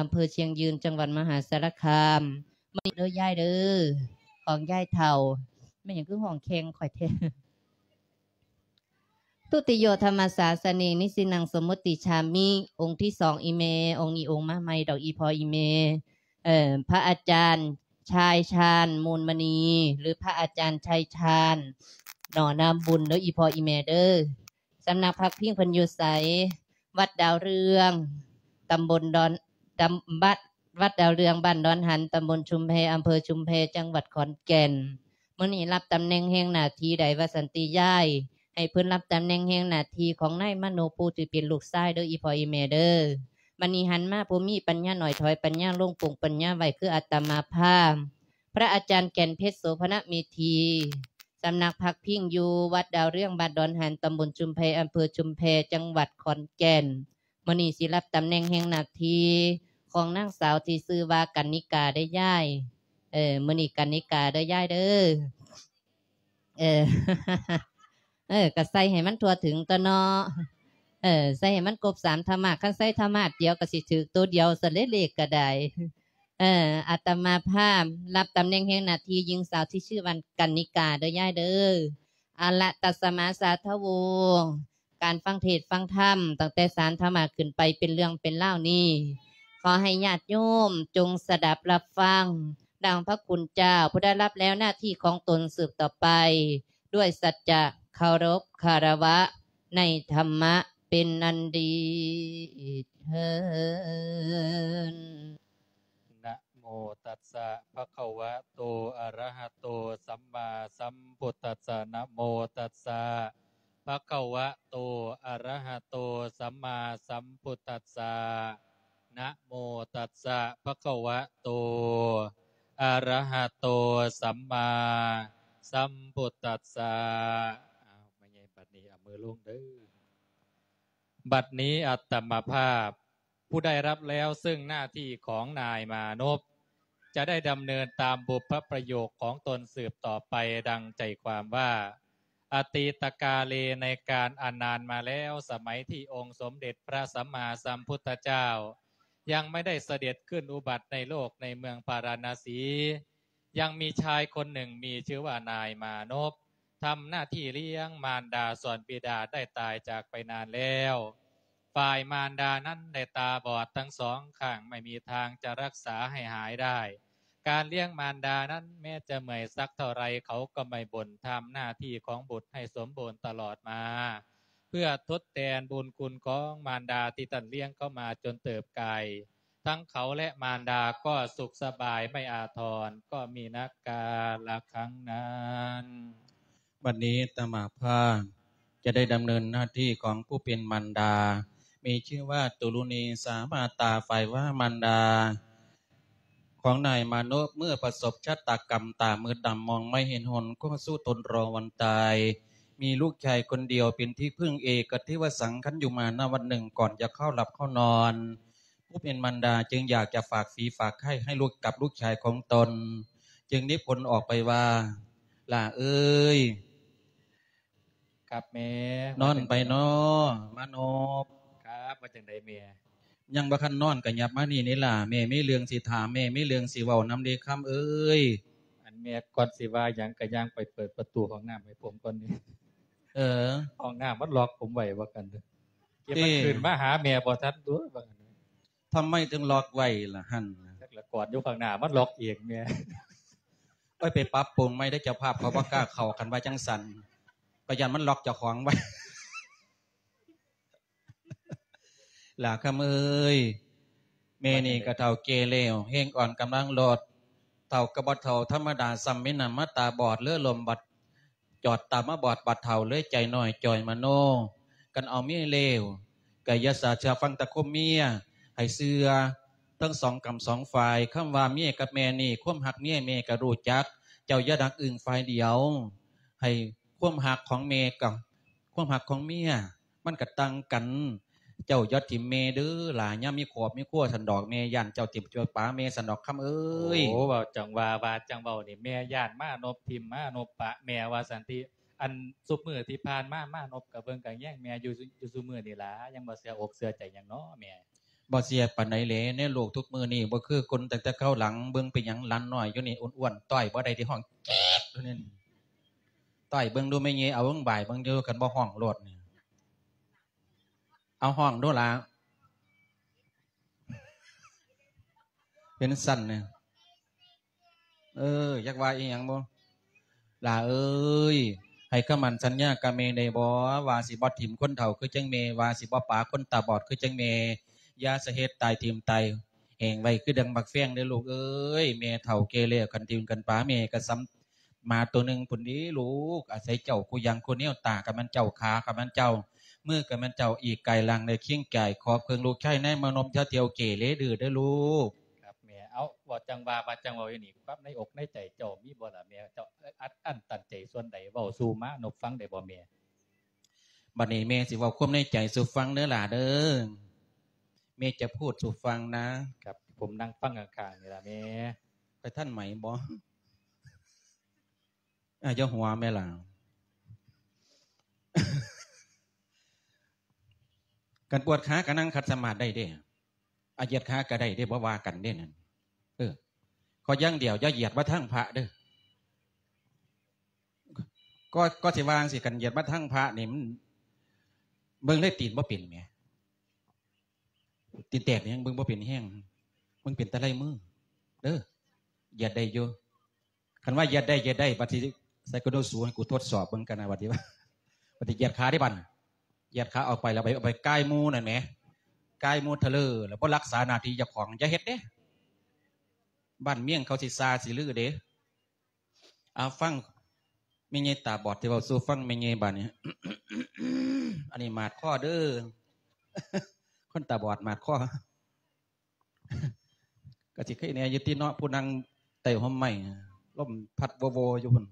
ອຳເພີຊຽງຍືນ ຈັງຫວັດມະຫາສາລະຄາມ. ມື້ນີ້ເດີຍາຍເດີ ຂອງຍາຍເຖົ້າ. ແມ່ນຫຍັງຄືຮ້ອງແຂ່ງຂ້ອຍແທ້? ທຸຕິໂຍທຳມະສາສະເນ ນິຊິນັງສົມມຸດຕິຈາມິ. ອົງທີສອງອີ່ແມ່, ອົງນີ້ອົງມາໃໝ່ດອກ ອີ່ພໍ່ອີ່ແມ່. ເອີ ພະອາຈານຊາຍຊານ ມູນມະນີ ຫຼື ພະອາຈານໄຊຊານ ໜໍນາບຸນເດີ ອີ່ພໍ່ອີ່ແມ່ເດີ. ສຳນັກພັກພິງເພິ່ນຢູ່ໃສ? ວັດດາວເຮືອງ ຕຳບົນດອນ ຕຳ ວັດ ວັດດາວເຮືອງ ບ້ານດອນຫັນ ຕຳບົນຊຸມແພ ອຳເພີຊຸມແພ ຈັງຫວັດຂອນແກ່ນ. ມື້ນີ້ຮັບຕຳແໜ່ງແຮງໜ້າທີ່ໃດວ່າຊັ້ນຕິຍາຍ? ໃຫ້ເພິ່ນຮັບຕຳແໜ່ງແຮງໜ້າທີ່ຂອງນາຍມະໂນ ຜູ້ທີ່ເປັນລູກຊາຍເດີ ອີ່ພໍ່ອີ່ແມ່ເດີ. ບັດນີ້ຫັນມາຜູ້ມີປັນຍາໜ້ອຍ ຖອຍປັນຍາລົງ ປົງປັນຍາໄວ້ ຄືອາດຕະມາພາບ ພະອາຈານແກ່ນເພັດ ໂສພະນະເມທີ ສຳນັກພັກພິງຢູ່ວັດດາວເຮືອງ ບ້ານດອນຫັນ ຕຳບົນຊຸມແພ ອຳເພີຊຸມແພ ຈັງຫວັດຂອນແກ່ນ. ມື້ນີ້ຊິຮັບຕຳແໜ່ງແຮງໜ້າທີ່ຂອງນາງສາວທີ່ຊື່ວ່າກັນນິກາເດີຍາຍ. ເອີ ມື້ນີ້ກັນນິກາເດີຍາຍເດີ. ເອີ ເອີ ກະໃສ່ໃຫ້ມັນທົ່ວເຖິງຕົວເນາະ. ເອີ ໃສ່ໃຫ້ມັນຄົບສາມທຳມາດ. ຄັນໃສ່ທຳມາດດຽວກະຊິຖືກໂຕດຽວຊັ້ນເດ ເລກກະໄດ້. ເອີ ອາດຕະມາພາບຮັບຕຳແໜ່ງແຮງໜ້າທີ່ຍິງສາວທີ່ຊື່ວ່າກັນນິກາເດີຍາຍເດີ. ເອົາລະ ຕັດສະມາສາທະໂວ ການຟັງເທດຟັງທຳຕັ້ງແຕ່ສາມທຳມາດຂຶ້ນໄປເປັນເລື່ອງເປັນລາວນີ້ ຂໍໃຫ້ຍາດໂຍມຈົ່ງສະດັບຮັບຟັງ ດັ່ງພະຄຸນເຈົ້າຜູ້ໄດ້ຮັບແລ້ວໜ້າທີ່ຂອງຕົນສືບຕໍ່ໄປ ດ້ວຍສັດຈະເຄົາລົບຄາລະວະໃນທຳມະເປັນອັນດີເທີ້ນ. ນະໂມຕັດສະ ພະຄະວະໂຕ ອະລະຫະໂຕ ສຳມາສຳພຸດທັດສະ. ນະໂມຕັດສະ ພະຄະວະໂຕ ອະລະຫະໂຕ ສຳມາສຳພຸດທັດສະ. ນະໂມຕັດສະ ພະຄະວະໂຕ ອະລະຫະໂຕ ສຳມາສຳພຸດທັດສະ. ອ້າວ ມາໃຫຍ່ບັດນີ້ ເອົາມືລົງເດີ. ບັດນີ້ອາດຕະມາພາບ ຜູ້ໄດ້ຮັບແລ້ວເຊິ່ງໜ້າທີ່ຂອງນາຍມານົບ ຈະໄດ້ດຳເນີນຕາມບຸບພະປະໂຫຍກຂອງຕົນສືບຕໍ່ໄປ ດັ່ງໃຈຄວາມວ່າ ອະຕີຕະກາເລ ໃນການອັນນານມາແລ້ວ ສະໄໝທີ່ອົງສົມເດັດພະສຳມາສຳພຸດທະເຈົ້າ ຍັງໄມ່ໄດ້ສະເດັດຂຶ້ນອຸບັດໃນໂລກໃນເມືອງພາລານະສີ ຍັງມີຊາຍຄົນໜຶ່ງມີຊື່ວ່ານາຍມານົບ ທຳໜ້າທີ່ລ້ຽງມານດາສ່ວນບິດາໄດ້ຕາຍຈາກໄປນານແລ້ວ. ຝ່າຍມານດານັ້ນໄດ້ຕາບອດທັງສອງຂ້າງ ໄມ່ມີທາງຈະຮັກສາໃຫ້ຫາຍໄດ້. ການລ້ຽງມານດານັ້ນແມ້ຈະເມື່ອຍສັກເທົ່າໃດ ເຂົາກໍໄມ່ບົ່ນ ທຳໜ້າທີ່ຂອງບຸດໃຫ້ສົມບູນຕະຫຼອດມາ ເພື່ອທົດແທນບຸນຄຸນຂອງມານດາທີ່ທ່ານລ້ຽງເຂົາມາຈົນເຕີບໃຫຍ່. ທັງເຂົາແລະມານດາກໍສຸກສະບາຍໄມ່ອາທອນ ກໍມີນັກກາລະຄັ້ງນັ້ນ. ບັດນີ້ອາດຕະມາພາບຈະໄດ້ດຳເນີນໜ້າທີ່ຂອງຜູ້ເປັນມານດາ ມີຊື່ວ່າຕຸລຸນີ ສາມາຕາ ຝ່າຍວ່າມານດາຂອງນາຍມານົບ ເມື່ອປະສົບຊະຕາກຳຕາມືດດຳ ມອງໄມ່ເຫັນຫົນ ກໍສູ້ທົນລໍວັນຕາຍ ມີລູກຊາຍຄົນດຽວເປັນທີ່ເພິ່ງເອກະເທວະສັງ ຄັນຢູ່ມານະວັນໜຶ່ງ ກ່ອນຈະເຂົ້າຫຼັບເຂົ້ານອນ ຜູ້ເປັນມານດາຈຶ່ງຢາກຈະຝາກຝີຝາກໄຂ້ໃຫ້ລູກກັບລູກຊາຍຂອງຕົນ ຈຶ່ງນິພົນອອກໄປວ່າ ຫຼ້າເອີຍ ຄັບແມ່ ນອນໄປນໍ ມານົບ. ຄັບ ວ່າຈັ່ງໃດແມ່? ຍັງບໍ່ທັນນອນກໍຫຍັບມານີ້ນີ້ຫຼ້າ ແມ່ມີເລື່ອງຊິຖາມ ແມ່ມີເລື່ອງຊິເວົ້ານຳເດ້ ຄຳເອີຍ. ອັນແມ່ ກ່ອນຊິວ່າຫຍັງກໍຍ່າງໄປເປີດປະຕູຫ້ອງນ້ຳໃຫ້ຜົມກ່ອນນີ້. ເອີ ຫ້ອງນ້ຳມັນລັອກຜົມໄວ້ວ່າຊັ້ນເດີ. ເອີ ມັນຂຶ້ນມາຫາແມ່ບໍ່ທັນຕົວະ ວ່າຊັ້ນ. ທຳໄມເຖິງລັອກໄວ້ລະຫັ້ນ? ຈັກລະ ກອດຢູ່ຂ້າງໜ້າມັນລັອກເອງແມ່. ໂອ້ຍ ໄປປັບປຸງໃໝ່ເດີ ເຈົ້າພາບເຂົາບໍ່ກ້າເຂົ້າ ຄັນວ່າຈັ່ງຊັ້ນ ກໍຢ້ານມັນລັອກເຈົ້າຂອງໄວ້. ຫຼ້າຄຳເອີຍ ແມ່ນີ້ກໍເຖົ້າແກ່ແລ້ວ ແຮງອ່ອນກຳລັງລົດ ເຖົ້າກໍບໍ່ເຖົ້າທຳມະດາ ສ່ຳແມ່ນຳມາຕາບອດ ເຫຼືອລົມບັດ ຈອດຕາມາບອດບັດເຖົ້າເລີຍ ໃຈນ້ອຍຈ່ອຍມະໂນ. ຄັນເອົາເມຍແລ້ວ ກໍຢ່າສາເຊື່ອຟັງແຕ່ຄວາມເມຍ ໃຫ້ເຊື່ອທັງສອງກຳສອງຝ່າຍ. ຄຳວ່າເມຍກັບແມ່ນີ້ ຄວາມຮັກເມຍແມ່ກໍຮູ້ຈັກ ເຈົ້າຢ່າດັກອຶ້ງຝ່າຍດຽວ ໃຫ້ຄວາມຮັກຂອງແມ່ກັບຄວາມຮັກຂອງເມຍ ມັນກະຕ່າງກັນ. ເຈົ້າຢ່າຖິ້ມແມ່ເດີຫຼ້າ ຍາມມີຄອບມີຄົວຊັ້ນດອກ ແມ່ຢ້ານເຈົ້າຖິ້ມເຈົ້າປາແມ່ຊັ້ນດອກ ຄຳເອີຍ. ໂອ້ ເວົ້າຈັ່ງວ່າ ວ່າຈັ່ງເວົ້ານີ້ ແມ່ຢ້ານມານົບຖິ້ມມານົບປະແມ່ວ່າຊັ້ນຕິ. ອັນຊຸບມື້ທີ່ຜ່ານມາ ມານົບກະເບິ່ງກະແຍງແມ່ຢູ່ ຢູ່ຊຸມື້ນີ້ລະ ຍັງບໍ່ເຊື່ອອົກເຊື່ອໃຈຫຍັງເນາະແມ່. ບໍ່ເຊື່ອປານໃດແຫຼະ ໃນໂລກທຸກມື້ນີ້ບໍ່ຄືຄົນຕັ້ງແຕ່ຄາວຫຼັງ. ເບິ່ງເປັນຫຍັງຫຼານນ້ອຍຢູ່ນີ້ອ້ວນໆ ຕ້ອຍບໍ່ໄດ້ ໄດ້ຮ້ອງເຈັບຢູ່ນີ້. ຕ້ອຍເບິ່ງດູແມ່ເຍ ເອົາເບິ່ງບ່າຍເບິ່ງຢູ່ ຄັນບໍ່ຮ້ອງໂລດນີ້. ເອົາຮ້ອງດູລະ ເປັນຊັ້ນນະ. ເອີ ຢາກວ່າອີ່ຫຍັງບໍ່? ຫຼ້າເອີຍ ໃຫ້ຄຳໝັ້ນສັນຍາກັບແມ່ໄດ້ບໍ່ ວ່າຊິບໍ່ຖິ້ມຄົນເຖົ້າຄືຈັ່ງແມ່ ວ່າຊິບໍ່ປາຄົນຕາບອດຄືຈັ່ງແມ່ ຢ່າສະເຮັດຕາຍຖິ້ມຕາຍແຫ້ງໄວ້ຄືດັ່ງໝາກແຟງເດີລູກເອີຍ. ແມ່ເຖົ້າແກ່ແລ້ວ ຄັນຖິ້ມຄັນປາແມ່ກໍສ່ຳໝາໂຕໜຶ່ງພຸ້ນເດລູກ. ອາໄສເຈົ້າຄູ່ຢ່າງຄູ່ແນວ ຕາກໍແມ່ນເຈົ້າ ຂາກໍແມ່ນເຈົ້າ ມືກໍແມ່ນເຈົ້າ ອີກກາຍຮ່າງໄດ້ຄຽງກາຍ. ຂໍເພິ່ງລູກຊາຍນາຍມານົບ ຢ່າທ່ຽວເກເລດື້ເດີລູກ. ຄັບແມ່. ເອົ້າ ເວົ້າຈັ່ງວ່າ ວ່າຈັ່ງເວົ້າຢູ່ນີ້ ຄວາມໃນອົກໃນໃຈເຈົ້າມີບໍ່ລະແມ່? ເຈົ້າອັດອັ້ນຕັນໃຈສ່ວນໃດ ເວົ້າສູ່ມານົບຟັງໄດ້ບໍ່ແມ່? ບັດນີ້ແມ່ຊິເວົ້າຄວາມໃນໃຈສູ່ຟັງເດີຫຼ້າເດີ. ແມ່ຈະພູດສູ່ຟັງນະ. ຄັບ ຜົມນັ່ງຟັງຂ້າງໆນີ້ລະແມ່. ໄປທັນໄໝບໍ່? ອາ ຢ່າຫົວແມ່ຫຼ້າ. ຄັນປວດຂາກໍນັ່ງຂັດສະມາດໄດ້ເດ້. ອາ ຢຽດຂາກໍໄດ້ເດ້ ບໍ່ວ່າກັນເດ້ນັ້ນ. ເອີ ຂໍຢ່າງດຽວ ຢ່າຢຽດມາທາງພະເດີ. ກໍ ກໍຊິວ່າຈັ່ງຊີ້ ຄັນຢຽດມາທາງພະນີ້ ມັນເບິ່ງເລີຍຕີນບໍ່ເປັນແໝ. ຕີນແຕກນີ້ຍັງເບິ່ງບໍ່ເປັນແຮງ ເບິ່ງເປັນແຕ່ລາຍມືເດີ. ຢຽດໄດ້ຢູ່. ຄັນວ່າຢຽດໄດ້ ຢຽດໄດ້ ບັດຊິໃສ່ກະດູສູໃຫ້ກູທົດສອບເບິ່ງກັນນະ ບັດນີ້ວ່າ ບັດຊິຢຽດຂາເດ້ບັດ ຢຽດຂາອອກໄປ ແລ້ວໄປ ໄປກາຍໝູ່ນັ້ນແໝ ກາຍໝູ່ທະເລີ ແລ້ວບໍ່ຮັກສາໜ້າທີ່ເຈົ້າຂອງ ຢ່າເຮັດເດ້ ບ້ານເມືອງເຂົາຊິຊ່າຊິລືເດ້. ເອົາ ຟັງແມ່ໃຫຍ່ຕາບອດຊິເວົ້າສູ່ຟັງແມ່ໃຫຍ່ບາດນີ້. ອັນນີ້ໝາດຄໍເດີ ຄົນຕາບອດໝາດຄໍ. ກໍຊິໄຄແດ່ຢູ່ຕິເນາະ ຜູ້ນັ່ງໃຕ້ຮົ່ມໄມ້ ລົມພັດໂວໂວຢູ່ພຸ້ນ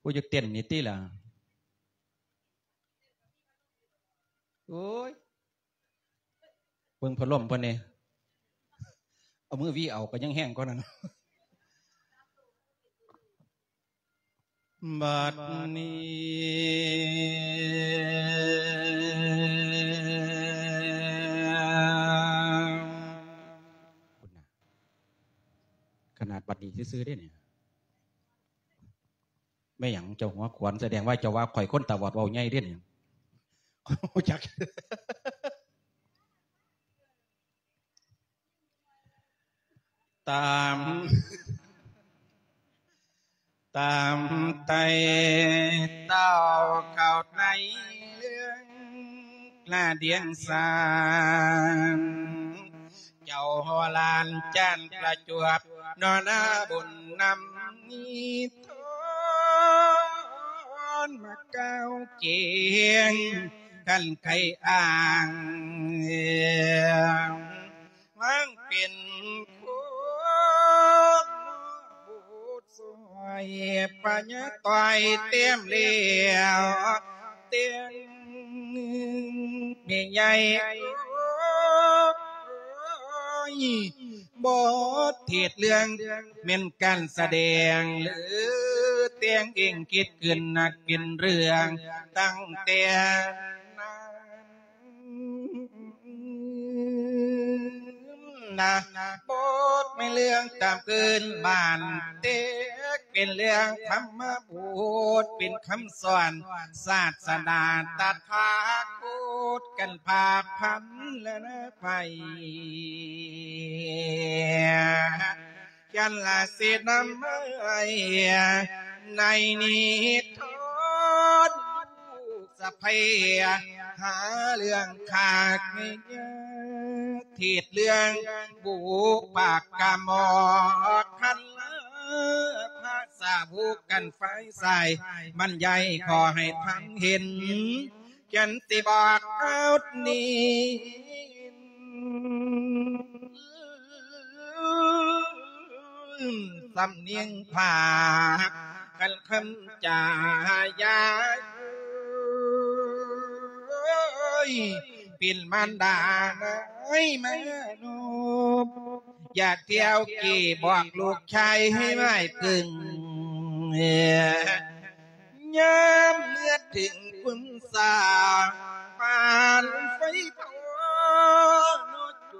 ຜູ້ຢູ່ເຕັນນີ້ຕິລະ. ໂອ້ຍ ເບິ່ງພັດລົມເພິ່ນແດ່ ເອົາມືຫວີເອົາກໍຍັງແຮງກວ່ານັ້ນ. ບັດນີ້ ພຸ້ນນະ ຂະໜາດບັດນີ້ຊື່ໆເດ້ນີ້. ແມ່ນຫຍັງເຈົ້າຫົວຂວັນ? ສະແດງວ່າເຈົ້າວ່າຂ້ອຍຄົນຕາບອດເວົ້າໃຫຍ່ເດ້ນີ້. ຮູ້ຈັກ ຕາມ ຕາມໄຕ່ເຕົ້າເຂົ້າໃນເລື່ອງລະດຽງສານ ເຈົ້າຫຼານຈານປະຈວບ ນໍນາບຸນນຳມີທອນມາກ່າວກຽງ ຄັນໄຄອ້າງ ວາງເປັນໂຄດ ສອຍພະຍາຕ່ອຍແຕ້ມແລ້ວແຕ່ງ ແມ່ໃຫຍ່ເອີຍ ບົດເທດເລື່ອງແມ່ນການສະແດງ ຫຼືແຕ່ງເອງຄິດຂຶ້ນ ນັກເປັນເລື່ອງຕັ້ງແຕ່ນານ ນະ ບົດແມ່ນເລື່ອງຕາມພື້ນບ້ານ ແຕ່ເປັນເລື່ອງທຳມະບົດ ເປັນຄຳສອນສາສະໜາຕະຖາຄົດ ກັນພາກພັນລະນະໄພ ຈັນລະສິນຳໃຫ້ໃນນິທອນ ສະໄພຫາເລື່ອງຄາກແມ່ຍາ ເທດເລື່ອງບຸກປາກກະໝໍຄັນລະພະສາວົກກັນຝ່າຍຊາຍ ບັນຍາຍຂໍໃຫ້ທັນເຫັນ ຈັນຕິບອກເອົານີ້ ສຳນຽງພາກ ຄັນຄຳຈາຢາຍ ເປັນມານດານາຍມານຸບ ຢ່າທ່ຽວກີບອກລູກຊາຍໃຫ້ໄວ້ຕຶງ ຍາມເມື່ອເຖິງຄຸນສາ ປານໄຟເຜົາ ໂຈ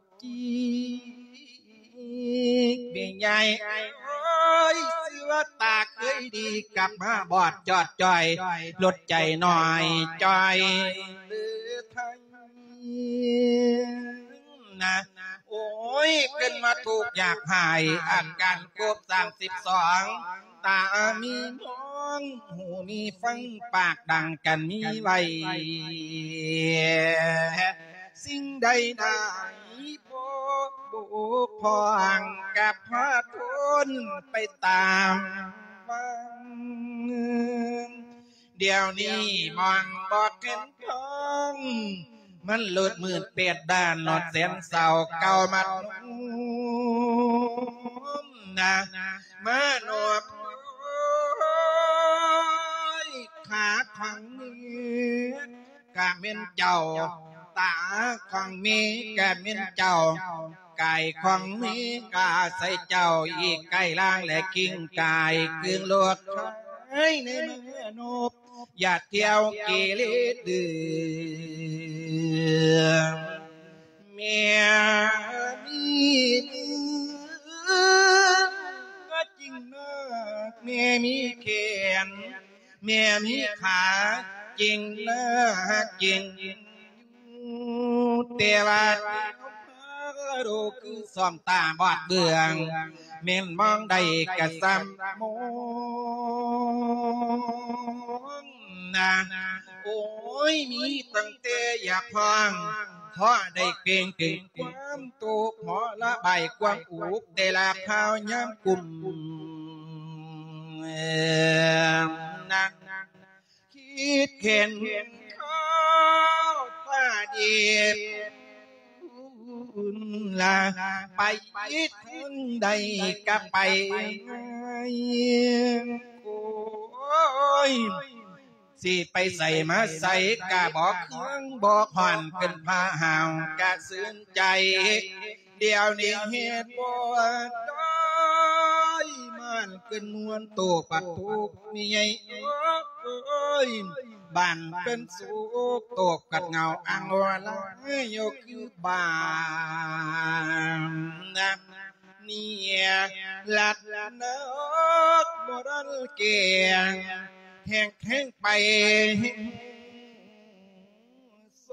ດຈີກແມ່ໃຫຍ່ເອີຍ ຊື່ວ່າຕາເຄີຍດີ ກັບມາບອດຈອດຈ່ອຍ ລົດໃຈໜ້ອຍຈ່ອຍເຫຼືອໄທນະ. ໂອ້ຍ ເກີດມາທຸກຍາກໄຮ້ ອາການຄົບສາມສິບສອງ ຕາມີມອງ ຫູມີຟັງ ປາກດັງກັນມີໄວ້ ສິ່ງໃດໆບໍ່ບົກຜ່ອງ ກັບພາທົນໄປຕາມວັນ. ດຽວນີ້ມອງບໍ່ເຫັນທາງ ມັນໂລດມືດແປດດ້ານ ໂລດແສນເສົ້າເກົ່າມັດນະ ມານອບ ຂາຂອງເມກະແມ່ນເຈົ້າ ຕາຂອງເມກະແມ່ນເຈົ້າ ກາຍຂອງເມກະໃສ່ເຈົ້າ ອີກກາຍລ່າງ ແລະກິງກາຍຄືນໂລດໃນມະໂນ ຢ່າທ່ຽວເກເລເດີ ແມ່ມີເນື້ອກໍຈິງນາກ ແມ່ມີແຂນ ແມ່ມີຂາ ຈິງນາກຈິງຢູ່ ແຕ່ວ່າໂລກຄືສອງຕາບອດເບື້ອງ ແມ່ນມອງໄດ້ກະສ່ຳມອງນາ. ໂອ້ຍ ມີຕັ້ງແຕ່ຢາກຮ້ອງ ພໍໄດ້ເກັ່ງເຖິງຄວາມທຸກ ພໍລະບາຍຄວາມອຸກ ແຕ່ລະຄາວຍາມກຸ້ມນາ. ຄິດເຫັນເຂົາວ່າດີລະ ໄປທາງໃດກະໄປງ່າຍ ໂອ້ຍ ຊິໄປໃສມາໃສກະບໍ່ເຄືອງບໍ່ຮ້ອນ ເປັນພາຫາວກະຊື່ນໃຈ. ດຽວນີ້ເຮັດບໍ່ໄດ້ ບ້ານເປັນມ່ວນໂຕກປັດທຸກມີໃຫຍ່ເອີຍ ບ້ານເປັນສຸກໂຕກກັດເຫງົາອັງວາລາຍຢູ່ຄືບ້ານນະ ເນຍລັດນະ ບໍ່ທັນແກ່ງ ແຮງແຮງໄປ ໂສ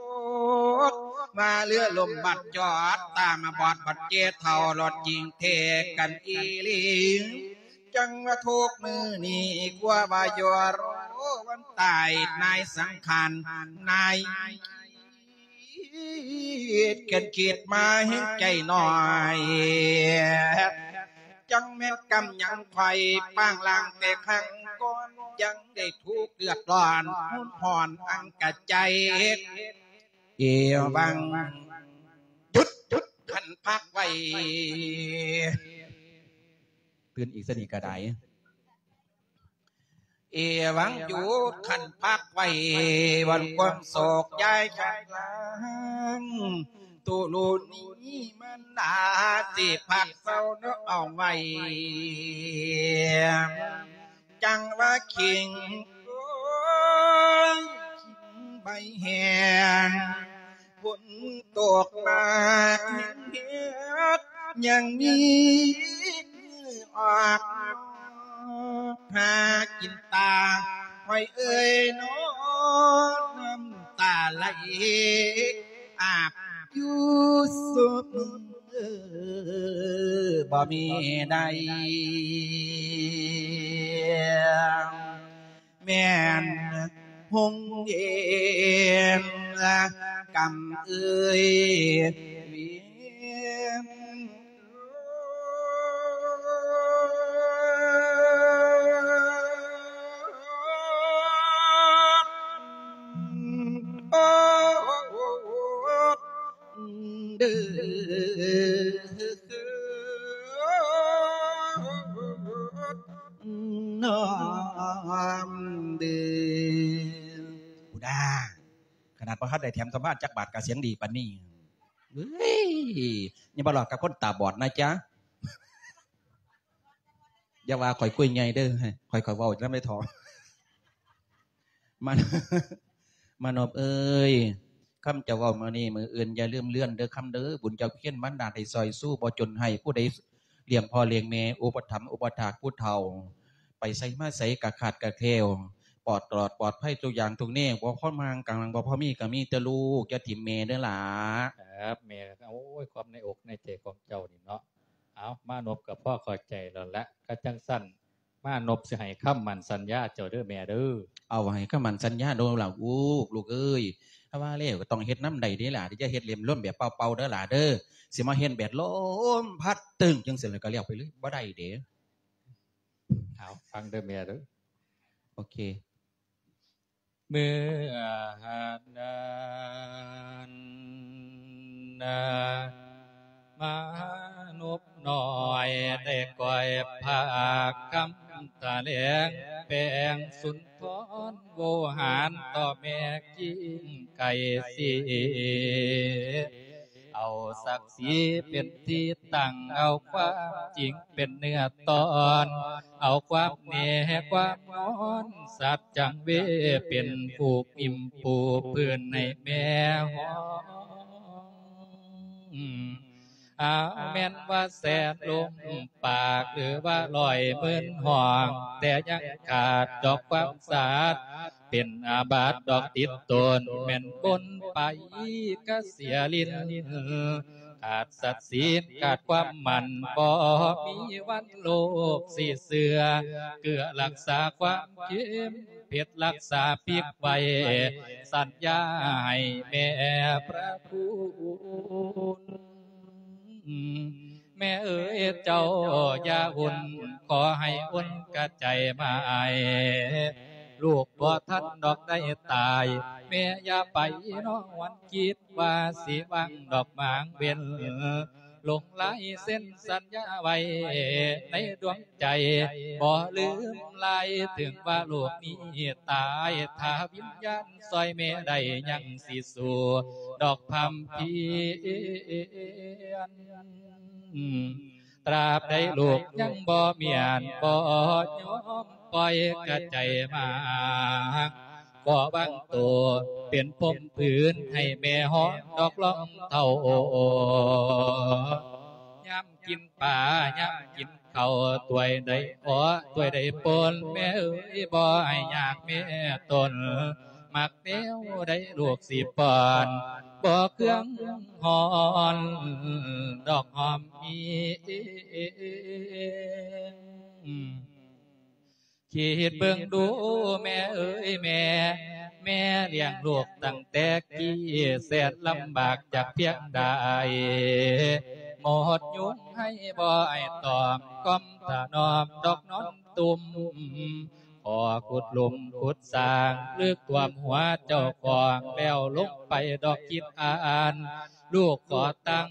ດ ມາເຮືອລົມບັດຈອດ ຕາມາບອດບັດເຈເຖົ້າ ລົດຍິງເທກັນອີຫຼີ ຈັ່ງວ່າທຸກມື້ນີ້ ກົວວ່າຢູ່ລໍວັນຕາຍ ນາຍສັງຂານ ນາຍຄິດ ກັນຄິດມາແຮງໃຈໜ້ອຍ ຈັ່ງແມ່ນກຳຍັງໄຂວ້ ປາງລ່າງແຕ່ຄັ້ງກ່ອນ ຍັງໄດ້ທຸກເດືອດຮ້ອນ ຮຸນຮ້ອນອັງກະໃຈ ເອວັງ ຢຸດ ຢຸດ ຄັນພັກໄວ້ ຕື່ນອີກຊະນີ້ກະໄດ້ ເອວັງ ຢຸດ ຄັນພັກໄວ້ ວັນຄວາມໂສກຢາຍຄັນລາງ ຕຸລຸນີມັນນາ ຊິພັກເຊົາເນາະ ເອົາໄວ້ ຈັ່ງວ່າຄີງ ໂອ້ຍ ຄີງໃບແຫ້ງ ຝົນຕົກມາເຮັດ ຍັງມີອອກ ຫາກິນຕາ ຫ້ອຍເອີຍ ນ້ອງນ້ຳຕາໄຫຼ ອາບຢູ່ຊຸມ ບໍ່ມີໃດ ແມ່ນຫົງເຫນ ກຳເອີຍ ວຽນ ເດີ ນ້ອມເດີ ພຸ້ນນາ ຂະໜາດບໍ່ທັນໄດ້ແຖມທຳມານຈັກບາດກະສຽງດີປານນີ້ ເອີຍ ຢ່າມາຫຼອກກັບຄົນຕາບອດນະຈະ ຢ່າວ່າຂ້ອຍກຸຍໃຫຍ່ເດີ ຂ້ອຍ ຂ້ອຍເວົ້ານຳໄດ້ເຖາະ ມາ ມານອບເອີຍ ຄຳເຈົ້າເວົ້າມື້ນີ້ມື້ອື່ນຢ່າລືມເລື່ອນເດີຄຳເດີ ບຸນຈາກພຽນບັນດານໃຫ້ຊ່ອຍຊູ ບໍ່ຈົນໃຫ້ຜູ້ໃດລ້ຽງພໍ່ລ້ຽງແມ່ ອຸປະຖຳອຸປະຖາກຜູ້ເຖົ້າ ໄປໃສມາໃສກະຂາດກະແຄວ ປອດຕະຫຼອດປອດໄພທຸກຢ່າງທຸກແນວ ບໍ່ພໍຮ່າງກາງ ບໍ່ພໍມີກະມີແຕ່ລູກ ຢ່າຖິ້ມແມ່ເດີຫຼ້າ. ຄັບ ແມ່ ໂອ້ຍ ຄວາມໃນອົກໃນໃຈຂອງເຈົ້ານີ້ເນາະ ເອົາ ມານົບກໍພໍເຂົ້າໃຈແລ້ວລະ ຄັນຈັ່ງຊັ້ນ ມານົບຊິໃຫ້ຄຳໝັ້ນສັນຍາເຈົ້າເດີແມ່ເດີ. ເອົາ ໃຫ້ຄຳໝັ້ນສັນຍາໂດລະລູກ ລູກເອີຍ ຖ້າວ່າແລ້ວກໍຕ້ອງເຮັດນຳໄດ້ເດ້ຫຼ້າ ຢ່າເຮັດເຫຼັ້ນລົມແບບເປົ່າໆເດີຫຼ້າເດີ ຊິມາເຮັດແບບລົມພັດຕຶ້ງຈັ່ງຊີ້ແລ້ວກໍແລ້ວໄປເລີຍ ບໍ່ໄດ້ເດ້. ເອົາ ຟັງເດີແມ່ເດີ. ໂອເຄ. ເມື່ອນັ້ນນະ ມະນຸບນ້ອຍໄດ້ກ່ອຍພາກຄຳຖະແຫຼງ ແປງສຸນທອນໂວຫານຕໍ່ແມ່ກິ່ງໄກ່ສີ ເອົາສັກສີເປັນທີ່ຕັ້ງ ເອົາຄວາມຈິງເປັນເນື້ອຕອນ ເອົາຄວາມແນ່ຄວາມນອນ ສັດຈັງເວ ເປັນຜູກໜິ້ມປູພື້ນໃຫ້ແມ່ຫ້ອງ ອາ ແມ່ນວ່າແສນລົມປາກ ຫຼືວ່າຮ້ອຍໝື່ນຫ້ອງ ແຕ່ຍັງຂາດດອກຄວາມສະອາດ ເປັນອາບັດດອກຕິດຕົນ ແມ່ນບົນໄປກະເສຍລິນ ຂາດສັດສີນຂາດຄວາມໝັ້ນ ບໍ່ມີວັນໂລກຊິເຊື່ອ ເກືອລັກສາຄວາມເຄັມ ເພັດລັກສາປິກໄວ້ ສັນຍາໃຫ້ແມ່ພະຄຸນ ແມ່ເອີຍເຈົ້າຢ່າອຸ່ນ ຂໍໃຫ້ອຸ່ນກະໃຈໝາຍ ລູກບໍ່ທັນດອກໄດ້ຕາຍ ແມ່ຢ່າໄປນອນຄິດວ່າຊິວາງດອກໝາງເວັ້ນ ຫຼົງລາຍເຊັນສັນຍາໄວ້ໃນດວງໃຈ ບໍ່ລືມລາຍ ເຖິງວ່າໂລກນີ້ຕາຍ ຖ້າວິນຍານຊ່ອຍແມ່ໄດ້ ຍັງຊິສູ້ດອກພຳພຽນ ຕາບໃດລູກຍັງບໍ່ມ້ຽນ ບໍ່ຍອມປ່ອຍກະໃຈໝາກ ຂໍວາງໂຕເປັນພົມພື້ນ ໃຫ້ແມ່ຫອມດອກລອງເທົ້າ ຍາມກິນປາ ຍາມກິນເຂົ້າ ຖ້ວຍໃດເອາະ ຖ້ວຍໃດປົນ ແມ່ເອີຍ ບໍ່ໃຫ້ຍາກແມ່ຕົນ ມັກແນວໃດລູກຊິປ້ອນ ບໍ່ເຄືອງຮ້ອນດອກຫອມມີ ຄິດເບິ່ງດູແມ່ເອີຍແມ່ ແມ່ລ້ຽງລູກຕັ້ງແຕ່ກີ້ ແສນລຳບາກຈັກພຽງໃດ ໝົດຍຸງໃຫ້ບໍ່ອ້າຍຕອມ ກ້ອມຖະໜອມດອກນອນຕຸ່ມ ຂໍຂຸດຫຼຸມຂຸດສ້າງ ເລິກຖ້ວມຫົວເຈົ້າຂອງ ແລ້ວລົງໄປດອກຄິດອ່ານ ລູກຂໍຕັ້ງ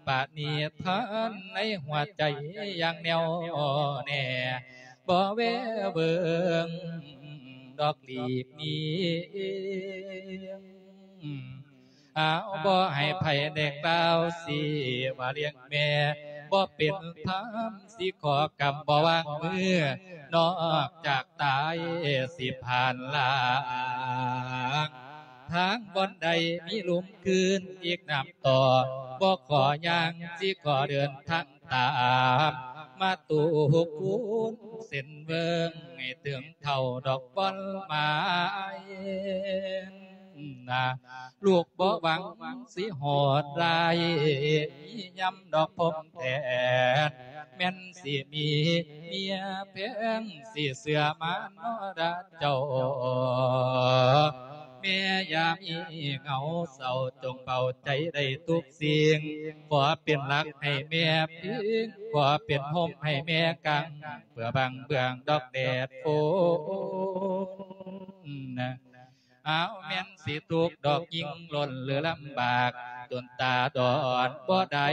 ປະນິທານໃນຫົວໃຈຢ່າງແນ່ວແນ່ ບໍ່ແວວເບິ່ງດອກຫຼີກໜີ ຫາວບໍ່ໃຫ້ໃຜໄດ້ກ່າວຊິວ່າລ້ຽງແມ່ ບໍ່ເປັນທຳຊິຂໍກຳບໍ່ວາງມື ນອກຈາກຕາຍຊິຜ່ານລາງ ທາງບ່ອນໃດມີລຸ່ມຄືນອີກນ້ຳຕໍ່ ບໍ່ຂໍຍ່າງຊິຂໍເດີນທາງຕາມ ມາຕູກຄູນເສັ້ນເວີງ ໃຫ້ເຖິງເທົ່າດອກບ່ອນໝາຍນະ ລູກບໍ່ຫວັງຊິໂຫດຮ້າຍ ມີຍຳດອກພົມແທນ ແມ່ນຊິມີເມຍແພງ ຊິເຊື່ອມານອລະເຈົ້າ ແມ່ຢ່າມີເຫງົາເສົ້າ ຈົ່ງເບົາໃຈໄດ້ທຸກສິ່ງ ຂໍເປັນຫຼັກໃຫ້ແມ່ພິງ ຂໍເປັນຮົ່ມໃຫ້ແມ່ກາງ ເພື່ອບັງເບືອງດອກແດດຝົນ ອ້າວ ແມ່ນຊິທຸກດອກຍິ່ງລົ້ນ ຫຼືລຳບາກ ຈົນຕາດອນບໍ່ໄດ້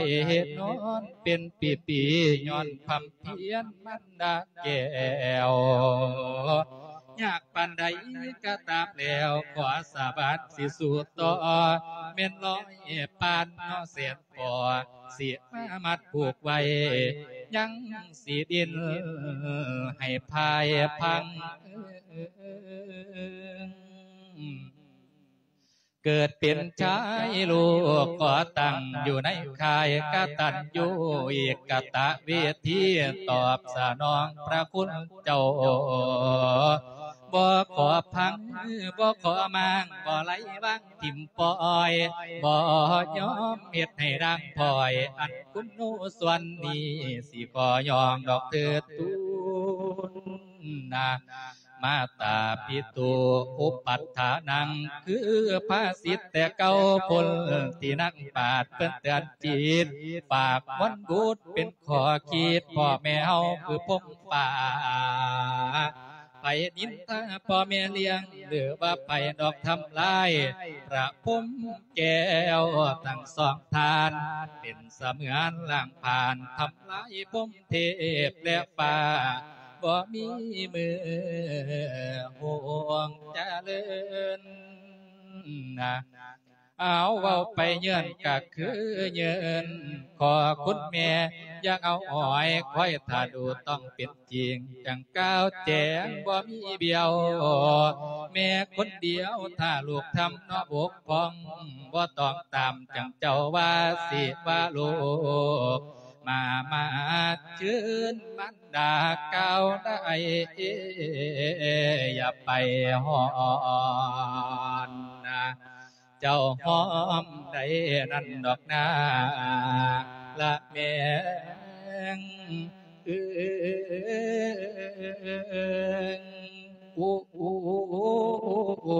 ນອນເປັນປີໆ ຍ້ອນຄວາມພຽນມັນດາແກ້ວ ຍາກປານໃດກະຕາມແລ້ວ ຂໍສາບານຊິສູ້ຕໍ່ ແມ່ນຮ້ອຍປານເນາະແສນ ພໍ ຊິມາມັດຜູກໄວ້ ຍັງຊິດີ້ນໃຫ້ພາຍພັງ ເກີດເປັນຊາຍລູກກໍຕັ້ງຢູ່ໃນຄ້າຍກະຕັນຍູເອກະຕະເວທີ ຕອບສະໜອງພະຄຸນເຈົ້າ ບໍ່ຂໍພັງ ບໍ່ຂໍມ້າງ ບໍ່ໄຫຼວາງ ຖິ້ມປ່ອຍ ບໍ່ຍອມເຮັດໃຫ້ດ່າງພ້ອຍ ອັນຄຸນໜູສ່ວນນີ້ ຊິຂໍຍ້ອງດອກເທີດທູນນະ ມາຕາປິໂຕອຸປັດຖານັງ ຄືພາສິດແຕ່ເກົ່າພຸ້ນ ທີ່ນັກປາດເພິ່ນເຕືອນຈິດ ຝາກມວນບຸດເປັນຂໍ້ຄິດ ພໍ່ແມ່ເຮົາຄືພົງປ່າ ໃຜນິນທາພໍ່ແມ່ລ້ຽງ ຫຼືວ່າໃຜດອກທຳລາຍ ພະພົມແກ້ວທັງສອງທ່ານ ເປັນສະເໝືອນລ້າງຜານ ທຳລາຍພົມເທບແລະຟ້າ ບໍ່ມີມື້ຮ່ວງຈະເລີນນະ. ເອົາເວົ້າໄປເຍີ້ນກະຄືເຍີ້ນ ຂໍຄຸນແມ່ຢ່າເອົາອ້ອຍ ຄອຍຖ້າດູຕ້ອງເປັນຈິງ ຈັ່ງກ່າວແຈ້ງບໍ່ມີບຽວ ແມ່ຄົນດຽວ ຖ້າລູກທຳເນາະບົກຜ່ອງ ບໍ່ຕ້ອງຕາມຈັ່ງເຈົ້າວ່າ ຊິວ່າລູກມາ ມາເຊີນມານດາກ່າວໄດ້ ຢ່າໄປຮ້ອນນະ ເຈົ້າຫອມໄດ້ນັ້ນດອກນາ ລະແມ່ເອີຍ ໂອ້ ໂອ້ ໂອ້ ໂອ້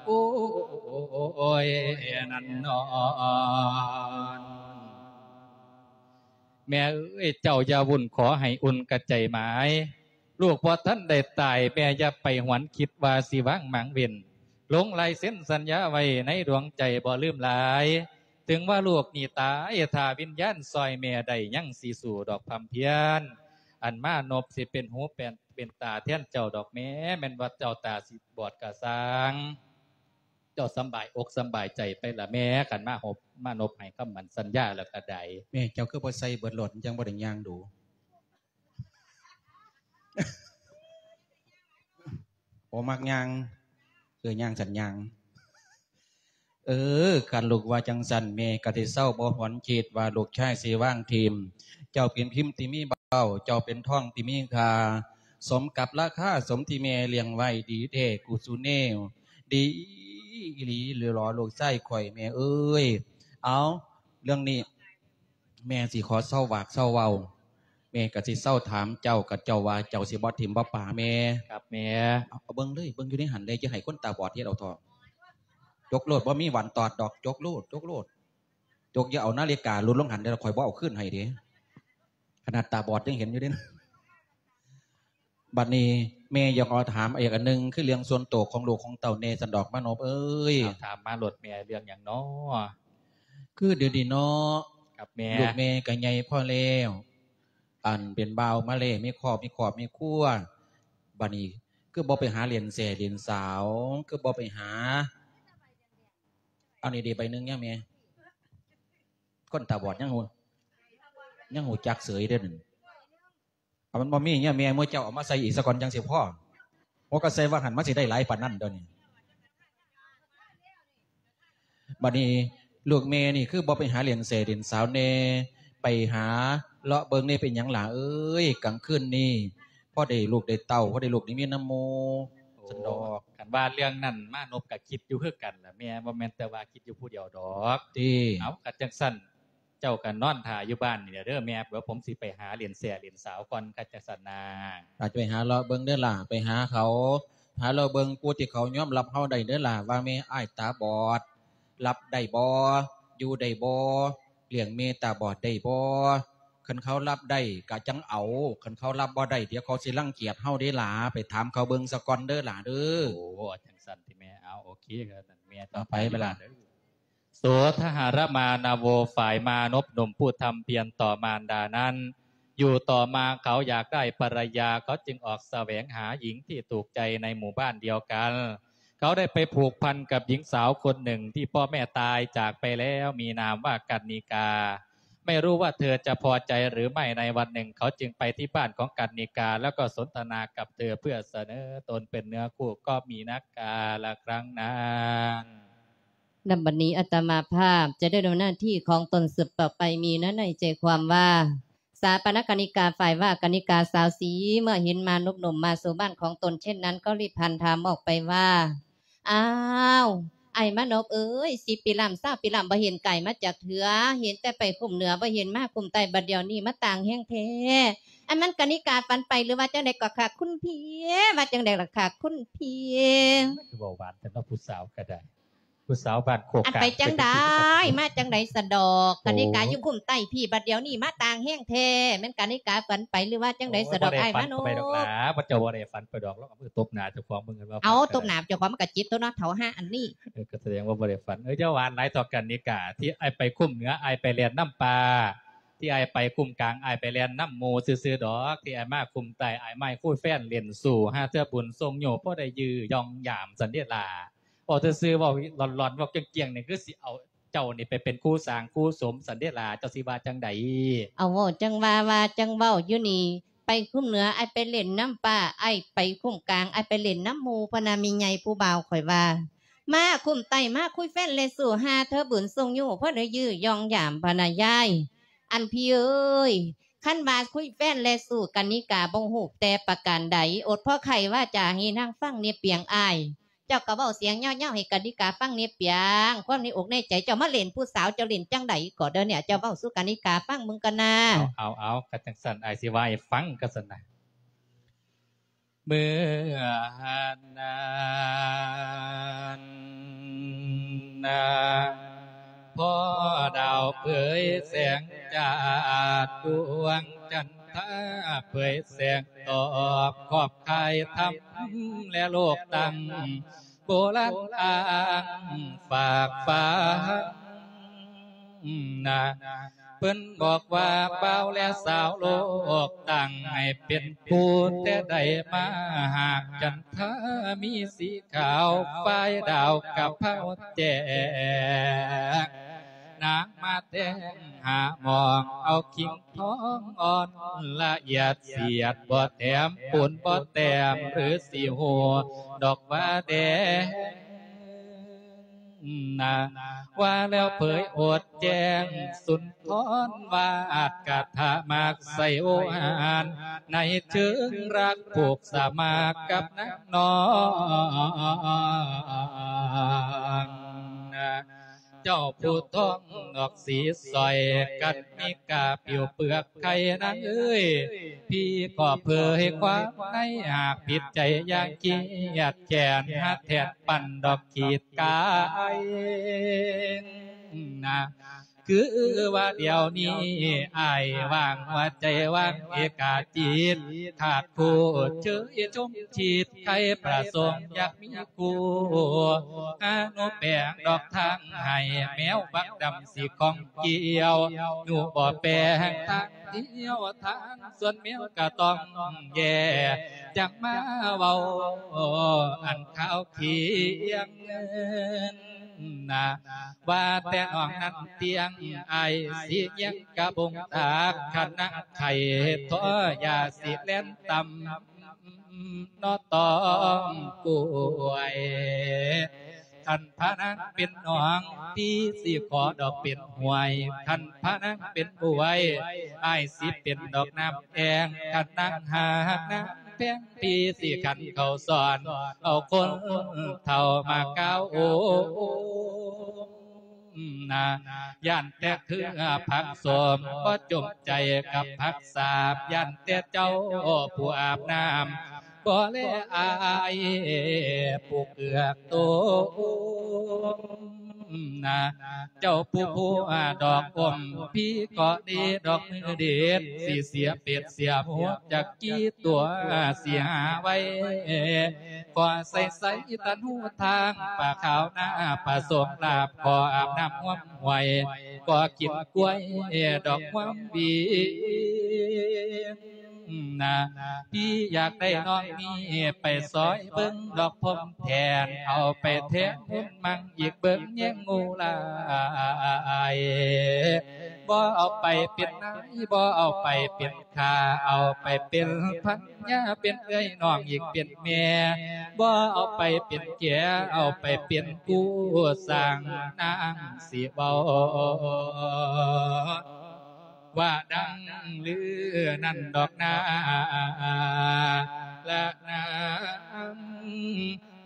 ໂອ້ ໂອ້ຍ ນັ້ນນອນ ແມ່ເອີຍ ເຈົ້າຢ່າວຸ່ນ ຂໍໃຫ້ອຸ່ນກະໃຈໝາຍ ລູກບໍ່ທັນໄດ້ຕາຍ ແມ່ຢ່າໄປຫວນຄິດວ່າຊິວາງໝາງເວັ້ນ ລົງລາຍເຊັນສັນຍາໄວ້ໃນດວງໃຈບໍ່ລືມຫຼາຍ ເຖິງວ່າລູກນີ້ຕາຍ ຖ້າວິນຍານຊ່ອຍແມ່ໄດ້ ຍັງຊິສູ້ດອກພຳພຽນ ອັນມານົບຊິເປັນຫູເປັນ ເປັນຕາແທນເຈົ້າດອກແມ່ ແມ່ນວ່າເຈົ້າຕາຊິບອດກະຊ່າງ ເຈົ້າສຳບາຍອົກສຳບາຍໃຈໄປລະແມ່ ຄັນມາຫົບ ມານົບໃຫ້ຄຳໝັ້ນສັນຍາແລ້ວກະໄດ້. ແມ່ເຈົ້າຄືບໍ່ໃສ່ເບິດໂລດ ມັນຈັ່ງບໍ່ໄດ້ຍ່າງດູ. ບໍ່ມັກຍ່າງ ເອີ ຍ່າງສັນຍ່າງ. ເອີ ຄັນລູກວ່າຈັ່ງຊັ້ນ ແມ່ກະຊິເຊົາບໍ່ຫວນຄິດວ່າລູກຊາຍຊິວາງຖິ້ມ. ເຈົ້າເປັນພິມທີ່ມີເບົາ ເຈົ້າເປັນທອງທີ່ມີຄ່າ ສົມກັບລາຄາ ສົມທີ່ແມ່ລ້ຽງໄວ້ ດີແທ້ກູຊູແນວ ດີອີ່ຫຼີຫຼໍລູກຊາຍຂ້ອຍ ແມ່ເອີຍ. ເອົາ ເລື່ອງນີ້ ແມ່ຊິຂໍເຊົາວາກເຊົາເວົ້າ ແມ່ກະຊິເຊົາຖາມເຈົ້າ ກະເຈົ້າວ່າເຈົ້າຊິບໍ່ຖິ້ມບໍ່ປະແມ່. ຄັບແມ່. ເອົາ ເອົາເບິ່ງເລີຍ ເບິ່ງຢູ່ໃນຫັ້ນເລີຍ ຢ່າໃຫ້ຄົນຕາບອດເຮັດເອົາເຖາະ. ຈົກໂລດ ບໍ່ມີຫວັນຕອດດອກ ຈົກໂລດ ຈົກໂລດ ຈົກ. ຢ່າເອົານາລິກາຫຼຸດລົງຫັ້ນເດີ້ ຂ້ອຍບໍ່ເອົາຄືນໃຫ້ເດ້ ຂະໜາດຕາບອດຍັງເຫັນຢູ່ເດ້. ບັດນີ້ແມ່ຢາກຂໍຖາມອີກອັນໜຶ່ງ ຄືເລື່ອງສ່ວນໂຕຂອງລູກຂອງເຕົ້າແດ່ ສັນດອກມານົບເອີຍ. ເອົາ ຖາມມາໂລດແມ່ ເລື່ອງຫຍັງນໍ? ຄືດຽວນີ້ເນາະ. ຄັບແມ່. ລູກແມ່ກະໃຫຍ່ພໍແລ້ວ ອັນເປັນບ່າວມາແລ້ວ ມີຄອບ ມີຄອບມີຄົວ ບັດນີ້ຄືບໍ່ໄປຫາຫຼິ້ນແຊຫຼິ້ນສາວ ຄືບໍ່ໄປຫາ ອັນນີ້ເດ ໃບໜຶ່ງຍັງແມ່ ຄົນຕາບອດຍັງຮູ້ ຍັງຮູ້ຈັກເສີຍເດ້ນັ້ນ. ເອົາ ມັນບໍ່ມີເນຍ ແມ່ ໝູ່ເຈົ້າເອົາມາໃສ່ອີກສາກ່ອນ ຈັ່ງຊິພໍ. ໂອ້ ກະໃສ່ວ່າຫັ້ນ ມັນຊິໄດ້ຫຼາຍປານນັ້ນດຽວນີ້. ບັດນີ້ລູກແມ່ນີ້ຄືບໍ່ໄປຫາຫຼິ້ນແຊຫຼິ້ນສາວແດ່ ໄປຫາເລາະເບິ່ງແດ່ ເປັນຫຍັງຫຼ້າເອີຍ ກາງຄືນນີ້ ພໍໄດ້ລູກໄດ້ເຕົ້າ ພໍໄດ້ລູກໄດ້ເມຍນຳໝູ່. ໂອ້ ຊັ້ນດອກ. ຄັນວ່າເລື່ອງນັ້ນ ມານົບກະຄິດຢູ່ຄືກັນລະແມ່ ບໍ່ແມ່ນແຕ່ວ່າຄິດຢູ່ຜູ້ດຽວດອກ. ຕິ. ເອົາ ຄັນຈັ່ງຊັ້ນ ເຈົ້າກໍນອນຖ້າຢູ່ບ້ານນີ້ແຫຼະເດີແມ່ ດຽວຜົມຊິໄປຫາຫຼິ້ນແຊຫຼິ້ນສາວກ່ອນ ຄັນຈັ່ງຊັ້ນນາ. ອາດຈະໄປຫາເລາະເບິ່ງເດີຫຼ້າ ໄປຫາເຂົາ ຫາເລາະເບິ່ງຜູ້ທີ່ເຂົາຍອມຮັບເຮົາໄດ້ເດີຫຼ້າ ວ່າແມ່ອ້າຍຕາບອດ ຮັບໄດ້ບໍ່ ຢູ່ໄດ້ບໍ່ ລ້ຽງແມ່ຕາບອດໄດ້ບໍ່. ຄັນເຂົາຮັບໄດ້ກໍຈັ່ງເອົາ ຄັນເຂົາຮັບບໍ່ໄດ້ ດຽວເຂົາຊິລັງກຽດເຮົາເດ້ຫຼ້າ ໄປຖາມເຂົາເບິ່ງສາກ່ອນເດີຫຼ້າເດີ. ໂອ້ ຈັ່ງຊັ້ນຕິແມ່. ເອົາ ໂອເຄ ຄັນຊັ້ນແມ່ ຕໍ່ໄປ ໄປເວລາເດີ. ໂສທະຫະຣະມານະໂວ ຝ່າຍມານົບໜຸ່ມຜູ້ທຳພຽນຕໍ່ມານດານັ້ນ ຢູ່ຕໍ່ມາເຂົາຢາກໄດ້ພັນລະຍາ ເຂົາຈຶ່ງອອກສະແຫວງຫາຍິງທີ່ຖືກໃຈໃນໝູ່ບ້ານດຽວກັນ. ເຂົາໄດ້ໄປຜູກພັນກັບຍິງສາວຄົນໜຶ່ງທີ່ພໍ່ແມ່ຕາຍຈາກໄປແລ້ວ ມີນາມວ່າກັນນິກາ. ไม่รู้ว่าเธอจะพอใจหรือไม่ ในวันหนึ่งเขาจึงไปที่บ้านของกรรณิกา แล้วก็สนทนากับเธอเพื่อเสนอตนเป็นเนื้อคู่ ก็มีนักกาละครั้งนั้น นำบัดนี้อาตมาภาพจะได้ดำเนินหน้าที่ของตนสืบต่อไป มีเนื้อในใจความว่า สาปนกรรณิกา ฝ่ายว่ากรรณิกาสาวสี เมื่อเห็นมานพหนุ่มมาสู่บ้านของตนเช่นนั้น ก็รีบพลันถามออกไปว่า อ้าว อ้ายมานพเอ๋ย สิบปีล้ำ ซาวปีล้ำ บ่เห็นกายมาจักเทื่อ เห็นแต่ไปคุ้มเหนือ บ่เห็นมาคุ้มใต้ บัดเดี๋ยวนี้มาต่างแฮงแท้ อันมันกรรณิกาฝันไปหรือว่าจั่งใด๋ก็คะคุณพี่ ว่าจั่งใด๋ล่ะคะคุณพี่ คือเว้าหวานแท้เนาะ ผู้สาวก็ได้ ผู้สาวบ้านโคก อัน กลาง ไปจั่งใด๋ มาจั่งใด๋สะดอก โอ้ กรรณิกาอยู่คุ้มใต้พี้ บัดเดี๋ยวนี้มาต่างแฮงแท้ แม่นกรรณิกาฝันไปหรือว่าจั่งใด๋สะดอก โอ้ย อ้ายมานพ บ่ได้ฝันไปดอกหลา บ่ เจ้าบ่ได้ฝันไปดอก ลองเอามือตบหน้าเจ้าของเบิ่งกันว่า เอา ฝัน ตบหน้าเจ้าของมันก็เจ็บตั๊วเนาะ เฒ่าห่าอันนี้ เออ ก็แสดงว่าบ่ได้ฝัน เออ อย่าหวานหลายเถาะกรรณิกา ที่อ้ายไปคุ้มเหนือ อ้ายไปแล่นนำป่า ที่อ้ายไปคุ้มกลาง อ้ายไปแล่นนำหมู่ซื่อๆดอก ที่อ้ายมาคุ้มใต้ อ้ายมาคุยแฟนเล่นสู่ หาเทื่อบุญส่งโย พอได้ยื้อย่องยามซั้นเด้ล่ะ เว้าซื่อๆ เว้าหลอนๆ เว้าเกลี้ยงๆ นี่คือสิเอาเจ้านี่ไปเป็นคู่สร้างคู่สมซั้นเด้ล่ะ เจ้าสิว่าจั่งใด๋ เอา เว้าจั่งว่า ว่าจั่งเว้าอยู่นี่ ไปคุ้มเหนือ อ้ายไปเล่นนำป่า อ้ายไปคุ้มกลาง อ้ายไปเล่นนำหมู่ พะนา แม่ใหญ่ผู้บ่าวข้อยว่า มาคุ้มใต้ มาคุยแฟนเล่นสู่ หาเทื่อบุญส่งโย พอได้ยื้อย่องยาม พะนายาย อันพี่เอ๋ย คันว่าคุยแฟนเล่นสู่ กรรณิกาบ่ฮู้แต่ประการใด อดพอไขวาจาให้นางฟังแน่เปียงอ้าย เจ้าก็เว้าเสียงยาวๆ ให้กรรณิกาฟังแน่เปียง ความในอกในใจเจ้ามาเล่นผู้สาว เจ้าเล่นจั่งใด๋ก็เด้อเนี่ย เจ้าเว้าสู่กรรณิกาฟังเบิ่งก่อนนา เอา เอา เอา ก็จั่งซั้น อ้ายสิว่าให้ฟังก็ซั้นนะ เมื่อนั้นนะ พอดาวเผยแสงจาด ดวงจันทราเผยแสงตอบ ขอบคายธรรมและโลกตั้ง โบราณอ้างฝากฝังนะ เพิ่นบอกว่าบ่าวและสาวโลกตั้ง ให้เป็นคู่แต่ใด๋มา หากจันทรามีสีขาว ฝ่ายดาวกะเพราแจ้ง นางมาแทงหามอง เอาคิงทองอ่อนละเอียดเสียด บ่แถมปูนบ่แต้ม หรือสิฮู้ดอกว่าแดง นะ ว่าแล้วเผยโอษแจ้งสุนทร วาดกาถามากใส่โอหาร ในเชิงรักผูกสมัครกับนางน้องนะ เจ้าผู้ท้องดอกสีสร้อย กรรณิกาผิวเปลือกไข่ นางเอ๋ย พี่ขอเผยความใน หากผิดใจอย่าเคียดแค้น หาแทนปันดอกขีดกายนะ คือว่าเดี๋ยวนี้อ้ายว่าง หัวใจว่างเอกาจิต ขาดคู่เชยชมชิด ใคร่ประสงค์อยากมีคู่ หาหนูแปลงดอกทางให้ แมวบักดำสิของเกี่ยว หนูบ่แปลงทางเที่ยว ทางสวนแมวก็ต้องแย่ จั่งมาเว้าอันข่าวเคียงเงินนะ ว่าแต่น้องนั้นเตี้ยง อ้ายสิเยียงกะบงตาก คันนางไข้ท้อยาสิแล่นตำ นอตองกล้วย คันพานางเป็นหนอง พี่สิขอดอกเป็นห้วย คันพานางเป็นบวย อ้ายสิเป็นดอกน้ำแอ่ง คันนางหากน้ำแพง พี่สิขันเข้าสอน เอาคนเฒ่ามาก้าวโอม นะ ย่านแต่เครือผักส้ม บ่จมใจกับผักสาบ ย่านแต่เจ้าผู้อาบน้ำ บ่แลอ้ายผู้เกือกโตมนะ เจ้าผู้ผัวดอกอม พี่ก็ดีดอกมือเด็ด สิเสียเป็ดเสียหมูจักกี่ตัว สิหาไว้ ขอใส่ใส่ตันหูทาง ป่าขาวนาผสมลาบ ขออาบน้ำห้วมห้วย ขอกินกล้วยดอกห้วมวีนะ พี่อยากได้น้องนี้ไปซอยเบิ่งดอกพรมแทน เอาไปแทนบุญมั่งอีกเบิ่งแยงงูหลาย ບໍ່ເອົາໄປເປັນນາຍ ບໍ່ເອົາໄປເປັນຂ້າ ເອົາໄປເປັນພັນຍາ ເປັນເອື້ອຍນ້ອງອີກເປັນແມ່ ບໍ່ເອົາໄປເປັນແຂ ເອົາໄປເປັນຄູ່ສ້າງ ນາງຊິເວົ້າ ວ່າດັ່ງລືນັ້ນດອກນາລະນາງ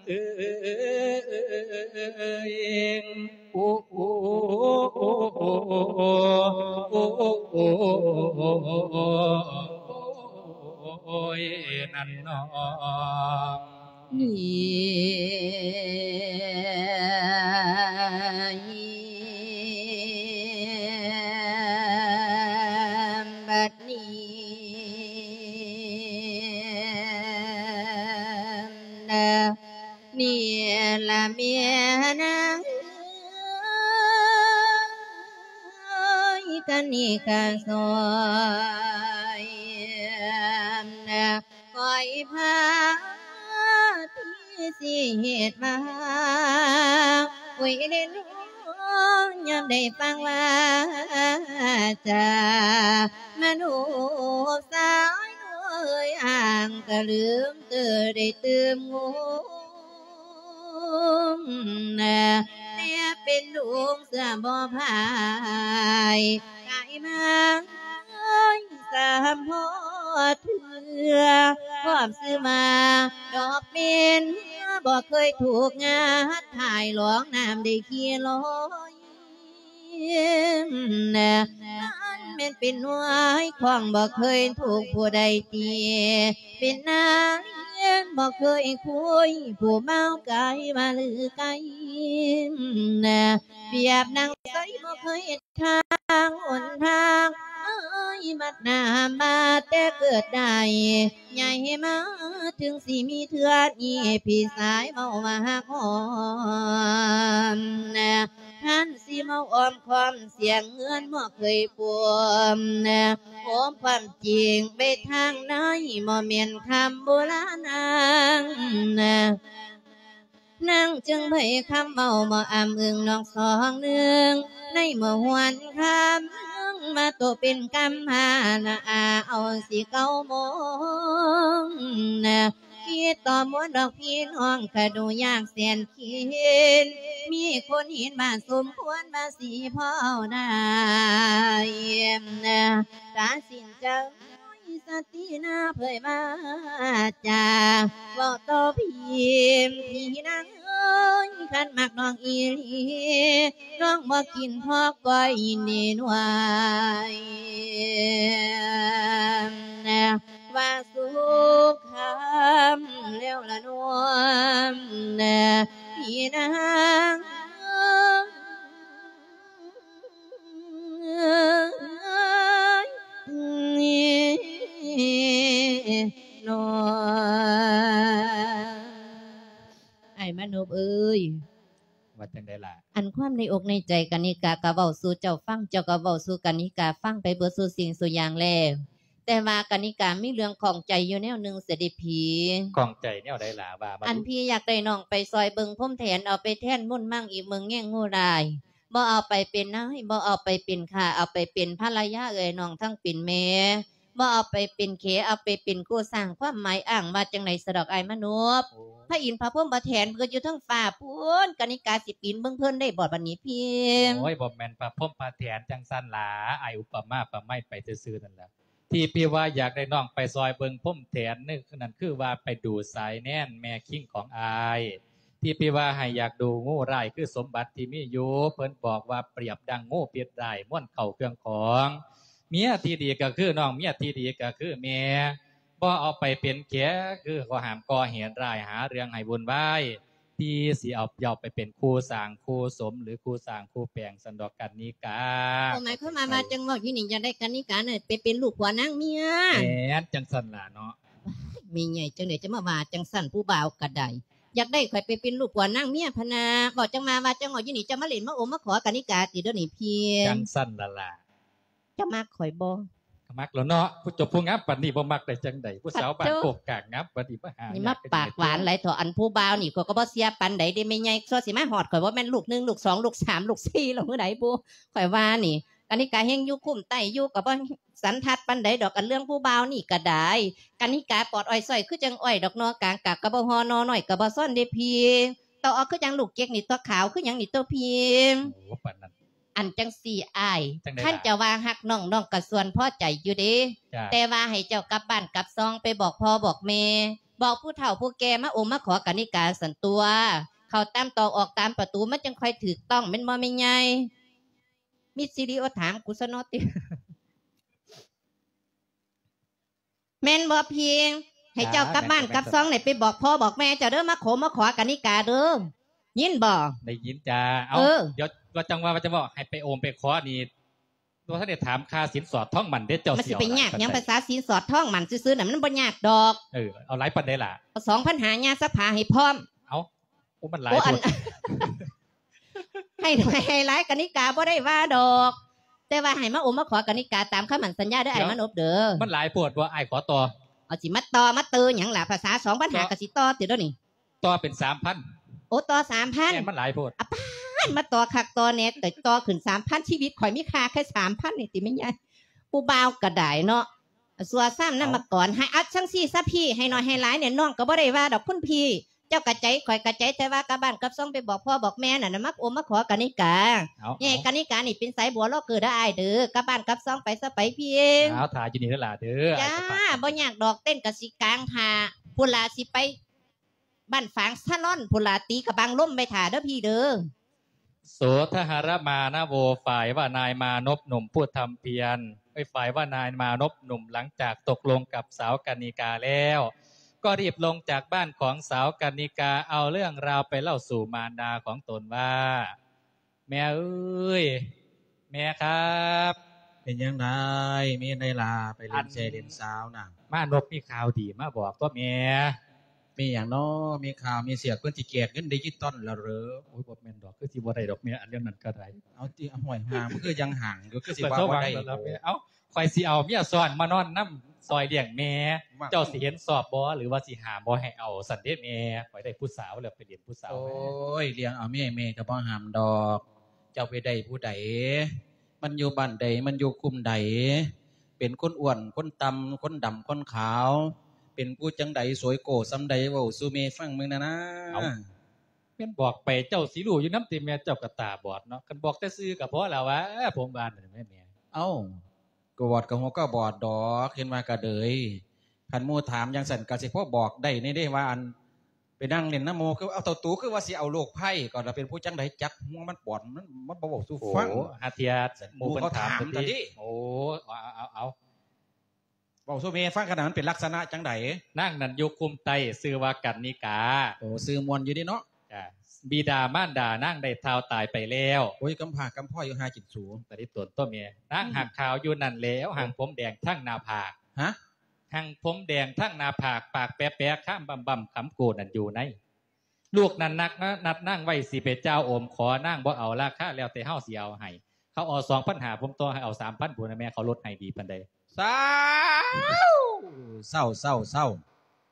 ເອີຍ ໂອ້ ໂອ້ ໂອ້ ໂອ້ ໂອ້ຍ ນັ້ນນ້ອງ ນີ້ ບັດນີ້ນະ ນີ້ລະແມ່ນາງເອີຍ ກະນິກາສອຍນະ ຂ້ອຍພາທີ່ຊິເຮັດມາ ໂອ້ຍ ເດ້ນ້ອງ ຍາມໄດ້ຟັງວາຈາ ມະນຸດສາວເອີຍ ອ່າງກະລືມເຕີໄດ້ຕື່ມງຸມ ແຕ່ເປັນລຸງເຊື່ອບໍ່ພາຍ ກາຍມາ ສາມພໍເທື່ອ ຄວາມຊື່ມາດອກເປັນ ບໍ່ເຄີຍຖືກງັດ ຖ່າຍຫຼອງນ້ຳໄດ້ຂີ່ລອຍ ມັນແມ່ນເປັນໜ່ວຍຂອງ ບໍ່ເຄີຍຖືກຜູ້ໃດຕີ ເປັນນາຍບໍ່ເຄີຍຄຸຍ ຜູ້ເມົາກາຍວ່າລືໄກ ປຽບນາງໃສບໍ່ເຄີຍ ທາງຫົນທາງເອີຍ ມັດໜ້າມາແຕ່ເກີດໄດ້ ໃຫຍ່ມາເຖິງຊິມີເທື່ອນີ້ ພີ່ຊາຍເວົ້າວ່າຮັກຫອມ ທ່ານຊິເວົ້າອ້ອມຄ້ອມ ສຽງເຮືອນບໍ່ເຄີຍປວມ ໂອມຄວາມຈິງໄປທາງໃນ ບໍ່ແມ່ນຄຳໂບລານນາງ ນາງຈຶ່ງໃບ້ຄຳເວົ້າບໍ່ອ້ຳອຶງນອກສອງໜຶ່ງ ໃນເມື່ອຫວນຄ່ຳມາໂຕເປັນກຳພານາ ອາ ເອົາສິເກົ້າໂມງນະ ຄິດຕໍ່ມວນດອກພີ່ນ້ອງ ກະດູຍາກແສນເຂັນ ມີຄົນເຫັນວ່າສົມຄວນວ່າຊິພໍເອົາໄດ້ນະ ຕັດສິນໃຈ ສະຕິນາເຜີຍວາຈາ ເວົ້າຕໍ່ພີ່ ພີ່ນາງເອີຍ ຄັນມັກນ້ອງອີ່ຫຼີ ນ້ອງບໍ່ກິນພໍກ້ອຍເນໜ່ວຍ ວ່າສຸກຄຳແລ້ວລະນ້ອງ ພີ່ນາງ ເອີຍ ນ້ອງ ອ້າຍມານົບເອີຍ ວ່າຈັ່ງໃດລະ? ອັນຄວາມໃນອົກໃນໃຈກະນິກາກະເວົ້າສູ່ເຈົ້າຟັງ ເຈົ້າກະເວົ້າສູ່ກະນິກາຟັງໄປເບິດສູ່ສິ່ງສູ່ຢ່າງແລ້ວ ແຕ່ວ່າກະນິກາມີເລື່ອງຂ້ອງໃຈຢູ່ແນວໜຶ່ງເສຍເດພີ. ຂ້ອງໃຈແນວໃດລະ? ວ່າມາ. ອັນພີ່ຢາກໄດ້ນ້ອງໄປຊ່ອຍເບິ່ງພົມແທນ ເອົາໄປແທນມົນມັງອີກເບິ່ງແຍງງູລາຍ ບໍ່ເອົາໄປເປັນນາຍ ບໍ່ເອົາໄປເປັນຂ້າ ເອົາໄປເປັນພັນລະຍາເອື້ອຍນ້ອງທັງເປັນແມ່ ບໍ່ເອົາໄປເປັນເຂ ເອົາໄປເປັນຄູ່ສ້າງ ຄວາມໝາຍອ້າງວ່າຈັ່ງໃດສະດອກອ້າຍມະນົບ? ໂອ້ ພະອິນພະພົມພະແຖນເພິ່ນຢູ່ເທິງຟ້າພຸ້ນ ກະນິກາຊິປີນເບິ່ງເພິ່ນໄດ້ບໍ່ບັດນີ້ພີ່? ໂອ້ຍ ບໍ່ແມ່ນພະພົມພະແຖນຈັ່ງຊັ້ນລະ ອ້າຍອຸປະມາປະໄມໄປຊື່ໆນັ້ນລະ. ທີ່ພີ່ວ່າຢາກໄດ້ນ້ອງໄປຊ່ອຍເບິ່ງພົມແຖນນັ້ນ ນັ້ນຄືວ່າໄປດູສາຍແນນແມ່ຄິງຂອງອ້າຍ ທີ່ພີ່ວ່າໃຫ້ຢາກດູງູຮ້າຍຄືສົມບັດທີ່ມີຢູ່ ເພິ່ນບອກວ່າປຽບດັ່ງງູພິດຮ້າຍ ມວນເຂົ້າເຄື່ອງຂອງ ເມຍທີ່ດີກະຄືນ້ອງ ເມຍທີ່ດີກະຄືແມ່ ບໍ່ເອົາໄປເປັນແຂ ຄືຂໍ້ຫ້າມກໍ່ເຫດຮ້າຍ ຫາເລື່ອງໃຫ້ວຸ່ນວາຍ ທີ່ຊິເອົາເຈົ້າໄປເປັນຄູ່ສ້າງຄູ່ສົມ ຫຼື ຄູ່ສ້າງຄູ່ແປງຊັ້ນດອກກະນິກາ. ໂອ້ ໝາຍຄວາມວ່າ ວ່າຈັ່ງເວົ້າຢູ່ນີ້ ຢາກໄດ້ກະນິການັ້ນໄປເປັນລູກຜົວນາງເມຍ. ແມ່ນຈັ່ງຊັ້ນລະເນາະ. ແມ່ໃຫຍ່ຈັ່ງໃດຈະມາວ່າຈັ່ງຊັ້ນ ຜູ້ບ່າວກະໄດ້ ຢາກໄດ້ຂ້ອຍໄປເປັນລູກຜົວນາງເມຍພະນາ. ເວົ້າຈັ່ງມາ ວ່າຈັ່ງເວົ້າຢູ່ນີ້ ຈະມາຫຼິ້ນມາໂອມມາຂໍກະນິກາຕິດຽວນີ້ພີ່? ຈັ່ງຊັ້ນລະລະ. ເຈົ້າມັກຂ້ອຍບໍ່? ກໍມັກແລ້ວເນາະ ຜູ້ຈົບຜູ້ງາມປານນີ້ບໍ່ມັກໄດ້ຈັ່ງໃດ ຜູ້ສາວບ້ານໂຄກກາງງາມປານນີ້ມາຫາ ນີ້ມາປາກຫວານຫຼາຍເຖາະ ອັນຜູ້ບ່າວນີ້ຂ້ອຍກໍບໍ່ເຊື່ອປານໃດເດ້ແມ່ໃຫຍ່ ຊົ່ວຊິມາຮອດຂ້ອຍບໍ່ແມ່ນລູກໜຶ່ງ ລູກສອງ ລູກສາມ ລູກສີ່ ແລ້ວມື້ໃດບຸ ຂ້ອຍວ່ານີ້ ກະນິກາແຮ່ງຢູ່ຄຸ້ມໄຕ້ຢູ່ ກໍບໍ່ສັນທັດປານໃດດອກ ອັນເລື່ອງຜູ້ບ່າວນີ້ກໍໄດ້. ກະນິກາປອດອ້ອຍຊ້ອຍຄືຈັ່ງອ້ອຍດອກ ໜໍ່ກາງກາບກໍບໍ່ຫໍ່ ໜໍ່ນ້ອຍກໍບໍ່ຊ້ອນເດ້ພີ່. ເຕົ້າອອກຄືຈັ່ງລູກເຈັກນີ້ຕົວະ ຂາວຄືຫຍັງນີ້ຕົວະພີ່. ໂອ້ ປານນັ້ນ. ອັນຈັ່ງຊີ້ອ້າຍ ຈັ່ງໃດລະ? ຄັນເຈົ້າວ່າຮັກນ້ອງ ນ້ອງກໍສ່ວນພໍໃຈຢູ່ເດ້. ຈ້າ. ແຕ່ວ່າໃຫ້ເຈົ້າກັບບ້ານກັບຊ່ອງ ໄປບອກພໍ່ບອກແມ່ ບອກຜູ້ເຖົ້າຜູ້ແກ່ມາໂອມມາຂໍກະນິກາຊັ້ນຕົວະ. ເຂົ້າຕາມຕອກອອກຕາມປະຕູ ມັນຈັ່ງຄ່ອຍຖືກຕ້ອງ ແມ່ນບໍ່ແມ່ໃຫຍ່? ມີວິດີໂອຖາມກູຊະເນາະຕິ. ແມ່ນບໍ່ພີ່? ໃຫ້ເຈົ້າກັບບ້ານກັບຊ່ອງນີ້ ໄປບອກພໍ່ບອກແມ່ເຈົ້າເດີ ມາໂຄມາຂໍກະນິກາເດີ. ຍິນບໍ່? ໄດ້ຍິນຈ້າ. ເອົາ ເອີ ດຽວວ່າຈັ່ງວ່າ ວ່າຈະບອກໃຫ້ໄປໂອມໄປຂໍນີ້ ບໍ່ທັນໄດ້ຖາມຄ່າສິນສອດທອງໝັ້ນເດ້ ເຈົ້າ ມັນຊິໄປຍາກຫຍັງ? ພາສາສິນສອດທອງໝັ້ນຊື່ໆນະ ມັນບໍ່ຍາກດອກ. ເອີ ເອົາຫຼາຍປານໃດລະ? ເອົາສອງພັນຫ້າ ຍ່າສະພາໃຫ້ພ້ອມ. ເອົາ ໂອ້ ມັນຫຼາຍ ໂອ້ ອັນ ໂພດ. ໃຫ້ ໃຫ້ຫຼາຍກະນິກາບໍ່ໄດ້ວ່າດອກ ແຕ່ວ່າໃຫ້ມາໂອມມາຂໍກະນິກາຕາມຄຳໝັ້ນສັນຍາເດີ ດຽວ ອ້າຍມານົບເດີ. ມັນຫຼາຍໂພດບໍ່? ອ້າຍຂໍຕໍ່. ເອົາ ຊິມາຕໍ່ມາເຕີຫຍັງລະ? ພາສາສອງພັນຫ້າ ກໍຊິຕໍ່ຕິດດຽວນີ້. ຕໍ່ເປັນສາມພັນ. ໂອ້ ຕໍ່ສາມພັນ. ແມ່ນ ມັນຫຼາຍໂພດ. ອາປາດ ມາຕໍ່ຄັກຕໍ່ແນ່ ແຕ່ຕໍ່ຂຶ້ນສາມພັນ ຊີວິດຂ້ອຍມີຄ່າແຄ່ສາມພັນນີ້ຕິແມ່ໃຫຍ່? ຜູ້ບ່າວກໍໄດ້ເນາະ ຊົ່ວຊ້ຳນຳມາກ່ອນ. ເອົາ ໃຫ້ອັດຈັ່ງຊີ້ຊະພີ່ ໃຫ້ໜ້ອຍໃຫ້ຫຼາຍນີ້ ນ້ອງກໍບໍ່ໄດ້ວ່າດອກຄຸນພີ່. ເຈົ້າກະໃຈ ຂ້ອຍກະໃຈ ແຕ່ວ່າກັບບ້ານກັບຊ່ອງໄປບອກພໍ່ບອກແມ່ນັ້ນນະ ມາໂອມມາຂໍກະນິກາ. ເອົາ ໃຫ້ກະນິການີ້ເປັນສາຍບົວລໍເກີເດີອ້າຍເດີ ກັບບ້ານກັບຊ່ອງໄປຊະໄປພີ່. ເອົາ ຖ້າຢູ່ນີ້ເດີຫຼ້າເດີ. ຈ້າ ອ້າຍຈະພາໄປ. ບໍ່ຍາກດອກ ເຕັ້ນກະຊິກາງຖ້າ ພຸ້ນລະ ຊິໄປ ບ້ານຝາງສາລອນພຸ້ນລະ ຕີກະບັງລົມໄວ້ຖ້າເດີພີ່ເດີ. ໂສທະຫະຣະມານະໂວ ຝ່າຍວ່ານາຍມານົບໜຸ່ມຜູ້ທຳພຽນ ເອີຍ ຝ່າຍວ່ານາຍມານົບໜຸ່ມ ຫຼັງຈາກຕົກລົງກັບສາວກະນິກາແລ້ວ ກໍຣີບລົງຈາກບ້ານຂອງສາວກະນິກາ ເອົາເລື່ອງລາວໄປເລົ່າສູ່ມານດາຂອງຕົນວ່າ ແມ່ເອີຍ ແມ່ຄັບ. ເປັນຫຍັງໄດ? ມີອັນໃດລະ? ໄປຫຼິ້ນແຊຫຼິ້ນສາວນະ. ມານົບມີຂ່າວດີມາບອກຕົວະແມ່. ມີຫຍັງນໍ? ມີຂ່າວມີສຽກ ເພິ່ນຊິແຈກເງິນດິຈິຕອນລະເດີ. ໂອ້ຍ ບໍ່ແມ່ນດອກ ຄືຊິບໍ່ໄດ້ດອກແມ່ ອັນເລື່ອງນັ້ນກໍໄດ້. ເອົາຕິ ຫ້ວຍ ຫ່າງ ມັນຄືຍັງຫ່າງຢູ່ ຄືຊິວ່າບໍ່ໄດ້. ເອົາ ຂ້ອຍຊິເອົາເມຍຊ້ອນມານອນນຳ ຊ່ອຍລ້ຽງແມ່ ເຈົ້າຊິເຫັນຊອບບໍ່ ຫຼືວ່າຊິຫ້າມບໍ່ໃຫ້ເອົາ? ຊັ້ນເດ້ແມ່ ຂ້ອຍໄດ້ຜູ້ສາວແລ້ວ ໄປຫຼິ້ນຜູ້ສາວ. ໂອ້ຍ ລ້ຽງເອົາເມຍ ແມ່ກໍບໍ່ຫ້າມດອກ. ເຈົ້າໄປໄດ້ຜູ້ໃດ? ມັນຢູ່ບ້ານໃດ? ມັນຢູ່ຄຸ້ມໃດ? ເປັນຄົນອ້ວນ ຄົນຕ່ຳ ຄົນດຳ ຄົນຂາວ? ເປັນຜູ້ຈັ່ງໃດ? ສວຍໂກ້ສ່ຳໃດ? ເວົ້າສູ່ແມ່ຟັງເບິ່ງແດ່ນາ. ເອົາ ແມ່ນບອກໄປເຈົ້າຊິຮູ້ຢູ່ນຳຕິແມ່? ເຈົ້າກໍຕາບອດເນາະ ຄັນບອກແຕ່ຊື່ກໍພໍແລ້ວຫວາ ຜົມວ່ານັ້ນແມ່. ເອົ້າ ກະບອດກະຫົວກະບອດດອກ ເຫັນວ່າກະເດີຍ. ຄັນໝູ່ຖາມຈັ່ງຊັ້ນກະຊິພໍບອກໄດ້ແດ່ເດ້ວ່າ ອັນ ໄປນັ່ງຫຼິ້ນນຳໝູ່ ຄືເອົາເຕົ້າຕູ ຄືວ່າຊິເອົາລູກໃພ້ ກໍລະເປັນຜູ້ຈັ່ງໃດ ຈັກຫົວມັນບອດ ມັນ ມັນບໍ່ເວົ້າສູ່ຟັງ. ໂອ້ ຫາເທື່ອໝູ່ເພິ່ນຖາມ ໝູ່ເຂົາຖາມກັນຕິ. ໂອ້ ເອົາ ເອົາ ເອົາ ເວົ້າສູ່ແມ່ຟັງ ຂະໜາດມັນເປັນລັກສະນະຈັ່ງໃດ? ນາງນັ້ນຢູ່ຄຸ້ມໃຕ້ ຊື່ວ່າກັນນິກາ. ໂອ້ ຊື່ມ່ວນຢູ່ເດເນາະ. ຈ້າ ບິດາມານດານາງໄດ້ທ້າວຕາຍໄປແລ້ວ. ໂອ້ຍ ກຳພ້າກຳພ້ອຍຢູ່ຫາກິນສູ ຕາລິຕົນຕົວແມ່. ນາງຫາກຂາວຢູ່ນັ້ນແຫຼວ ຫາງຜົມແດງທັງໜ້າຜາກ. ຫະ? ຫາງຜົມແດງທັງໜ້າຜາກ ປາກແປະໆ ຄາມບຳໆ ຂຳໂກນັ້ນຢູ່ໃນ. ລູກນັ້ນນັດນາງໄວ້ ຊິໄປຈ່າວໂອມຂໍ ນາງບໍ່ເອົາ ລາຄາແລ້ວແຕ່ເຮົາຊິເອົາໃຫ້. ເຂົາເອົາສອງພັນຫ້າ ຜົມຕໍ່ໃຫ້ເອົາສາມພັນພຸ້ນນະແມ່ ເຂົາລົດໃຫ້ດີປານໃດ? ເຊົາ ເຊົາ ເຊົາ ເຊົາ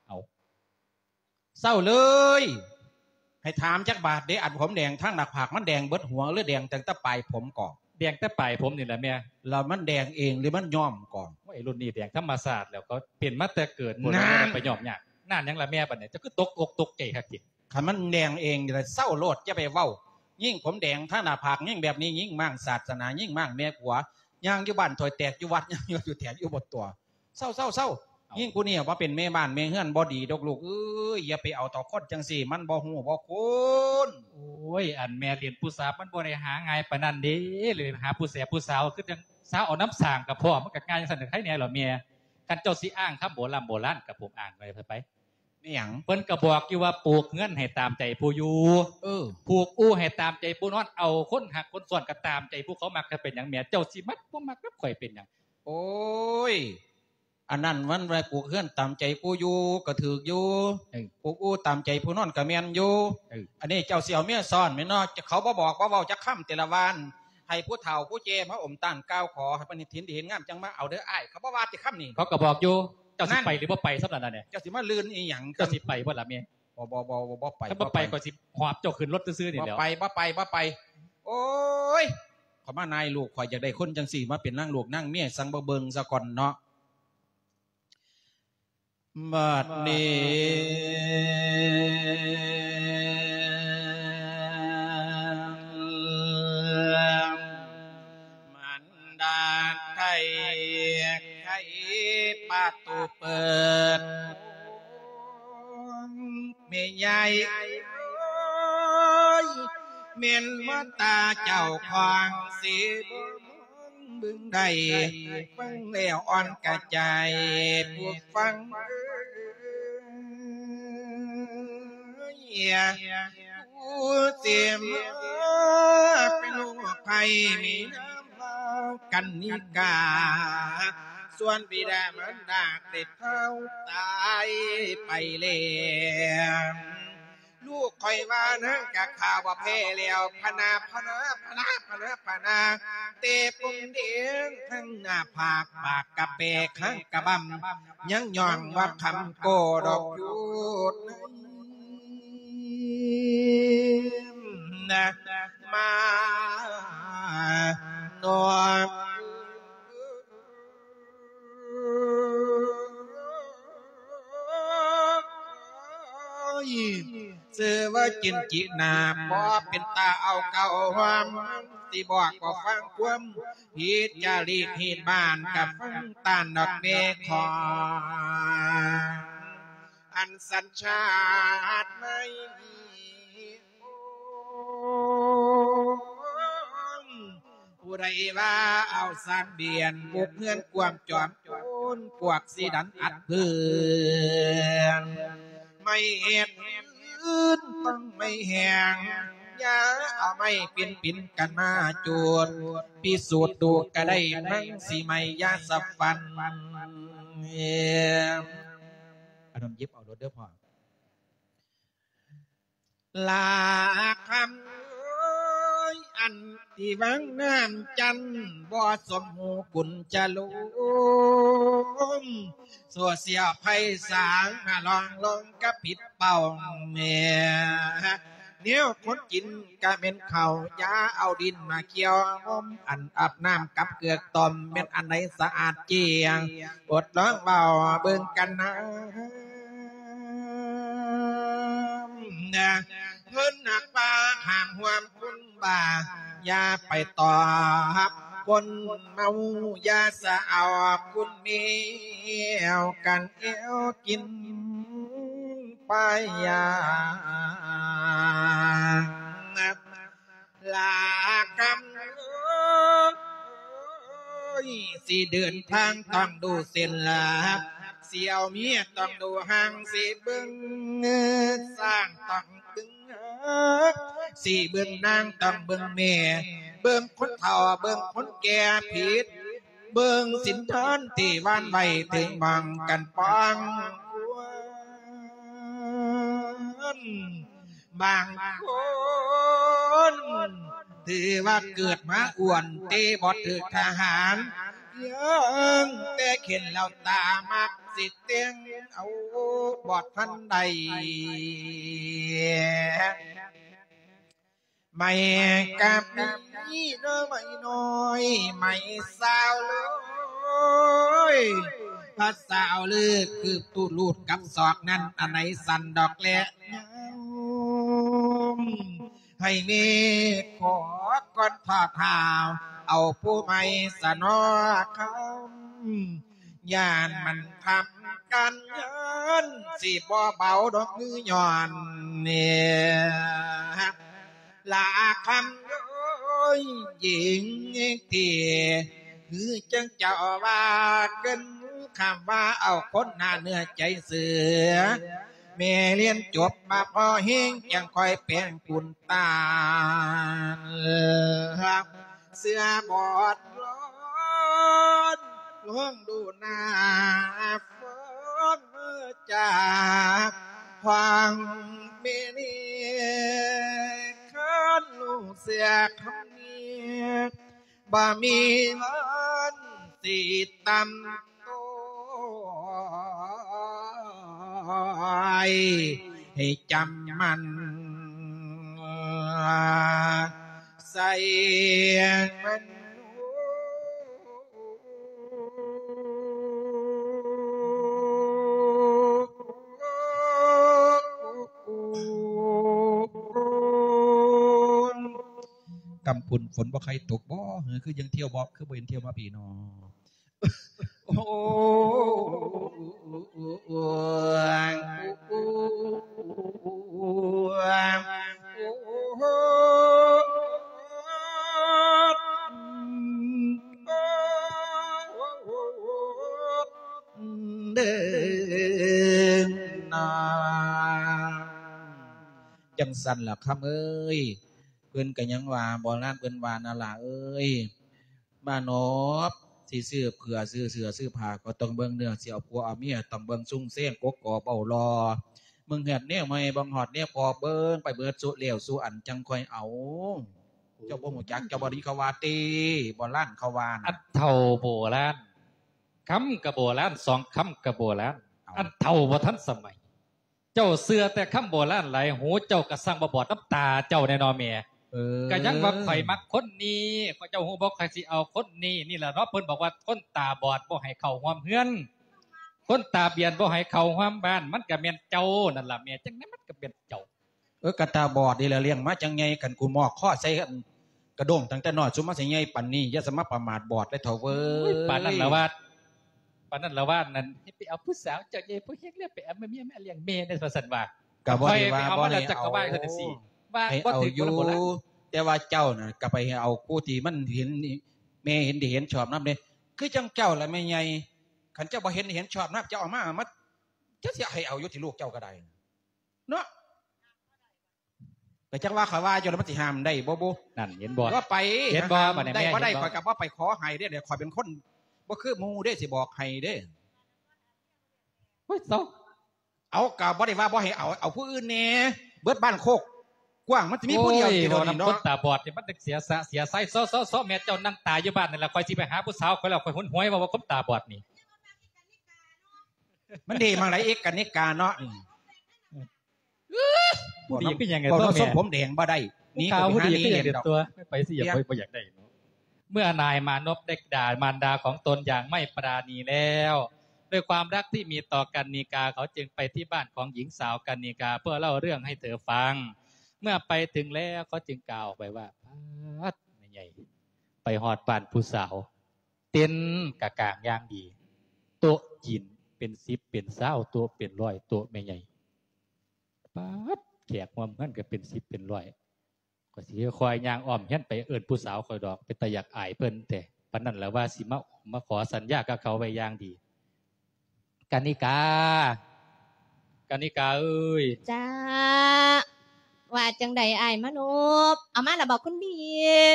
ເອົາ ເຊົາເລີຍ. ໃຫ້ຖາມຈັກບາດເດ ອັນຜົມແດງທາງໜ້າຜາກ ມັນແດງເບິດຫົວ ຫຼືແດງຕັ້ງແຕ່ປາຍຜົມກໍ? ແດງແຕ່ປາຍຜົມນີ້ແຫຼະແມ່. ແລ້ວມັນແດງເອງ ຫຼືມັນຍ້ອມກໍ? ໂອ້ຍ ລຸ້ນນີ້ແດງທຳມະຊາດແລ້ວ ເຂົາເປັນມາແຕ່ເກີດພຸ້ນ ນານ ບໍ່ໄດ້ໄປຍ້ອມຍາກ. ນານຫຍັງລະແມ່ ບາດນີ້ ເຈົ້າຄືຕົກອົກຕົກໃຈຄັກຕິ? ຄັນມັນແດງເອງນີ້ລະ ເຊົາໂລດ ຢ່າໄປເວົ້າ. ຍິງຜົມແດງທາງໜ້າຜາກ ຍິງແບບນີ້ ຍິງມ້າງສາດສະໜາ ຍິງມ້າງແມ່ຜົວ ຍ່າງຢູ່ບ້ານຖ້ວຍແຕກ ຢູ່ວັດຍ່າງຢູ່ຖ້ວຍແຕກ ຢູ່ບໍ່ຕົວະ. ເຊົາ ເຊົາ ເຊົາ. ເອົ້າ ຍິງຜູ້ນີ້ວ່າເປັນແມ່ບ້ານແມ່ເຮືອນບໍ່ດີດອກລູກເອີຍ ຢ່າໄປເອົາຕໍ່ຄົນຈັ່ງຊີ້ ມັນບໍ່ຮູ້ບໍ່ຄຸນ. ໂອ້ຍ ອັນແມ່ລ້ຽງຜູ້ສາວ ມັນບໍ່ໄດ້ຫາງ່າຍປານນັ້ນເດ້ ຫຼືຫາຜູ້ແສບຜູ້ສາວ ຄືຈັ່ງສາວເອົານຳສ້າງກະພໍ້ ມັນກະງ່າຍຈັ່ງຊັ້ນ ໃຄແນ່ລະແມ່. ຄັນເຈົ້າຊິອ້າງຄຳໂບລຳໂບລານ ກະຜົມອ້າງໄປ ໄປ ແມ່ນຫຍັງ? ເພິ່ນກໍບອກຢູ່ວ່າ ປູກເຮືອນໃຫ້ຕາມໃຈຜູ້ຢູ່ ເອີ ຜູກອູ່ໃຫ້ຕາມໃຈຜູ້ນອນ ເອົາຄົນຮັກຄົນຊ້ອນກໍຕາມໃຈຜູ້ເຂົາມັກ. ກໍເປັນຫຍັງແມ່ ເຈົ້າຊິມັກບໍ່ມັກກັບຂ້ອຍເປັນຫຍັງ? ໂອ້ຍ ອັນນັ້ນມັນວ່າປູກເຮືອນຕາມໃຈຜູ້ຢູ່ກໍຖືກຢູ່ ເອີ ປູກອູ່ຕາມໃຈຜູ້ນອນກໍແມ່ນຢູ່ ເອີ ອັນນີ້ເຈົ້າຊິເອົາເມຍຊ້ອນແມ່ນເນາະ? ເຂົາບໍ່ບອກບໍ່ເວົ້າຈັກຄຳ ແຕ່ລະວານ ໃຫ້ຜູ້ເຖົ້າຜູ້ແກ່ມາອົມຕ້ານກ່າວຂໍ ໃຫ້ເພິ່ນເຫັນດີເຫັນງາມຈັ່ງມາເອົາເດີອ້າຍ ເຂົາບໍ່ວ່າຈັກຄຳນີ້. ເຂົາກໍບອກຢູ່ ເຈົ້າຊິໄປຫຼືບໍ່ໄປສ່ຳນັ້ນລະແນ່. ເຈົ້າຊິມາລື່ນອີ່ຫຍັງ? ເຈົ້າຊິໄປບໍ່ລະແມ່? ບໍ່ ບໍ່ ບໍ່ ບໍ່ໄປ. ຄັນບໍ່ໄປ ຂ້ອຍຊິຫອບເຈົ້າຂຶ້ນລົດຊື່ໆນີ້ແຫຼ້ວ. ບໍ່ໄປ ບໍ່ໄປ ບໍ່ໄປ. ໂອ້ຍ ຂ້ອຍມານາຍລູກ ຂ້ອຍຢາກໄດ້ຄົນຈັ່ງຊີ້ມາເປັນນາງລູກນາງເມຍ ສັງບໍ່ເບິ່ງຊະກ່ອນເນາະ. ບັດນີ້ມັນດາໄດ້ໄຂປະຕູເປີດ ແມ່ຍາຍເອີຍ ແມ່ນວ່າຕາເຈົ້າຂອງຊິບໍ່ມອງເບິ່ງໄດ້ ຟັງແລ້ວອ່ອນກະໃຈຜູ້ຟັງເອີຍ ຜູ້ເສມາເປັນໂລກໄພມີນາມວ່າກັນນິກາ ສ່ວນບິດາມານດາໄດ້ເຖົ້າຕາຍໄປແລ້ວ ລູກຂ້ອຍວ່ານາງກະຂ້າບໍ່ແພ້ແລ້ວ ພະນາ ພະນາ ພະນາ ພະນາ ພະນາ ແຕ່ປົມແດງທັງໜ້າຜາກ ປາກກະແປຄາງກະບຳ ຍັງຍ້ອງວ່າຄຳກໍດອກຢູ່ນະ ມານອກ ຊື່ວ່າຈິນຈິນາ ບໍ່ເປັນຕາເອົາເກົ່າຫອມ ຊິບອກບໍ່ຟັງຄວາມ ຜິດຈາລີກຮີດບ້ານ ກະຟັງຕານດອກແມ່ຂອງ ອັນສັນຊາດໃໝ່ ຜູ້ໃດວ່າເອົາສາມບຽນ ບຸກເຮືອນກວມຈອມໂຈນ ພວກສີດັນອັດເພື່ອນ ໄມ້ເຮັດອື່ນຕ້ອງໄມ້ແຫ້ງ ຢ່າເອົາໄມ້ປິ່ນປິ່ນກັນມາຈູດ ພິສູດດູກະໄດ້ ມັນຊິໄໝ້ ຢ່າສະຝັນ ອັນນັ້ນເຢັບເອົາໂລດເດີພໍ່. ລາຄຳເອີຍ ອັນທີ່ວັງນ້ຳຈັນ ບໍ່ສົມຫູບຸນຈະລົມ ໂຊຊຽວໄພສາງ ມາລອງລົງກະຜິດເປົ້າແມ່ ແນວຄົນກິນກະແມ່ນເຂົ້າ ຢ່າເອົາດິນມາກ່ຽວຫົ່ມ ອັນອາບນ້ຳກັບເກືອກຕົ້ມ ແມ່ນອັນໃດສະອາດຈຽງ ອົດລອງເວົ້າເບິ່ງກັນນາ ເພິ່ນນັກວ່າຫ້າມຮ່ວມຄົນບ້າ ຢ່າໄປຕອບຄົນເມົາ ຢ່າສະເອົາຄຸນແມວກັນແອວກິນປາຍາ ລາຄຳເອີຍ ຊິເດີນທາງຕ້ອງດູເສັ້ນລາ ຊິເອົາເມຍຕ້ອງດູຮ່າງ ຊິເບິ່ງຊ້າງຕ້ອງເບິ່ງນາ ຊິເບິ່ງນາງຕ້ອງເບິ່ງແມ່ ເບິ່ງຄົນເຖົ້າເບິ່ງຄົນແກ່ຜິດ ເບິ່ງສິນທອນທີ່ວານໄວ້ ເຖິງໝ່ອງກັນປ້ອງຄວນ ບາງຄົນຖືວ່າເກີດມາອ້ວນ ແຕ່ບໍ່ຖືກທະຫານ ພຽງແຕ່ເຫັນແລ້ວຕາມັກ ຊິແຕ່ງເອົາບໍ່ທັນໄດ້ ໄໝ້ກະມີເດີໄໝ້ນ້ອຍ ໄໝ້ສາວເລີຍ ພາສາວເລີກຄືບຕູດລູດກັບສອກນັ້ນ ອັນໃດສັ່ນດອກແລຍາວ ໃຫ້ແມ່ຂໍກ່ອນທອດຫາວ ເອົາຜູ້ໃໝ່ສະໜໍຄຳ ຢ້ານມັນທຳການງານ ຊິບໍ່ເບົາດອກມືຍ້ອນນີ້ ລາຄຳເອີຍ ຍິງທີ່ ຄືຈັ່ງເຈົ້າວ່າເກີນຄຳວ່າ ເອົາຄົນໜ້າເນື້ອໃຈເສືອ ແມ່ຮຽນຈົບມາພໍແຮງ ຈັ່ງຄ່ອຍແປງປຸນຕານ ເສືອບອດລອນ ລອງດູໜ້າຟອນຈາກຂອງແມ່ນີ້ ຄັນລູກເສືອຄຳນີ້ ບໍ່ມີວັນຊິຕຳໂຕຍ ໃຫ້ຈຳໝັ້ນ ໃສ່ມັນ ກຳພຸ້ນຝົນບໍ່ໃຄ່ຕົກບໍ? ເອີ ຄືຍັງທ່ຽວບໍ່ ຄືບໍ່ເຫັນທ່ຽວມາພີ້ນໍ? ໂອ້ ເດີນາ ຈັ່ງຊັ້ນລະຄຳເອີຍ ເພິ່ນກະຍັງວ່າ ໂບລານເພິ່ນວ່ານະຫຼ້າເອີຍ ມານອບ ຊິຊື້ເຜືອ ຊື້ເສື້ອ ຊື້ຜ້າ ກໍຕ້ອງເບິ່ງເນື້ອ ຊິເອົາຜົວເອົາເມຍ ຕ້ອງເບິ່ງຊຸງແຊງ ກົກກອບເວົ້າຫຼໍ່ ເບິ່ງຮອດແນວໃໝ່ ເບິ່ງຮອດແນວເກົ່າ ເບິ່ງໄປເບິດສູ່ແລ້ວສູ່ອັນ ຈັ່ງຄ່ອຍເອົາ. ເຈົ້າບໍ່ຮູ້ຈັກ ເຈົ້າບໍ່ໄດ້ຍິນເຂົາວ່າຕິ ໂບລານເຂົາວ່ານະ. ອັນເຖົ້າໂບລານ ຄຳກະໂບລານ ສອງຄຳກະໂບລານ ເອົ້າ ອັນເຖົ້າບໍ່ທັນສະໄໝ. ເຈົ້າເຊື່ອແຕ່ຄຳໂບລານຫຼາຍ ຫູເຈົ້າກະຊ່າງບໍ່ບອດນຳຕາເຈົ້າແດ່ເນາະແມ່. ເອີ ກະຍັງວ່າຂ້ອຍມັກຄົນນີ້ ເຈົ້າຮູ້ບໍ່ ຂ້ອຍຊິເອົາຄົນນີ້ ນີ້ລະເນາະ ເພິ່ນບອກວ່າຄົນຕາບອດບໍ່ໃຫ້ເຂົ້າຮ່ວມເຮືອນ ຄົນຕາບຽນບໍ່ໃຫ້ເຂົ້າຮ່ວມບ້ານ ມັນກະແມ່ນເຈົ້ານັ້ນລະແມ່ ຈັ່ງໃດມັນກະແມ່ນເຈົ້າ. ເອີ ກະຕາບອດນີ້ລະລ້ຽງມາຈັ່ງໃຫຍ່ ຄັນກູມອກຄໍໃສ່ອັນ ກະດົ້ງຕັ້ງແຕ່ນ້ອຍ ຊຸມມາຊິໃຫຍ່ປານນີ້ ຢ່າສະມາປະໝາດບອດເລີຍເຖົ້າເວີຍ. ໂອ້ຍ ປານນັ້ນລະວ່າ ປານນັ້ນລະວ່ານັ້ນ ໃຫ້ໄປເອົາຜູ້ສາວເຈົ້າໃຫຍ່ຜູ້ເຮັງແລ້ວ ໄປເອົາເມຍມາລ້ຽງແມ່ແດ່ ວ່າຊັ້ນວ່າ. ກະບໍ່ໄດ້ວ່າບໍ່ໃຫ້ເອົາ ວ່າບໍ່ຖືກ ໃຫ້ເອົາຢູ່ ແຕ່ວ່າເຈົ້ານະ ກະໄປໃຫ້ເອົາຜູ້ທີ່ມັນເຫັນ ແມ່ເຫັນດີເຫັນຊອບນຳເດ້ ຄືຈັ່ງເຈົ້າລະແມ່ໃຫຍ່ ຄັນເຈົ້າບໍ່ເຫັນດີເຫັນຊອບນຳ ເຈົ້າເອົາມາ ມາ ເຈົ້າຊິໃຫ້ເອົາຢູ່ຕິ ລູກເຈົ້າກະໄດ້ ເນາະ ກະຈັ່ງວ່າຂ້ອຍວ່າຢູ່ລະ ມັນຊິຫ້າມໄດ້ບໍ່ບຸ? ນັ້ນເຫັນບໍ່ ວ່າໄປ ເຫັນບໍ່ ຫາຫ້າມ ບາດນີ້ ໄດ້ ແມ່ ບໍ່ໄດ້ ເຫັນບໍ່? ຂ້ອຍກະບໍ່ໄປຂໍໃຫ້ເດ້ ຂ້ອຍເປັນຄົນບໍ່ຄືໝູ່ເດ້ ຊິບອກໃຫ້ເດ້. ໂອ້ຍ ເຊົາ ເອົາ ກະບໍ່ໄດ້ວ່າບໍ່ໃຫ້ເອົາ ເອົາຜູ້ອື່ນແດ່ ເບິດບ້ານໂຄກກວ້າງ ມັນຊິມີຜູ້ດຽວຕິ ໂອ້ຍ ດຽວນີ້ເນາະ ຄົນຕາບອດນີ້ມັນຈັ່ງເສຍສະເສຍໄຊ. ເຊົາ ເຊົາ ເຊົາ ແມ່ເຈົ້ານັ່ງຕາຢູ່ບ້ານນີ້ລະ ຂ້ອຍຊິໄປຫາຜູ້ສາວຂ້ອຍແລ້ວ ຂ້ອຍຫວຍວ່າ ວ່າຄົນຕາບອດນີ້ ມັນດີໝ່ອງໃດອີກ ກະນິກາເນາະ. ຜູ້ດີຄືຫຍັງ ເວົ້ານຳຊົມຜົມແດງບໍ່ໄດ້ ໜີໄປຫານີ້ເຫັນດອກ ໄປຊິ ບໍ່ຢາກໄດ້ເນາະ. ເມື່ອນາຍມານົບໄດ້ດ່າມານດາຂອງຕົນຢ່າງໄມ່ປານີແລ້ວ ດ້ວຍຄວາມຮັກທີ່ມີຕໍ່ກັນນິກາ ເຂົາຈຶ່ງໄປທີ່ບ້ານຂອງຍິງສາວກັນນິກາ ເພື່ອເລົ່າເລື່ອງໃຫ້ເທີຟັງ. ເມື່ອໄປເຖິງແລ້ວ ເຂົາຈຶ່ງກ່າວອອກໄປວ່າ ປາດ ແມ່ໃຫຍ່ ໄປຮອດບ້ານຜູ້ສາວ ເຕັນກະກາງຢ່າງດີ ໂຕະຈີນເປັນສິບເປັນຊາວໂຕະ ເປັນຮ້ອຍໂຕະ ແມ່ໃຫຍ່. ປາດ ແຂກຮ່ວມງານກະເປັນສິບເປັນຮ້ອຍ ຂ້ອຍຊິຄ່ອຍຍ່າງອ້ອມເຮືອນໄປເອີ້ນຜູ້ສາວຂ້ອຍດອກ ເປັນຕາຢາກອາຍເພິ່ນແທ້. ປານນັ້ນລະວ່າຊິມາມາຂໍສັນຍາກັບເຂົາໄວ້ຢ່າງດີ. ກະນິກາ ກະນິກາເອີຍ. ຈ້າ ວ່າຈັ່ງໃດອ້າຍມານົບ? ເອົາມາລະບໍຄຸນບີ?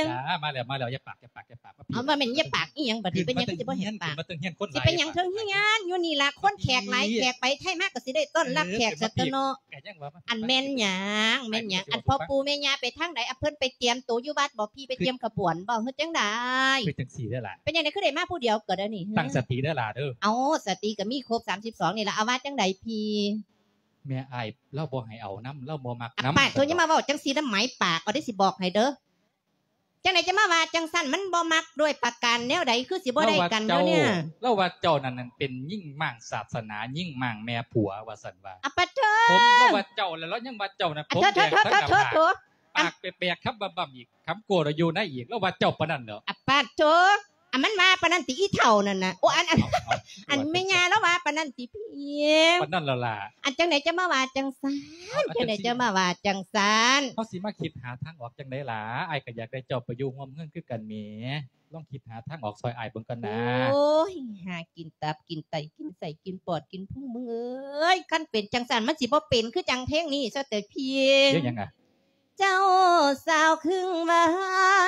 ຈ້າ ມາແລ້ວ ມາແລ້ວ ຢ່າປາກ ຢ່າປາກ ຢ່າປາກ ມາພີ້. ເອົາ ວ່າແມ່ນຢ່າປາກອີ່ຫຍັງບັດນີ້ ເປັນຫຍັງຄືຊິບໍ່ໃຫ້ປາກ? ຂຶ້ນມາເທິງເຮືອນຄົນຫຼາຍ ຊິໄປຫຍັງເທິງເຮືອນ? ຢູ່ນີ້ລະ ຄົນແຂກຫຼາຍ ແຂກໄປໄທມາກະຊິໄດ້ຕ້ອນຮັບແຂກຊັ້ນຕົວະເນາະ. ອັນແມ່ນຫຍັງ ແມ່ນຫຍັງ? ອັນພໍ່ປູ່ແມ່ຍ່າໄປທາງໃດ? ອັນເພິ່ນໄປຕຽມໂຕຢູ່ວັດບໍ? ພີ່ໄປຕຽມຂະບວນບໍ ເຮັດຈັ່ງໃດ? ຄືຈັ່ງຊີ້ເດີຫຼ້າ ເປັນຈັ່ງໃດຄືໄດ້ມາຜູ້ດຽວກະດຽວນີ້? ຕັ້ງສະຕິເດີຫຼ້າເດີ. ເອົາ ສະຕິກະມີຄົບສາມສິບສອງນີ້ລະ. ເອົາວ່າຈັ່ງໃດພີ່? ແມ່ອ້າຍລາວບໍ່ໃຫ້ເອົານຳ ລາວບໍ່ມັກນຳ. ປາກໂທ ຢ່າມາເວົ້າຈັ່ງຊີ້ນຳ ໝາຍປາກເອົາເດ້ ຊິບອກໃຫ້ເດີ. ຈັ່ງໃດຈະມາວ່າຈັ່ງຊັ້ນ? ມັນບໍ່ມັກດ້ວຍປະການແນວໃດ ຄືຊິບໍ່ໄດ້ກັນແນວນີ້? ລາວວ່າເຈົ້ານັ້ນເປັນຍິງມ້າງສາສະໜາ ຍິງມ້າງແມ່ຜົວ ວ່າຊັ້ນວ່າ. ອະປະໂທ ຜົມລາວວ່າເຈົ້າ ແລ້ວລາວຍັງວ່າເຈົ້ານັ້ນ ຜົມແດງທັງໜ້າຜາກ ປາກແປກໆ ຄຳບຳໆອີກ ຄຳໂກ້ລະຢູ່ໃນອີກ ລາວວ່າເຈົ້າປານນັ້ນແຫຼ້ວ. ອະປະໂທ ອັນມັນວ່າປານນັ້ນຕິ ອີ່ເຖົ້ານັ້ນນະ? ໂອ ອັນ ອັນ ອັນແມ່ຍ່າລາວວ່າປານນັ້ນຕິພີ່? ປານນັ້ນແຫຼະຫຼ້າ. ອັນຈັ່ງໃດຈະມາວ່າຈັ່ງຊັ້ນ? ຈັ່ງໃດຈະມາວ່າຈັ່ງຊັ້ນ? ເຮົາຊິມາຄິດຫາທາງອອກຈັ່ງໃດຫຼ້າ? ອ້າຍກະຢາກໄດ້ເຈົ້າໄປຢູ່ຮ່ວມເຮືອນຄືກັນແໝ. ລອງຄິດຫາທາງອອກຊ່ອຍອ້າຍເບິ່ງກ່ອນນາ. ໂອ້ຍ ຫາກິນຕັບກິນໄຕ ກິນໄສ້ກິນປອດກິນພຸງ ມຶງເອີຍ. ຄັນເປັນຈັ່ງຊັ້ນ ມັນຊິບໍ່ເປັນຄືຈັ່ງເພງນີ້ຊະເຕີພີ່. ເພງຫຍັງອະ? ເຈົ້າສາວຄຶ່ງຫວາ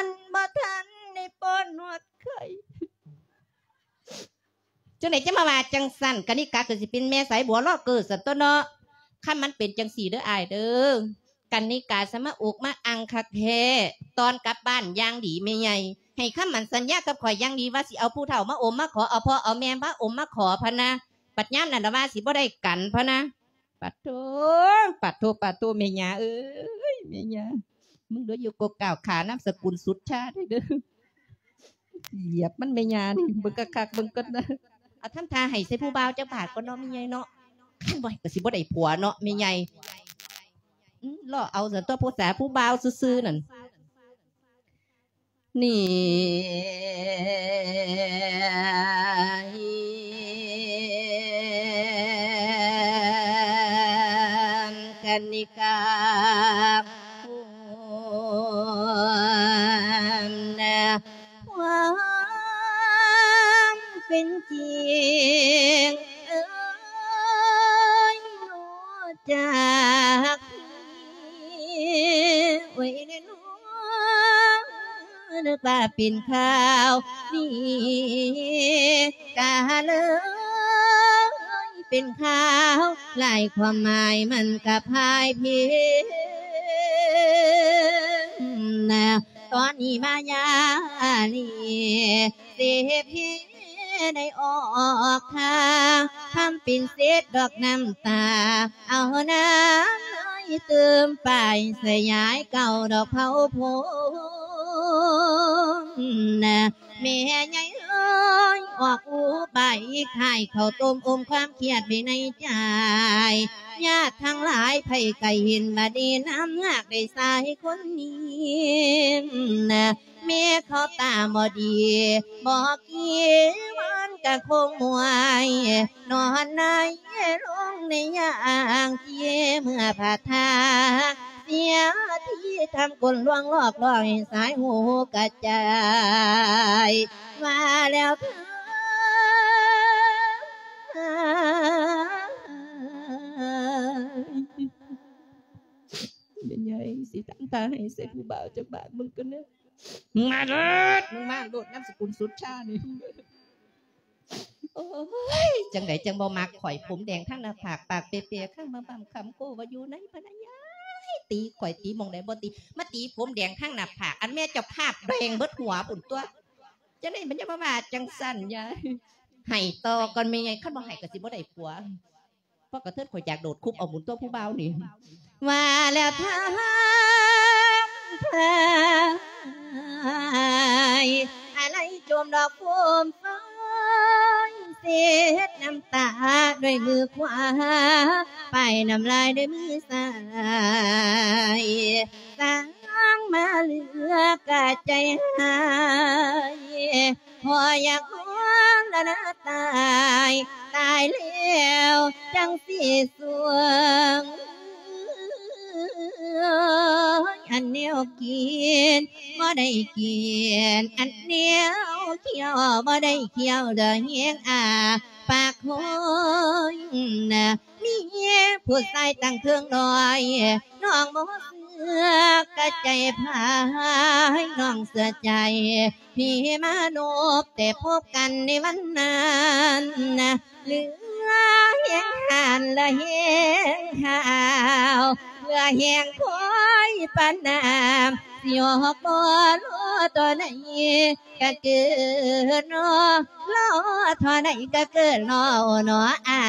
ນ ບໍ່ທັນໄດ້ປ້ອນຮອດໄຂ່. ຈັ່ງໃດຈະມາວ່າຈັ່ງຊັ້ນ? ກະນິກາຄືຊິເປັນແມ່ສາຍບົວລໍເກີຊັ້ນຕົວະເນາະ. ຄັນມັນເປັນຈັ່ງຊີ້ເດີອ້າຍເດີ ກະນິກາສະມາອຸກມາອັ່ງຄັກແທ້. ຕອນກັບບ້ານຢ່າງດີແມ່ໃຫຍ່ ໃຫ້ຄຳໝັ້ນສັນຍາກັບຂ້ອຍຢ່າງດີວ່າຊິເອົາຜູ້ເຖົ້າມາອົມມາຂໍ ເອົາພໍ່ເອົາແມ່ມາອົມມາຂໍພະນະ. ບັດຍາມນັ້ນລະວ່າຊິບໍ່ໄດ້ກັນພະນະ. ປາໂທ ປາໂທ ປາໂທ ແມ່ຍ່າເອີຍ ແມ່ຍ່າ. ມຶງເດີຢູ່ກົກກ້າວຂາ ນາມສະກຸນສຸດຊາເດີ. ຢຽບມັນແມ່ຍ່ານີ້ ເບິ່ງຄັກໆ ເບິ່ງກ່ອນນະ. ເອົາທຳທ່າໃຫ້ໃສ່ຜູ້ບ່າວຈັກບາດກ່ອນເນາະແມ່ໃຫຍ່ເນາະ. ຄັນບໍ່ໃຫ້ກໍຊິບໍ່ໄດ້ຜົວເນາະແມ່ໃຫຍ່. ອືມ ລໍເອົາຊັ້ນຕົວະ ຜູ້ສາຜູ້ບ່າວຊື່ໆນັ້ນ. ນີ້ກັນນິກາ ຄວາມເປັນຈິງ ເອີຍ ຮູ້ຈັກ ໂອ້ຍ ແນ່ນອນ ນຶກວ່າເປັນຂ່າວ ນີ້ກະເລີຍເປັນຂ່າວ ຫຼາຍຄວາມໝາຍມັນກະພາຍເພນະ. ຕອນນີ້ມາຍາລີ ເສບເພໄດ້ອອກທ່າ ທຳເປັນເສດດອກນ້ຳຕາ ເອົານ້ຳນ້ອຍຕື່ມປາຍ ສະຫຍາຍເກົ່າດອກເຜົາພົມນະ. ແມ່ໃຫຍ່ເອີຍ ອອກອຸບາຍອີກ ຂາຍເຂົ້າຕົ້ມອົມຄວາມຄຽດໄວ້ໃນໃຈ. ຍາດທັງຫຼາຍໃຜໄກເຫັນວ່າດີ ນ້ຳຫາກໄດ້ຊາຍຄົນນີ້ນະ. ແມ່ເຂົາຕາບໍ່ດີ ບໍ່ກີມັນກະຄົງມວຍ ນອນໃນລົງໃນຢ່າງເຈ ເມື່ອພາທາເສຍທີ ທຳກົນລວງຫຼອກຫຼອຍ ສາຍຫູກະຈາຍ ວ່າແລ້ວເທີ ແມ່ໃຫຍ່ຊິຕັ້ງທ່າໃຫ້ໃສ່ຜູ້ບ່າວຈັກບາດເບິ່ງກ່ອນເດີ. ມາໂລດ ມຶງມາໂລດ ນາມສະກຸນສຸດຊານີ້. ໂອ້ຍ ຈັ່ງໃດຈັ່ງບໍ່ມັກຂ້ອຍ ຜົມແດງທັງໜ້າຜາກ ປາກເປເປ ຂ້າງມາບຳຄຳໂກ້ວ່າຢູ່ໃນພະນະຍາຍ ຕີຂ້ອຍ ຕີໝ່ອງໃດບໍ່ຕີ ມາຕີຜົມແດງທັງໜ້າຜາກ ອັນແມ່ເຈົ້າພາບແດງເບິດຫົວພຸ້ນຕົວະ. ຈັ່ງໃດມັນຢ່າມາວ່າຈັ່ງຊັ້ນຍາຍ ໃຫ້ຕໍ່ກ່ອນແມ່ໃຫຍ່ ຄັນບໍ່ໃຫ້ກໍຊິບໍ່ໄດ້ຜົວ. ພວກກະເທີດ ຂ້ອຍຢາກໂດດຄຸບເອົາບຸນຕົວະຜູ້ບ່າວນີ້ ວ່າແລ້ວທາງພາຍ ອາໄລຈົມດອກໂຟມຟອຍ ເຊັດນ້ຳຕາດ້ວຍມືຂວາ ປ້າຍນ້ຳລາຍດ້ວຍມືຊ້າຍ ສ້າງມາເຫຼືອກະໃຈຫາຍ ພໍຢາກຮ້ອງລະນາຕາຍ ຕາຍແລ້ວຈັ່ງຊິສວງ ອັນແນວກິນບໍ່ໄດ້ກິນ ອັນແນວທ່ຽວບໍ່ໄດ້ທ່ຽວ ເຫຼືອແຮງອ້າປາກໂຄຍນະ. ມີຜູ້ຊາຍຕັ້ງເຄິ່ງນ້ອຍ ນ້ອງບໍ່ເຊື່ອກະໃຈພາຍ ນ້ອງເຊື່ອໃຈ ພີ່ມານົບແຕ່ພົບກັນໃນວັນນັ້ນນະ ເຫຼືອແຮງຫານລະແຮງຫາວ ເຫຼືອແຮງຄອຍປານນ້ຳ ຊິອອກບໍ່ລໍຕໍ່ໃນກະເກີດນໍ ລໍທໍ່ໃດກະເກີດນໍ ນໍອ້າ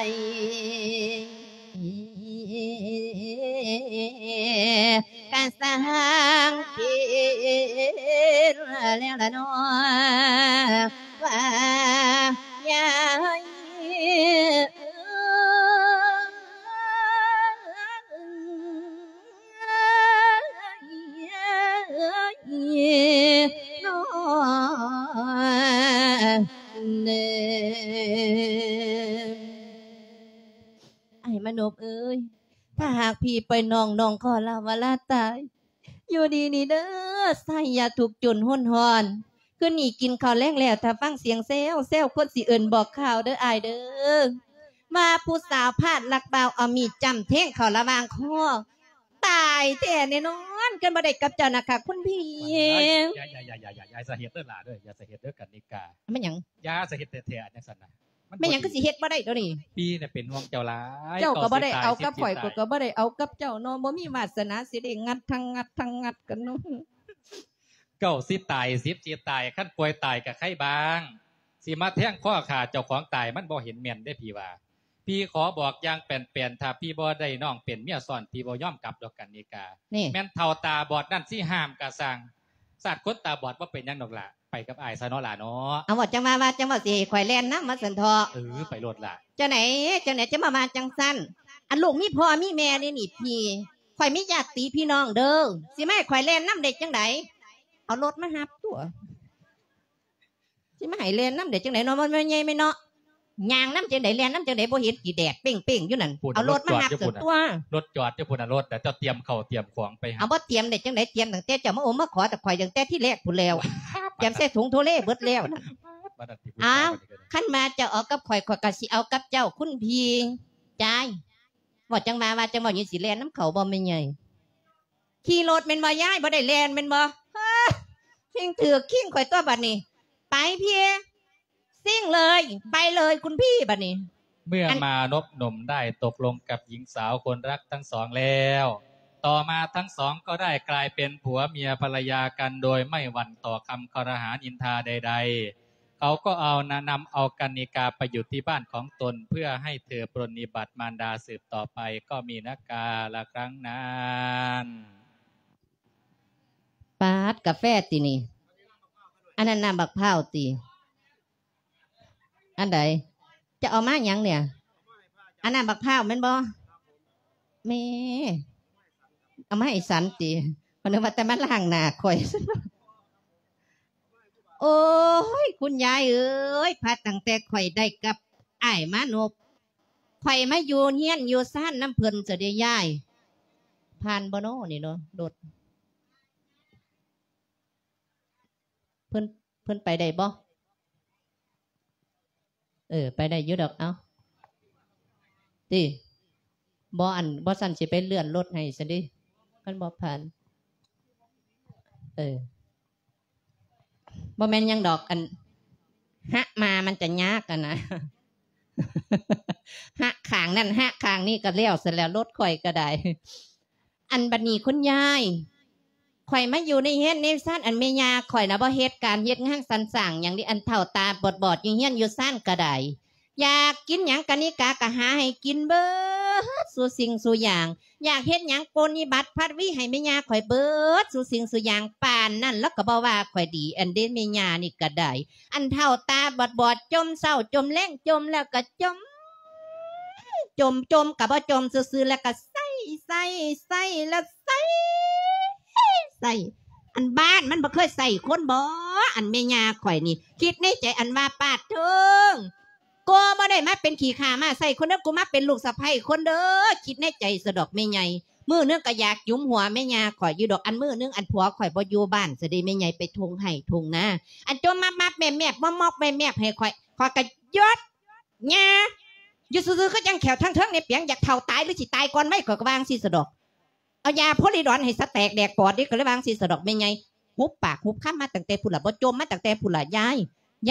ຍ ກະຊ່າງເປັນແລ້ວລະນໍ ວ່າຍາຍ ອ້າຍມານົບເອີຍ ຖ້າຫາກພີ່ປ່ອຍນ້ອງ ນ້ອງຂໍລາວາລາຕາຍ ຢູ່ດີນີ້ເດີ ໃຊ້ຢ່າທຸກຈົນຮົນຮ້ອນ ຄືນີ້ກິນເຂົ້າແລງແລ້ວ ຖ້າຟັງສຽງແຊວແຊວ ຄົນຊິເອີ້ນບອກຂ່າວເດີອ້າຍເດີ ວ່າຜູ້ສາວພາດລັກບ່າວ ເອົາມີດຈ້ຳແທງເຂົ້າລະຫວ່າງຄໍ ຕາຍແທ້ແນ່ນອນ ຄັນບໍ່ໄດ້ກັບເຈົ້ານະຄະຄຸນພີ່. ຢ່າ ຢ່າ ຢ່າ ຢ່າ ຢ່າ ຢ່າ ຢ່າສະເຮັດເດີຫຼ້າເດີ ຢ່າສະເຮັດເດີກັນນິກາ. ແມ່ນຫຍັງ? ຢ່າສະເຮັດແທ້ໆ ອັນຈັ່ງຊັ້ນນະ. ມັນ ແມ່ນຫຍັງຄືຊິເຮັດບໍ່ໄດ້ດຽວນີ້? ປີ້ນະເປັນຫ່ວງເຈົ້າຫຼາຍ. ເຈົ້າກໍບໍ່ໄດ້ເອົາກັບຂ້ອຍ ຂ້ອຍກໍບໍ່ໄດ້ເອົາກັບເຈົ້າເນາະ ບໍ່ມີວາດສະໜາຊິໄດ້ງັດທັງງັດທັງງັດກັນເນາະ. ເກົ້າສິບຕາຍ ສິບສິຕາຍ ຄັນປ່ວຍຕາຍກະໄຄບາງ ຊິມາແທງຄໍຂ້າເຈົ້າຂອງຕາຍ ມັນບໍ່ເຫັນແມ່ນເດ້ພີ່ວ່າ. ພີ່ຂໍບອກຢ່າງແປນໆ ຖ້າພີ່ບໍ່ໄດ້ນ້ອງເປັນເມຍຊ້ອນ ພີ່ບໍ່ຍອມກັບດອກກັນນິກາ. ນີ້ ແມ່ນເຖົ້າຕາບອດນັ້ນຊິຫ້າມກະຊ່າງ, ຊາດຄົນຕາບອດບໍ່ເປັນຫຍັງດອກຫຼະ, ໄປກັບອ້າຍຊະເນາະຫຼາເນາະ. ເອົາ ເວົ້າຈັ່ງວ່າ ວ່າຈັ່ງວ່າຊິໃຫ້ຂ້ອຍແລ່ນນຳວ່າຊັ້ນເຖາະ. ເອີ ໄປໂລດລະ. ຈັ່ງໃດ ຈັ່ງໃດຈະມາວ່າຈັ່ງຊັ້ນ? ອັນລູກມີພໍ່ມີແມ່ນີ້ນີ້ພີ່, ຂ້ອຍມີຍາດຕິພີ່ນ້ອງເດີ, ຊິມາໃຫ້ຂ້ອຍແລ່ນນຳໄດ້ຈັ່ງໃດ? ເອົາລົດມາຮັບຕົວະ. ຊິມາໃຫ້ແລ່ນນຳໄດ້ຈັ່ງໃດເນາະ ມັນແມ່ນໃຫຍ່ແມ່ນເນາະ. ຍ່າງນຳຈັ່ງໃດ ແລ່ນນຳຈັ່ງໃດ ບໍ່ເຫັນຕິ ແດດເປັ້ງໆຢູ່ນັ້ນ. ພຸ້ນ ເອົາລົດມາຮັບ ລົດຈອດຢູ່ພຸ້ນ ຕົວະ. ລົດຈອດຢູ່ພຸ້ນນະ ລົດ ແຕ່ເຈົ້າຕຽມເຂົ້າຕຽມຂອງໄປຫັ້ນ. ເອົາ ບໍ່ຕຽມໄດ້ຈັ່ງໃດ ຕຽມຕັ້ງແຕ່ເຈົ້າມາໂອ້ມາຂໍແຕ່ຂ້ອຍຕັ້ງແຕ່ທີແລກພຸ້ນແລ້ວ. ຕຽມໃສ່ຖົງໂທເລເບິດແລ້ວນັ້ນ. ບັດນັ້ນຕິ ຜູ້ຊາຍ ອ້າວ ບັດນີ້ກໍໄດ້. ຄັນວ່າເຈົ້າເອົາກັບຂ້ອຍ ຂ້ອຍກໍຊິເອົາກັບເຈົ້າ ຄຸນພີ່ຈາຍ. ເວົ້າຈັ່ງວ່າ ວ່າຈັ່ງເວົ້າ ຍັງຊິແລ່ນນຳເຂົາບໍ່ແມ່ໃຫຍ່? ຂີ່ລົດແມ່ນບໍ່ຍາຍ? ບໍ່ໄດ້ແລ່ນແມ່ນບໍ່? ເຮີ້ຍ ຊິງຖືກຄີງຂ້ອຍຕົວະບັດນີ້. ໄປພີ່ ຊິງເລີຍ ໄປເລີຍຄຸນພີ່ບັດນີ້. ເມື່ອມານົບໜຸ່ມໄດ້ຕົກລົງກັບຍິງສາວຄົນລັກທັງສອງແລ້ວ, ຕໍ່ມາທັງສອງກໍໄດ້ກາຍເປັນຜົວເມຍພັນລະຍາກັນ ໂດຍໄມ່ຫວັ່ນຕໍ່ຄຳຄອລະຫານິນທາໃດໆ. ເຂົາກໍເອົານະ ນຳເອົາກັນນິກາໄປຢູ່ທີ່ບ້ານຂອງຕົນ ເພື່ອໃຫ້ເທີປຣະນິບັດມານດາສືບຕໍ່ໄປ ກໍມີນະກາລະຄັ້ງນັ້ນ. ປາດ ກາແຟຕິນີ້? ອັນນັ້ນນ້ຳບັກພ້າວຕິ? ອັນໃດ? ຈະເອົາມາຫຍັງນີ້? ອັນນ້ຳບັກພ້າວແມ່ນບໍ່? ແມ່ ເອົາມາໃຫ້ສັນຕິ? ຂ້ອຍນຶກວ່າແຕ່ມາລ້າງໜ້າຂ້ອຍ. ໂອ້ຍ ຄຸນຍາຍເອີຍ ພາຕັ້ງແຕ່ຂ້ອຍໄດ້ກັບອ້າຍມານົບ ຂ້ອຍມາຢູ່ເຮືອນຢູ່ຊານນຳເພິ່ນຊະເດຍາຍ. ຜ່ານບໍ່ນໍນີ້ເນາະ ລົດ ເພິ່ນ ເພິ່ນໄປໄດ້ບໍ່? ເອີ ໄປໄດ້ຢູ່ດອກ. ເອົ້າ ຕິ ບໍ່ ອັນ ບໍ່ຊັ້ນຊິໄປເລື່ອນລົດໃຫ້ຊັ້ນເດ ມັນບໍ່ຜ່ານ. ເອີ ບໍ່ແມ່ນຫຍັງດອກ ອັນ ຫະມາມັນຈະຍາກຫັ້ນນະ ຫະຂ້າງນັ້ນຫະຂ້າງນີ້ກໍແລ້ວຊັ້ນແຫຼະ ລົດຂ້ອຍກໍໄດ້. ອັນບັດນີ້ຄຸນຍາຍ ຂ້ອຍມາຢູ່ໃນເຮືອນໃນຊານ ອັນແມ່ຍ່າຂ້ອຍນະບໍ່ເຮັດການເຮັດງານສັນສ້າງຫຍັງເດ ອັນເຖົ້າຕາບອດໆຢູ່ເຮືອນຢູ່ຊານກະດາຍ. ຢາກກິນຫຍັງກະນິກາກະຫາໃຫ້ກິນເບິດສູ່ສິ່ງສູ່ຢ່າງ, ຢາກເຮັດຫຍັງປຣະນິບັດພັດວີໃຫ້ແມ່ຍ່າຂ້ອຍເບິດສູ່ສິ່ງສູ່ຢ່າງ. ປານນັ້ນລາວກະບໍ່ວ່າຂ້ອຍດີ ອັນເດແມ່ຍ່ານີ້ກະໄດ້. ອັນເຖົ້າຕາບອດໆ ຈົ່ມເຊົ້າຈົ່ມແລງ ຈົ່ມແລ້ວກະຈົ່ມ ຈົ່ມ ຈົ່ມກະບໍ່ຈົ່ມຊື່ໆ ແລ້ວກະໃສ່ ໃສ່ ໃສ່ ແລ້ວໃສ່ ໃສ່. ອັນບ້ານມັນບໍ່ເຄີຍໃສ່ຄົນບໍ? ອັນແມ່ຍ່າຂ້ອຍນີ້ ຄິດໃນໃຈອັນວ່າ ປາດໂທ້ ໂກບໍ່ໄດ້ມາເປັນຂີ້ຂ້າມ້າໃສ່ຄົນເດີ ກູມາເປັນລູກສະໃພ້ຄົນເດີ ຄິດໃນໃຈສະດອກແມ່ໃຫຍ່. ມື້ໜຶ່ງກະຢາກຫຍຸມຫົວແມ່ຍ່າຂ້ອຍຢູ່ດອກ ອັນມື້ໜຶ່ງອັນຜົວຂ້ອຍບໍ່ຢູ່ບ້ານຊະເດ ແມ່ໃຫຍ່ໄປທົ່ງໄຮ່ທົ່ງນາ ອັນຈົ່ມມັບໆແມບໆ ມອບໆແມບໆໃຫ້ຂ້ອຍ ຂ້ອຍກະຢຸດ. ຍ່າ ຢູ່ຊື່ໆ ຄືຈັ່ງແຂວທາງເທິງນີ້ປຽງ ຢາກເຖົ້າຕາຍ ຫຼືຊິຕາຍກ່ອນໄວ ຂ້ອຍກໍວ່າຈັ່ງຊີ້ສະດອກ. ເອົາຢາໂພລິດອນໃຫ້ສະແຕກແດກປອດເດ້ ກໍເລີຍວ່າຈັ່ງຊີ້ສະດອກແມ່ໃຫຍ່. ຫຸບປາກຫຸບຄຳມາຕັ້ງແຕ່ພຸ້ນລະ ບໍ່ຈົ່ມມາຕັ້ງແຕ່ພຸ້ນລະຍາຍ.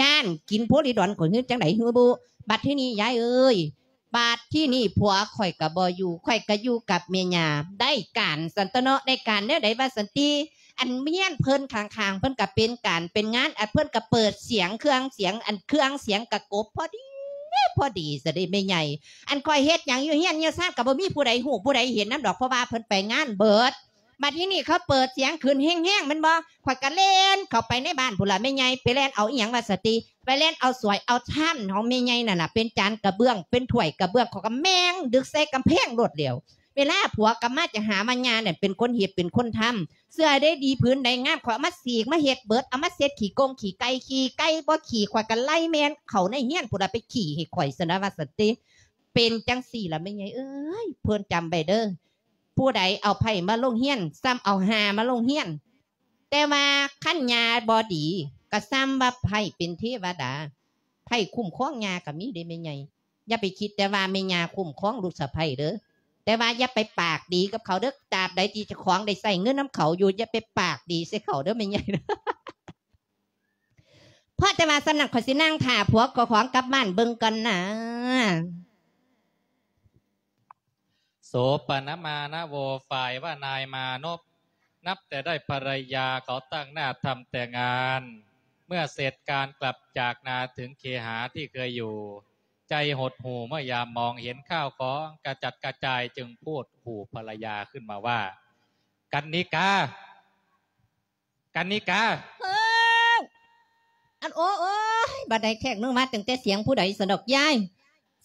ຢ້ານກິນໂພລິດອນຂ້ອຍ ເຮີຈັ່ງໃດເຮີບຸ? ບັດທີນີ້ຍາຍເອີຍ ບາດທີນີ້ຜົວຂ້ອຍກໍບໍ່ຢູ່ ຂ້ອຍກໍຢູ່ກັບແມ່ຍ່າ. ໄດ້ການຊັ້ນຕົວະເນາະ ໄດ້ການແນວໃດວ່າຊັ້ນຕິ? ອັນເຮືອນເພິ່ນຂ້າງໆ ເພິ່ນກະເປັນການເປັນງານ ອັນເພິ່ນກະເປີດສຽງເຄື່ອງສຽງ ອັນເຄື່ອງສຽງກະກົບພໍດີພໍດີຊະເດແມ່ໃຫຍ່. ອັນຂ້ອຍເຮັດຫຍັງຢູ່ເຮືອນຢູ່ຊານກະບໍ່ມີຜູ້ໃດຮູ້ຜູ້ໃດເຫັນນຳດອກ ເພາະວ່າເພິ່ນໄປງານເບິດ. ບັດທີນີ້ເຂົາເປີດສຽງຂຶ້ນແຮງໆແມ່ນບໍ່? ຂ້ອຍກະແລ່ນເຂົ້າໄປໃນບ້ານພຸ້ນລະແມ່ໃຫຍ່ ໄປແລ່ນເອົາອີ່ຫຍັງວ່າຊັ້ນຕິ ໄປແລ່ນເອົາສວຍເອົາຊາມຂອງແມ່ໃຫຍ່ນັ້ນລະ ເປັນຈານກະເບື້ອງ ເປັນຖ້ວຍກະເບື້ອງ ຂ້ອຍກະແມ່ງດຶກໃສ່ກຳແພງໂລດແລ້ວ. ເວລາຜົວກັບມາຈະຫາວ່າຍ່ານັ້ນເປັນຄົນເຮັດເປັນຄົນທຳ ເສື້ອໃດດີຜືນໃດງາມ ຂ້ອຍເອົາມາສີກມາເຮັດເບິດ ເອົາມາເຊັດຂີ້ກົງຂີ້ໄກ່ ຂີ້ໄກ່ບໍ່ຂີ້ ຂ້ອຍກະໄລ່ແມ່ນເຂົ້າໃນເຮືອນພຸ້ນລະ ໄປຂີ້ໃຫ້ຂ້ອຍຊັ້ນນະວ່າຊັ້ນຕິ. ເປັນຈັ່ງຊີ້ລະແມ່ໃຫຍ່ເອີຍ ເພິ່ນຈຳໄວ້ເດີ ຜູ້ໃດເອົາໄພ້ມາລົງເຮືອນ ສ່ຳເອົາຫ່າມາລົງເຮືອນ. ແຕ່ວ່າຄັນຍ່າບໍ່ດີ ກະສ່ຳວ່າໄພ້ເປັນເທວະດາ ໄພ້ຄຸ້ມຄອງຍ່າກະມີເດ້ແມ່ໃຫຍ່. ຢ່າໄປຄິດແຕ່ວ່າແມ່ຍ່າຄຸ້ມຄອງລູກສະໃພ້ເດີ ແຕ່ວ່າຢ່າໄປປາກດີກັບເຂົາເດີ. ຕາບໃດທີ່ເຈົ້າຂອງໄດ້ໃຊ້ເງິນນຳເຂົາຢູ່ ຢ່າໄປປາກດີໃສ່ເຂົາເດີແມ່ໃຫຍ່. ພໍແຕ່ວ່າສ່ຳນັ້ນ ຂ້ອຍຊິນັ່ງຖ້າຜົວເຈົ້າຂອງກັບບ້ານເບິ່ງກ່ອນນາ. ໂສປະນະມານະໂວ ຝ່າຍວ່ານາຍມານົບ ນັບແຕ່ໄດ້ພັນລະຍາ ເຂົາຕັ້ງໜ້າທຳແຕ່ງານ ເມື່ອເສັດການກັບຈາກນາເຖິງເຄຫາທີ່ເຄີຍຢູ່ ໃຈຫົດຫູ່ເມື່ອຍາມມອງເຫັນຂ້າວຂອງກະຈັດກະຈາຍ ຈຶ່ງພູດຫູ່ພັນລະຍາຂຶ້ນມາວ່າ ກັນນິກາ ກັນນິກາ ເອີ ອັນ ໂອ້ ໂອ້ຍ ບາດໃດແຂກໜູມາຕັ້ງແຕ່ສຽງຜູ້ໃດຊັ້ນດອກຍາຍ?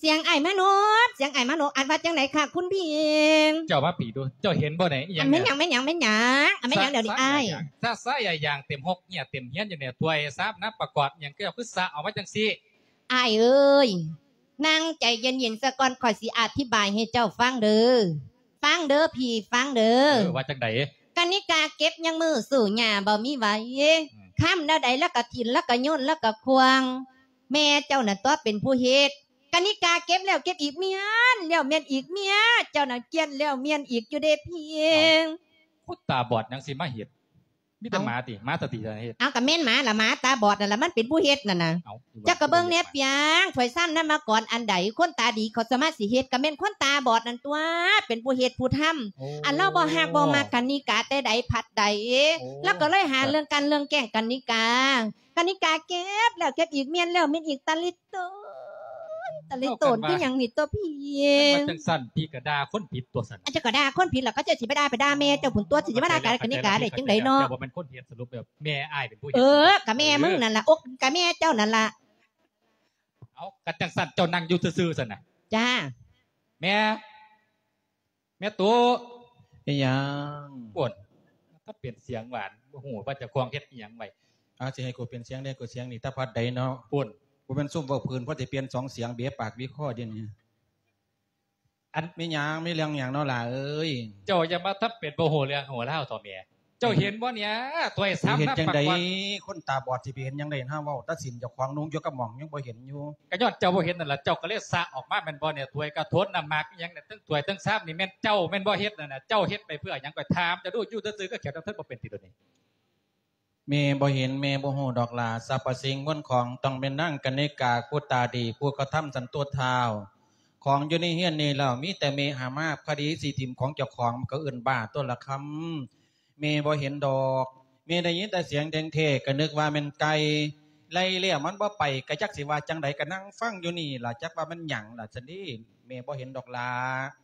ສຽງອ້າຍມານົບ ສຽງອ້າຍມານົບ ອັນວ່າຈັ່ງໃດຄະຄຸນພີ່ເອງ? ເຈົ້າມາພີ້ດູ ເຈົ້າເຫັນບໍ່ນີ້ ອີ່ຫຍັງ ອັນແມ່ນຫຍັງ ແມ່ນຫຍັງ ແມ່ນຫຍັງ ອັນແມ່ນຫຍັງດຽວນີ້ອ້າຍ? ສະສະຢາຍາງເຕັມຫົກ ເຫຍື້ອເຕັມຮຽນຢູ່ນີ້ ຖ້ວຍຊາມ ນ້ຳປະກອດຫຍັງ ເຈົ້າຄືສະອອກມາຈັ່ງຊີ້? ອ້າຍເອີຍ ນັ່ງໃຈເຢັນໆ ສາກ່ອນ ຂ້ອຍຊິອະທິບາຍໃຫ້ເຈົ້າຟັງເດີ ຟັງເດີພີ່ ຟັງເດີ. ເອີ ວ່າຈັ່ງໃດ? ກະນິກາເກັບຍັງມືສູ້ຫຍ້າບໍ່ມີໄຫວ ອືມ ຄ້ຳແນວໃດລະກະຖິ້ມ ລະກະໂຍນ ລະກະຂວ້າງ ແມ່ເຈົ້ານັ້ນຕົວະເປັນຜູ້ເຮັດ. ກະນິກາເກັບແລ້ວເກັບອີກ ມ້ຽນແລ້ວມ້ຽນອີກ ເມຍເຈົ້ານັ້ນກ້ຽນແລ້ວມ້ຽນອີກຢູ່ເດ້ພີ່ເອງ. ເອົ້າ ຄົນຕາບອດຫຍັງຊິມາເຮັດ? ມີແຕ່ ເອົ້າ ໝາຕິ ໝາສະຕິເຮັດ. ເອົາ ກະແມ່ນໝາລະ ໝາຕາບອດນັ້ນລະ ມັນເປັນຜູ້ເຮັດນັ້ນນະ. ເຈົ້າກະເບິ່ງແດ່ປຽງ ຖ້ວຍຊາມ ນ້ຳປະກອດອັນໃດ ຄົນຕາດີເຂົາສາມາດຊິເຮັດ ກະແມ່ນຄົນຕາບອດນັ້ນຕົວະ ເປັນຜູ້ເຮັດຜູ້ທຳ. ໂອ້ ອັນລາວບໍ່ຮັກບໍ່ມັກກະນິກາແຕ່ໃດພັດໃດ ໂອ້ ລາວກະເລີຍຫາເລື່ອງກັ່ນເລື່ອງແກ້ງກະນິກາ. ກະນິກາເກັບແລ້ວເກັບອີກ ມ້ຽນແລ້ວມ້ຽນອີກ ຕາລິໂຕນ ຕາລິໂຕນຄືຫຍັງນີ້ຕົວະພີ່? ຄັນວ່າຈັ່ງຊັ້ນ ພີ່ກະດ່າຄົນຜິດຕົວະຊັ້ນ. ອາ ເຈົ້າກະດ່າຄົນຜິດລະ ເຂົາເຈົ້າຊິໄປດ່າ ໄປດ່າແມ່ເຈົ້າພຸ້ນຕົວະ ຊິມາດ່າກະນິກາໄດ້ຈັ່ງໃດເນາະ? ເຈົ້າບໍ່ແມ່ນຄົນເຮັດ ສະຫຼຸບແບບແມ່ອ້າຍເປັນຜູ້ເຮັດ. ເອີ ກະແມ່ມຶງນັ້ນລະ ໂອ ກະແມ່ເຈົ້ານັ້ນລະ. ເອົາ ຄັນຈັ່ງຊັ້ນເຈົ້ານັ່ງຢູ່ຊື່ໆຊັ້ນນະ. ຈ້າ ແມ່ ແມ່ຕູ້ ອີ່ຫຍັງ? ໂອ້ຍ ຖ້າເປັນສຽງຫວານ ບໍ່ຮູ້ວ່າເຈົ້າຂອງເຮັດອີ່ຫຍັງໄວ້. ອາ ຊິໃຫ້ກູເປັນສຽງໃດ ກູສຽງນີ້ຕາພັດໃດເນາະ. ໂອ້ຍ ບໍ່ແມ່ນຊຸມເວົ້າພື້ນ ພໍຊິປ່ຽນສອງສຽງ ເບະປາກເບະຄໍດຽວນີ້. ອັນ ມີຫຍັງ ມີເລື່ອງຫຍັງເນາະຫຼ້າເອີຍ? ເຈົ້າຢ່າມາທຳເປັນບໍ່ຮູ້ເລື່ອງຮູ້ລາວເຖາະແມ່. ເຈົ້າເຫັນບໍ່ເນຍ ຖ້ວຍຊາມ ເຮັດຈັ່ງໃດ ນ້ຳປະກອດ ຄົນຕາບອດຊິໄປເຫັນຫຍັງໄດ້ ຫາເວົ້າຕາສິນເຈົ້າຂອງນຸ່ງຢູ່ກັບໝ້ອງຍັງບໍ່ເຫັນຢູ່. ກະຍ້ອນເຈົ້າບໍ່ເຫັນນັ້ນລະ ເຈົ້າກະເລີຍສະອອກມາແມ່ນບໍ່ເນຍ? ຖ້ວຍກະໂຖນ ນ້ຳໝາກອີ່ຫຍັງນີ້ ທັງຖ້ວຍທັງຊາມນີ້ແມ່ນເຈົ້າແມ່ນບໍ່ເຮັດນັ້ນນະ? ເຈົ້າເຮັດໄປເພື່ອຫຍັງ? ຂ້ອຍຖາມເຈົ້າດູ ຢູ່ຊື່ໆກະຂຽວທັງເທິງບໍ່ເປັນຕິດດຽວນີ້. ແມ່ບໍ່ເຫັນ ແມ່ບໍ່ຮູ້ດອກຫຼ້າ ສັບພະສິ່ງມົນຂອງ ຕ້ອງແມ່ນນາງກະນິກາ ຜູ້ຕາດີ ຜູ້ກະທຳສັນໂຕທ້າວ. ຂອງຢູ່ໃນເຮືອນນີ້ແລ້ວ ມີແຕ່ແມ່ຫາມາບ ຄະດີຊິຖິ້ມຂອງເຈົ້າຂອງ ມັນກະເອີ້ນບ້າຕົວລະຄຳ. ແມ່ບໍ່ເຫັນດອກ ແມ່ໄດ້ຍິນແຕ່ສຽງແທ້ໆ ກະນຶກວ່າແມ່ນໄກ່ ໄລ່ແລ້ວມັນບໍ່ໄປ ກະຈັກຊິວ່າຈັ່ງໃດ ກະນັ່ງຟັງຢູ່ນີ້ລະ ຈັກວ່າແມ່ນຫຍັງລະຊັ້ນເດ. ແມ່ບໍ່ເຫັນດອກຫຼ້າ.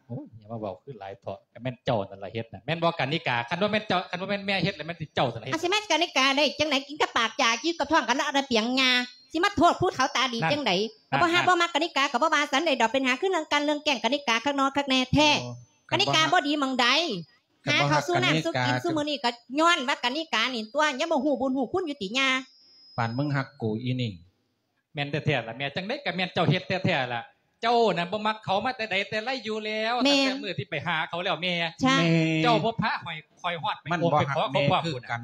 ໂອ້ຍ ຢ່າມາເວົ້າຄືຫຼາຍເຖາະ ກະແມ່ນເຈົ້ານັ້ນລະເຮັດນະ ແມ່ນບໍ່ກະນິກາ? ຄັນບໍ່ແມ່ນເຈົ້າ ຄັນບໍ່ແມ່ນແມ່ເຮັດລະແມ່ນເຈົ້າຊັ້ນລະເຮັດ. ອາ ຊິແມ່ນກະນິກາໄດ້ຈັ່ງໃດ? ກິນກັບປາກຢາ ຢູ່ກັບທ້ອງກະລະອະລະປຽງຍາ ຊິມາໂທດຜູ້ເຖົ້າຕາດີຈັ່ງໃດ? ລະບໍ່ຮັກບໍ່ມັກກະນິກາກະບໍ່ວ່າສັນໃດດອກ ເປັນຫາຄືເລື່ອງກັ່ນເລື່ອງແກ້ງກະນິກາຄັກນໍຄັກແນ່ແທ້. ກະນິກາບໍ່ດີໝ່ອງໃດ ຫາເຂົ້າສູ່ນ້ຳສູ່ກິນຊຸມື້ນີ້ກະຍ້ອນວ່າກະນິການີ້ຕົວະ ຍັງບໍ່ຮູ້ບຸນຮູ້ຄຸນຢູ່ຕິຍາ? ປານມຶງຮັກກູອີ່ນີ້. ແມ່ນແທ້ໆລະແມ່ ຈັ່ງໃດກະແມ່ນເຈົ້າເຮັດແທ້ໆລະ. ເຈົ້ານັ້ນບໍ່ມັກເຂົາມາແຕ່ໃດແຕ່ໃລຢູ່ແລ້ວ ຕັ້ງແຕ່ມື້ທີ່ໄປຫາເຂົາແລ້ວແມ່. ເຈົ້າບໍ່ພາຂ້ອຍຮອດໄປ ມັນບໍ່ຮັກແມ່ຄືກັນ.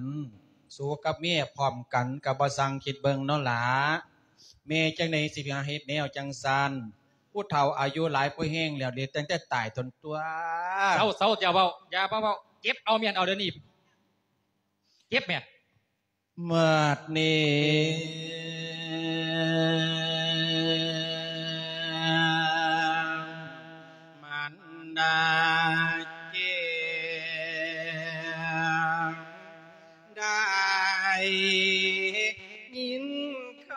ສູກັບແມ່ພ້ອມກັນກະບໍ່ຊ່າງຄິດເບິ່ງເນາະຫຼ້າ. ແມ່ຈັ່ງໃດຊິໄປຫາເຮັດແນວຈັ່ງຊັ້ນ ຜູ້ເຖົ້າອາຍຸຫຼາຍພໍແຮງແລ້ວ ເດ ຕັ້ງແຕ່ຕາຍຕົນຕົວະ. ເຊົາໆ ຢ່າເວົ້າ ຢ່າມາເວົ້າ ເກັບເອົາມ້ຽນເອົາດຽວນີ້ ເກັບແມ່. ໝາດນີ້ ມັນດາເຈັບ ໄດ້ຍິນຄຳ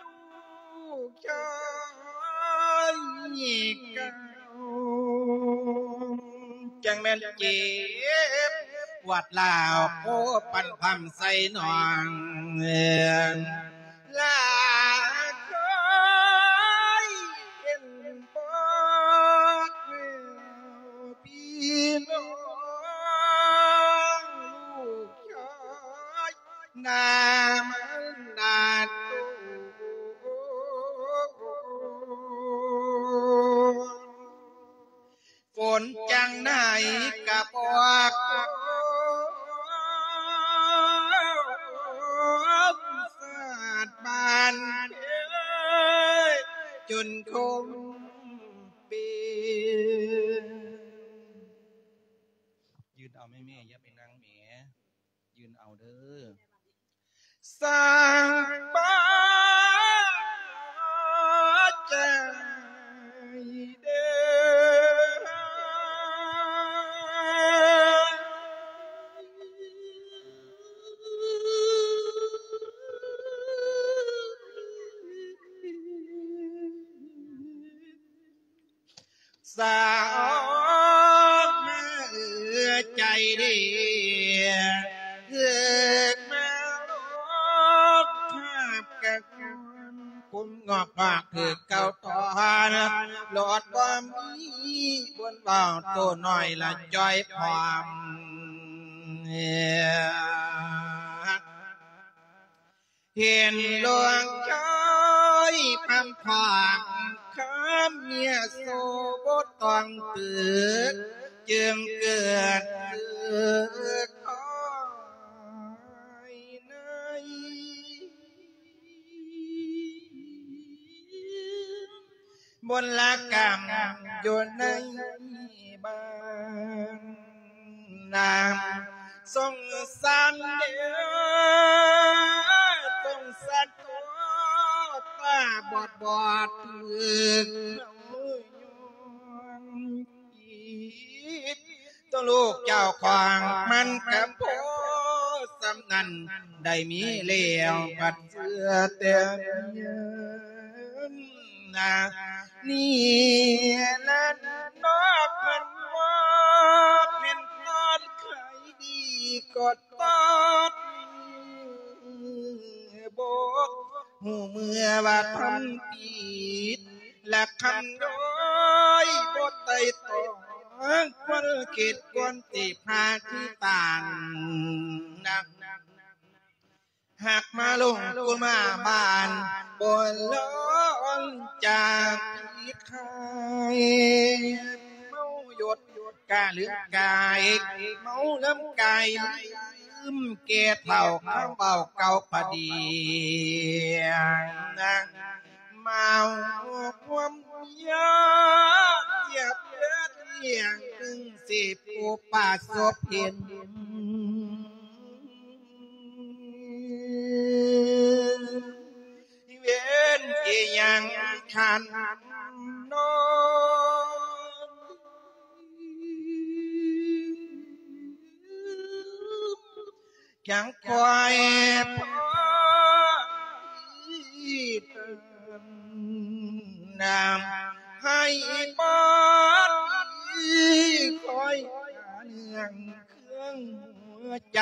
ລູກຊາຍເກົ່າ ຈັ່ງແມ່ນເຈັບປວດລາວ ໂພປັນພຳໃສ່ນ້ອງ ລາເຄີຍເຫັນບໍ່ແລ້ວ ພີ່ນ້ອງລູກຊາຍ ໜ້າມັນໜ້າໂຕ ຝົນຈັ່ງໃດກະບໍ່ຕົກ ສາດບ້ານເອີຍ ຈົນຄົມເປັນ. ຢືນເອົາແມ່ ແມ່ ຢ່າໄປນັ່ງແມ່. ຢືນເອົາເດີ ສ້າງບາດໃຈເດີ. ໃຈເດ້ ເກີດມາໂລກຄາບກະຄວນ ຄົນງອກງອກຖືກເຂົາຖອນ ຫຼອດບໍ່ມີບຸນເວົ້າ ໂຕນ້ອຍລະຈ່ອຍພ້ອມ ເຫັນຫຼວງຊາຍພຳພາກ ຄຳເມຍໂສບໍ່ຕ້ອງເປີດ ຈຶ່ງເກີດເກີດຄອຍໃນ ມົນລະກຳຢູ່ໃນບ້ານນາ ສົງສານເດີ ສົງສານໂຕ ຕາບອດບອດຖືກເຂົາຍ້ອນ ໂຕລູກເຈົ້າຂອງມັນກະພໍສ່ຳນັ້ນ ໄດ້ມີແລ້ວບັດເຊື່ອແຕ່ເງິນນະ ນີ້ລະນອກເພິ່ນວ່າເປັນຕອນຂາຍດີກໍຕອດບໍ່ ຮູ້ເມື່ອວ່າທຳຜິດ ລະຄຳນ້ອຍບໍ່ໄຕ່ຕອງ ຄວນຄິດຄວນຊິພາຄືຕານນະ ຫາກມາລົງກຸມາບານ ບໍ່ລອນຈາກທີ່ຄາຍ ເມົາຢົດກະລືມກາຍ ເມົາລຳກາຍລືມແກ່ເຖົ້າ ຄຳເວົ້າເກົ່າພະດີ ເມົາຄວາມຢາກຈຽບເລືອດ ຢ່າງໜຶ່ງຊິຜູ້ປະສົບເຫັນ ເວນອີ່ຫຍັງຄັນນອນ ຈັ່ງຄ່ອຍພໍນຳໃຫ້ບາດນີ້ ຄ່ອຍຫາເລື່ອງເຄື່ອງຫົວໃຈ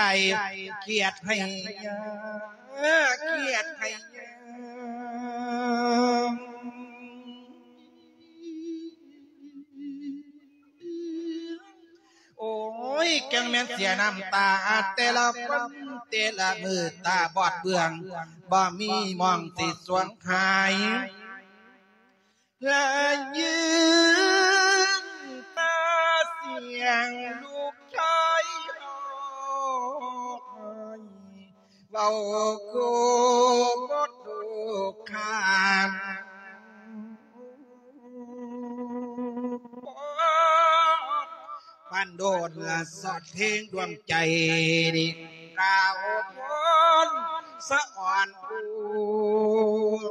ຄຽດໃຫ້ຍາ ຄຽດໃຫ້ຍາ ໂອ້ຍ ຈັ່ງແມ່ນເສຍນ້ຳຕາແຕ່ລະວັນແຕ່ລະມື້ ຕາບອດເບື້ອງ ບໍ່ມີໝ່ອງຊິສວງຫາຍ ລະຍິນແຕ່ສຽງລູກຊາຍຮ້ອງໄຫ້ ເວົ້າໂກບໍ່ໂຕຄານ ປານໂດດລະສອດເພງດວງໃຈ ກ່າວພອນສະອອນພູ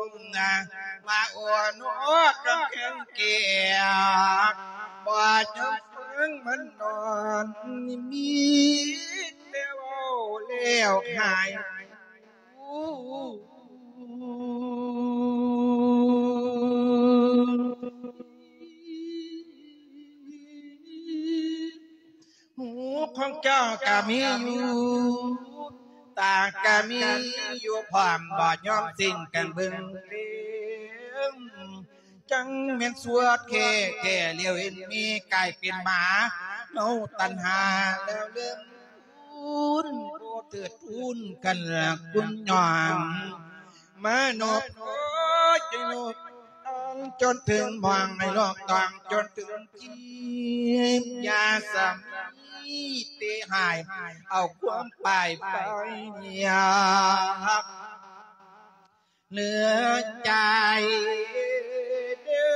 ມນະ ມາໂອນອດກັບແຂງແກ່ ບໍ່ຈະເບິ່ງມັນນອນ ມີແຕ່ເວົ້າແລ້ວຫາຍ ຫູຂອງເຈົ້າກະມີຢູ່ ຕາກະມີຢູ່ພ້ອມ ບໍ່ຍອມສິ້ງກັນເບິ່ງເລງ ຈັ່ງແມ່ນຊົ່ວແທ້ໆ ແລ້ວເຫັນມີກາຍເປັນໝາ ເມົາຕັນຫາແລ້ວເລີງ ຄຸນບໍ່ເຕີດທູນກັນລະຄຸນຍອມ ມານອບຂໍຈະຍົກ ຈົນເຖິງໝ່ອງໃນໂລກຕ້ອງ ຈົນເຖິງທີ່ ຢ່າສະມີເຕະຫາຍ ເອົາຄວາມປາຍໄປເນຍ ເໜືອໃຈເດີ.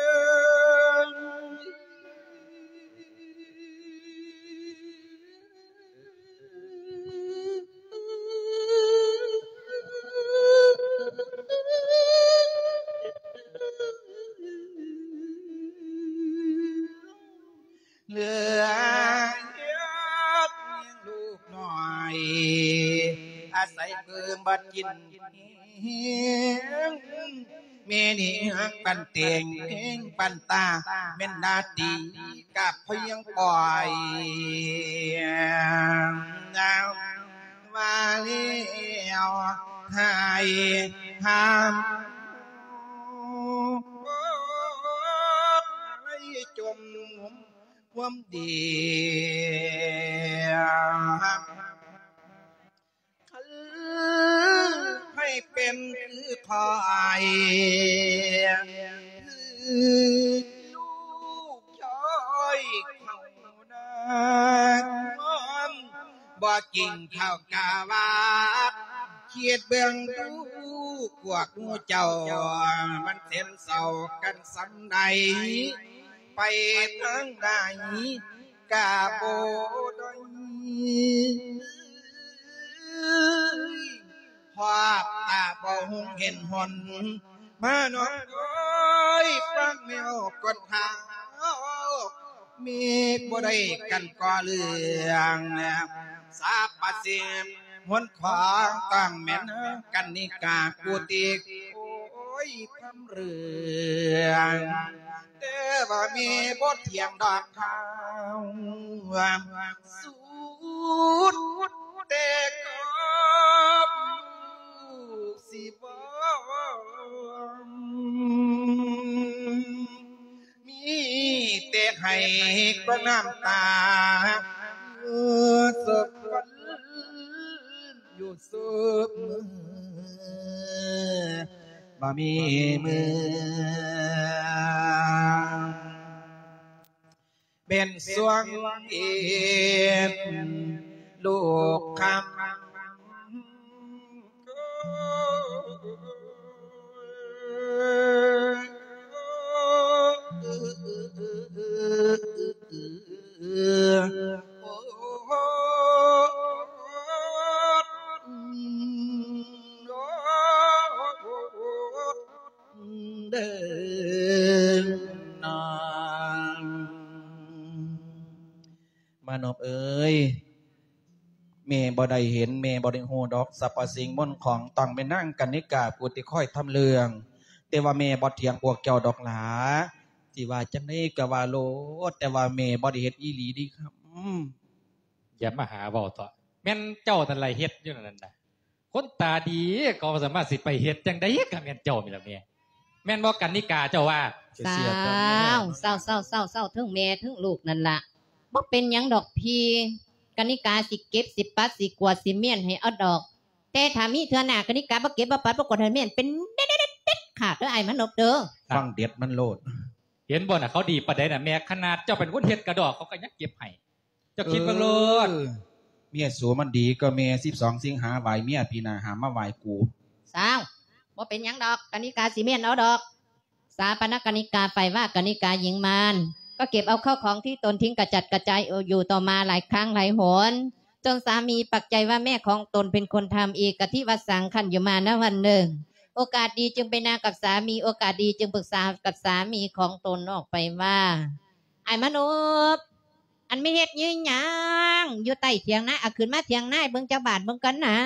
ເຫຼືອເຮັດລ້ຽງລູກນ້ອຍ ອາໄສເບິ່ງບັດກິນແຮງ ແມ່ນີ້ຮັກປັນແຕງແຮງປັນຕາ ແມ່ນໜ້າທີ່ກະພຽງປ່ອຍ. ຫ້າມໃຫ້ຈົມຄວາມດີ ໃຫ້ເປັນຄືຂ້ອຍ ຄືລູກຊອຍເຂົານາງອມ ບໍ່ຈິງເຂົາກະວ່າ ຄິດເບິ່ງດູ ພວກໝູ່ເຈົ້າ ມັນເສັນເສົ້າກັນສ່ຳໃດ ໄປທາງໃດກະບໍ່ໄດ້ ຮອບຕາບໍ່ຮຸ່ງເຫັນຫົນ ມານ້ອງເອີຍ ຟັງແນວກ່ອນເຮົາ ມີບໍ່ໄດ້ກັນກໍເລື່ອງ ສາປະເສມ ຫົນຂອງຕ້ອງແມ່ນກັນນິກາ ຜູ້ຕິ ໂອ້ຍ ພຳເລື່ອງ ແຕ່ວ່າແມ່ບໍ່ຖຽງດອກເຮົາ ສຸດແຕ່ກອບລູກຊິບອກ ມີແຕ່ໄຫ້ກໍນ້ຳຕາ ຢູ່ສົບວັນ ຢູ່ສົບມື້ ບໍ່ມີມື້ ເປັນຊ່ວງເປັນລູກຄຳ ເດີນາງ ມານົບເອີຍ ແມ່ບໍ່ໄດ້ເຫັນ ແມ່ບໍ່ໄດ້ຮູ້ດອກ ສັບພະສິ່ງມົນຂອງ ຕ້ອງແມ່ນນາງກັນນິກາຜູ້ທີ່ຄອຍທຳເລື່ອງ ແຕ່ວ່າແມ່ບໍ່ຖຽງພວກເຈົ້າດອກຫຼາ ຊິວ່າຈັ່ງໃດກໍວ່າໂລດ ແຕ່ວ່າແມ່ບໍ່ໄດ້ເຮັດອີ່ຫຼີເດ້ຄຳ. ຢ່າມາຫາເວົ້າເຖາະ ແມ່ນເຈົ້ານັ້ນລະເຮັດຢູ່ນັ້ນນະ ຄົນຕາດີເຂົາສາມາດຊິໄປເຮັດຈັ່ງໃດ ກໍແມ່ນເຈົ້ານີ້ລະແມ່ ແມ່ນບໍ່ກັນນິກາ ເຈົ້າວ່າ? ເຈົ້າ ເຈົ້າ ເຈົ້າ ເຈົ້າ ເທິງແມ່ເທິງລູກນັ້ນລະ ບໍ່ເປັນຫຍັງດອກພີ່ ກັນນິກາຊິເກັບ ຊິປັດ ຊິກວາດ ຊິມ້ຽນໃຫ້ເອົາດອກ ແຕ່ຖ້າມີເທື່ອໜ້າ ກັນນິກາບໍ່ເກັບ ບໍ່ປັດ ບໍ່ກວາດ ໃຫ້ມ້ຽນ ເປັນເດັດ ເດັດ ເດັດຂາດເດີ ອ້າຍມານົບເດີ. ຟັງເດັດມັນໂລດ ເຫັນບໍ່ນະ ເຂົາດີປານໃດນະແມ່ ຂະໜາດເຈົ້າເປັນຄົນເຮັດກະດອກ ເຂົາກໍຍັງເກັບໃຫ້. ເຈົ້າຄິດເບິ່ງໂລດ ເອີ ເມຍສູມັນດີກວ່າແມ່ ສິບສອງສິງຫາໄຫວ້ເມຍ ປີໜ້າຫ້າມມາໄຫວ້ກູ. ຊາວ ບໍ່ເປັນຫຍັງດອກ ກະນິກາຊິມ້ຽນເອົາດອກ. ສາປະນະກະນິກາໄຟວ່າ ກະນິກາຍິງມານ ກໍເກັບເອົາເຂົ້າຂອງທີ່ຕົນຖິ້ມກະຈັດກະຈາຍຢູ່ຕໍ່ມາຫຼາຍຄັ້ງຫຼາຍຫົນ ຈົນສາມີປັກໃຈວ່າແມ່ຂອງຕົນເປັນຄົນທຳເອງ ກະທິວະສັງ ຄັນຢູ່ມານະວັນໜຶ່ງ ໂອກາດດີຈຶ່ງໄປນາກັບສາມີ ໂອກາດດີຈຶ່ງປຶກສາກັບສາມີຂອງຕົນອອກໄປວ່າ ອ້າຍມານົບ ອັນແມ່ເຮັດອີ່ຫຍັງຢູ່ໃຕ້ຖຽງນາ ອາ ຂຶ້ນມາຖຽງນາໃຫ້ເບິ່ງຈັກບາດເບິ່ງກ່ອນນາ.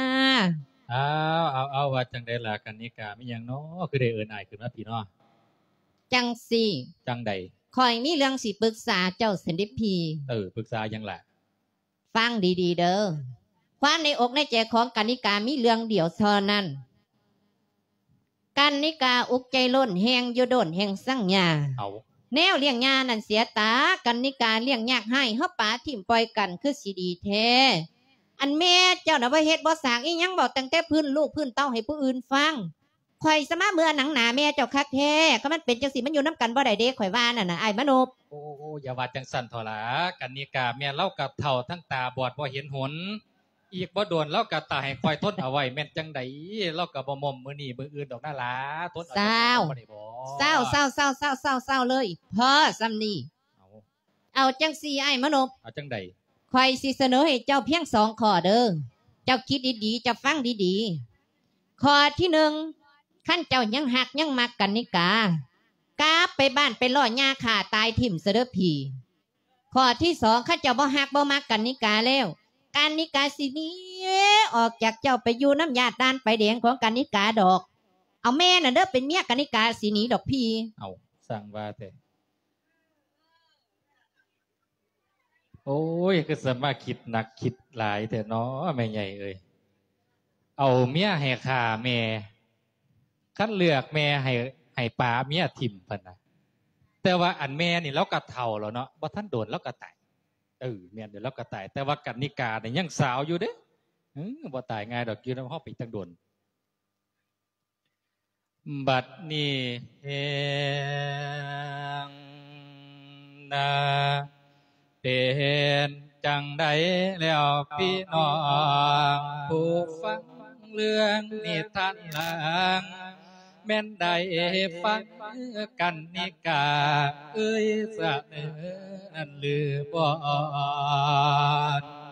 ອ້າວ ເອົາ ເອົາ ວ່າຈັ່ງໃດລະກັນນິກາ ມີຫຍັງນໍ ຄືໄດ້ເອີ້ນອ້າຍຂຶ້ນມາພີ້ນໍ? ຈັ່ງຊີ້ ຈັ່ງໃດ? ຂ້ອຍມີເລື່ອງຊິປຶກສາເຈົ້າຊັ້ນເດພີ່. ເອີ ປຶກສາຫຍັງລະ? ຟັງດີໆເດີ ຄວາມໃນອົກໃນໃຈຂອງກັນນິກາມີເລື່ອງດຽວເທົ່ານັ້ນ. ກັນນິກາອຸກໃຈໂລນແຮງຢູ່ໂດນແຮງສັງຍາ ເອົາ ແນວລ້ຽງຍານັ້ນເສຍຕາ ກັນນິກາລ້ຽງຍາກຮ້າຍ ເຮົາປະຖິ້ມປ່ອຍກັນຄືຊິດີແທ້. ອັນແມ່ເຈົ້ານະບໍ່ເຮັດບໍ່ສ້າງອີ່ຫຍັງ ເວົ້າຕັ້ງແຕ່ພື້ນລູກພື້ນເຕົ້າໃຫ້ຜູ້ອື່ນຟັງ. ຂ້ອຍສະມາເມື່ອໜັງໜາແມ່ເຈົ້າຄັກແທ້ ຄັນມັນເປັນຈັ່ງຊີ້ມັນຢູ່ນຳກັນບໍ່ໄດ້ເດ້ ຂ້ອຍວ່ານັ້ນນະ ອ້າຍມານົບ. ໂອ້ ໂອ້ ໂອ້ ຢ່າວ່າຈັ່ງຊັ້ນເຖາະຫຼ້າ ກັນນິກາ ແມ່ລາວກໍເຖົ້າທັງຕາບອດບໍ່ເຫັນຫົນ ອີກບໍ່ດົນລາວກໍຕາຍ ໃຫ້ຂ້ອຍທົນເອົາໄວ້ແມ່ນຈັ່ງໃດ ລາວກໍບໍ່ໝົ້ມມື້ນີ້ມື້ອື່ນດອກນາຫຼ້າ ທົນເອົາຈັກໜ້ອຍບໍ່ໄດ້ບໍ? ຊາວ ຊາວ ຊາວ ເລີຍ ເຊົາ ເຊົາ ເຊົາ ເຊົາ ເລີຍ ພໍສ່ຳນີ້. ເອົາ ເອົາຈັ່ງຊີ້ອ້າຍມານົບ ເອົາຈັ່ງໃດ? ຂ້ອຍຊິສະເໜີໃຫ້ເຈົ້າພຽງສອງຂໍ້ເດີ ເຈົ້າຄິດດີໆ ເຈົ້າຟັງດີໆ. ຂໍ້ທີໜຶ່ງ ຄັນເຈົ້າຍັງຮັກຍັງມັກກັນນິກາ ກັບໄປບ້ານໄປລໍ້ຍ່າຂ້າຕາຍຖິ້ມຊະເດີພີ່. ຂໍ້ທີສອງ ຄັນເຈົ້າບໍ່ຮັກບໍ່ມັກກັນນິກາແລ້ວ ກັນນິກາຊິໜີອອກຈາກເຈົ້າໄປຢູ່ນຳຍາດດ່ານໄຟແດງຂອງກັນນິກາດອກ. ເອົາແມ່ນະເດີ ເປັນເມຍກັນນິກາຊິໜີດອກພີ່. ເອົາ ຊ່າງວ່າແທ້. ໂອ້ຍ ຄືສາມາດຄິດໜັກຄິດຫຼາຍແທ້ເນາະ ແມ່ໃຫຍ່ເອີຍ. ເອົາເມຍໃຫ້ຂ້າແມ່ ຄັນເລືອກແມ່ໃຫ້ ໃຫ້ປາເມຍຖິ້ມ ເພິ່ນນະ. ແຕ່ວ່າອັນແມ່ນີ້ລາວກໍເຖົ້າແລ້ວເນາະ ບໍ່ທັນໂດນລາວກໍຕາຍ. ເອີ ແມ່ນຢູ່ ລາວກໍຕາຍ ແຕ່ວ່າກັນນິການີ້ຍັງສາວຢູ່ເດ້. ເອີ ບໍ່ຕາຍງ່າຍດອກ ຢູ່ນຳເຮົາໄປຕັ້ງໂດນ. ບັດນີ້ແຮງນາ ເປັນຈັ່ງໃດແລ້ວພີ່ນ້ອງຜູ້ຟັງເລື່ອງນິທານລາງ ແມ່ນໄດ້ຟັງກັນນິກາເອີຍສະເໜີນັ້ນຫຼືບໍ່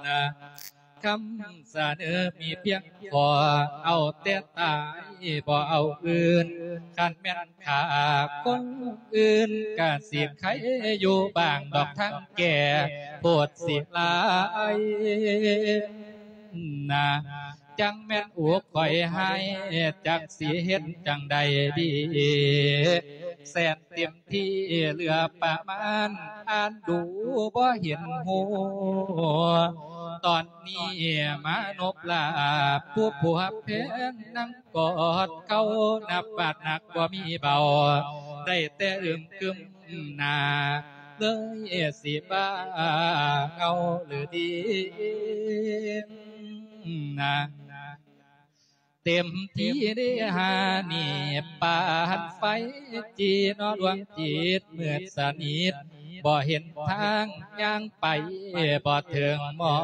ນະ? ຄຳສະເໜີມີພຽງຂໍ ເອົາແຕ່ຕາຍບໍ່ເອົາອື່ນ ຄັນແມ່ນຂ້າຄົນອື່ນ ກະຊິໄຄຢູ່ບ້າງດອກ ທັງແກ່ໂພດຊິຫຼາຍນາ. ຈັ່ງແມ່ນອຸກຂ້ອຍຮ້າຍ ຈັກຊິເຮັດຈັ່ງໃດດີ ແສນເຕັມທີ່ເຫຼືອປະມານ ອ່ານດູບໍ່ເຫັນຮູ້ ຕອນນີ້ມານົບລາບຜູ້ຜົວແພງ ນັ່ງກອດເຂົ່ານັບບາດໜັກບໍ່ມີເບົາ ໄດ້ແຕ່ອຶມກຶມໜ້າ ເລີຍຊິບ້າເຫງົາຫຼືດີນາ. ເຕັມທີ່ເດຫານີ້ ປານໄຟຈີ່ເນາະ ດວງຈິດມືດສະໜິດ ບໍ່ເຫັນທາງຍ່າງໄປບໍ່ເຖິງໝອ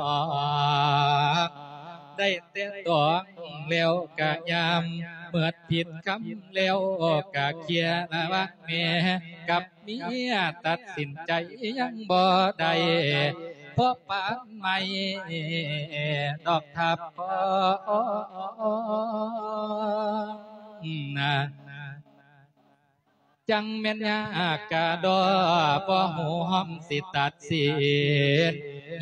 ກ ໄດ້ແຕ່ຕ້ອງແລ້ວກະຍາມ ເໝິດຜິດຄຳແລ້ວກະເຄຍລະວະແມ່ກັບ ເມຍຕັດສິນໃຈຍັງບໍ່ໄດ້ ພໍປານໄມ້ດອກທັບຄອນາ. ຈັ່ງແມ່ນຍາກກະດໍ ບໍ່ຮູ້ຮ່ອມຊິຕັດສິນ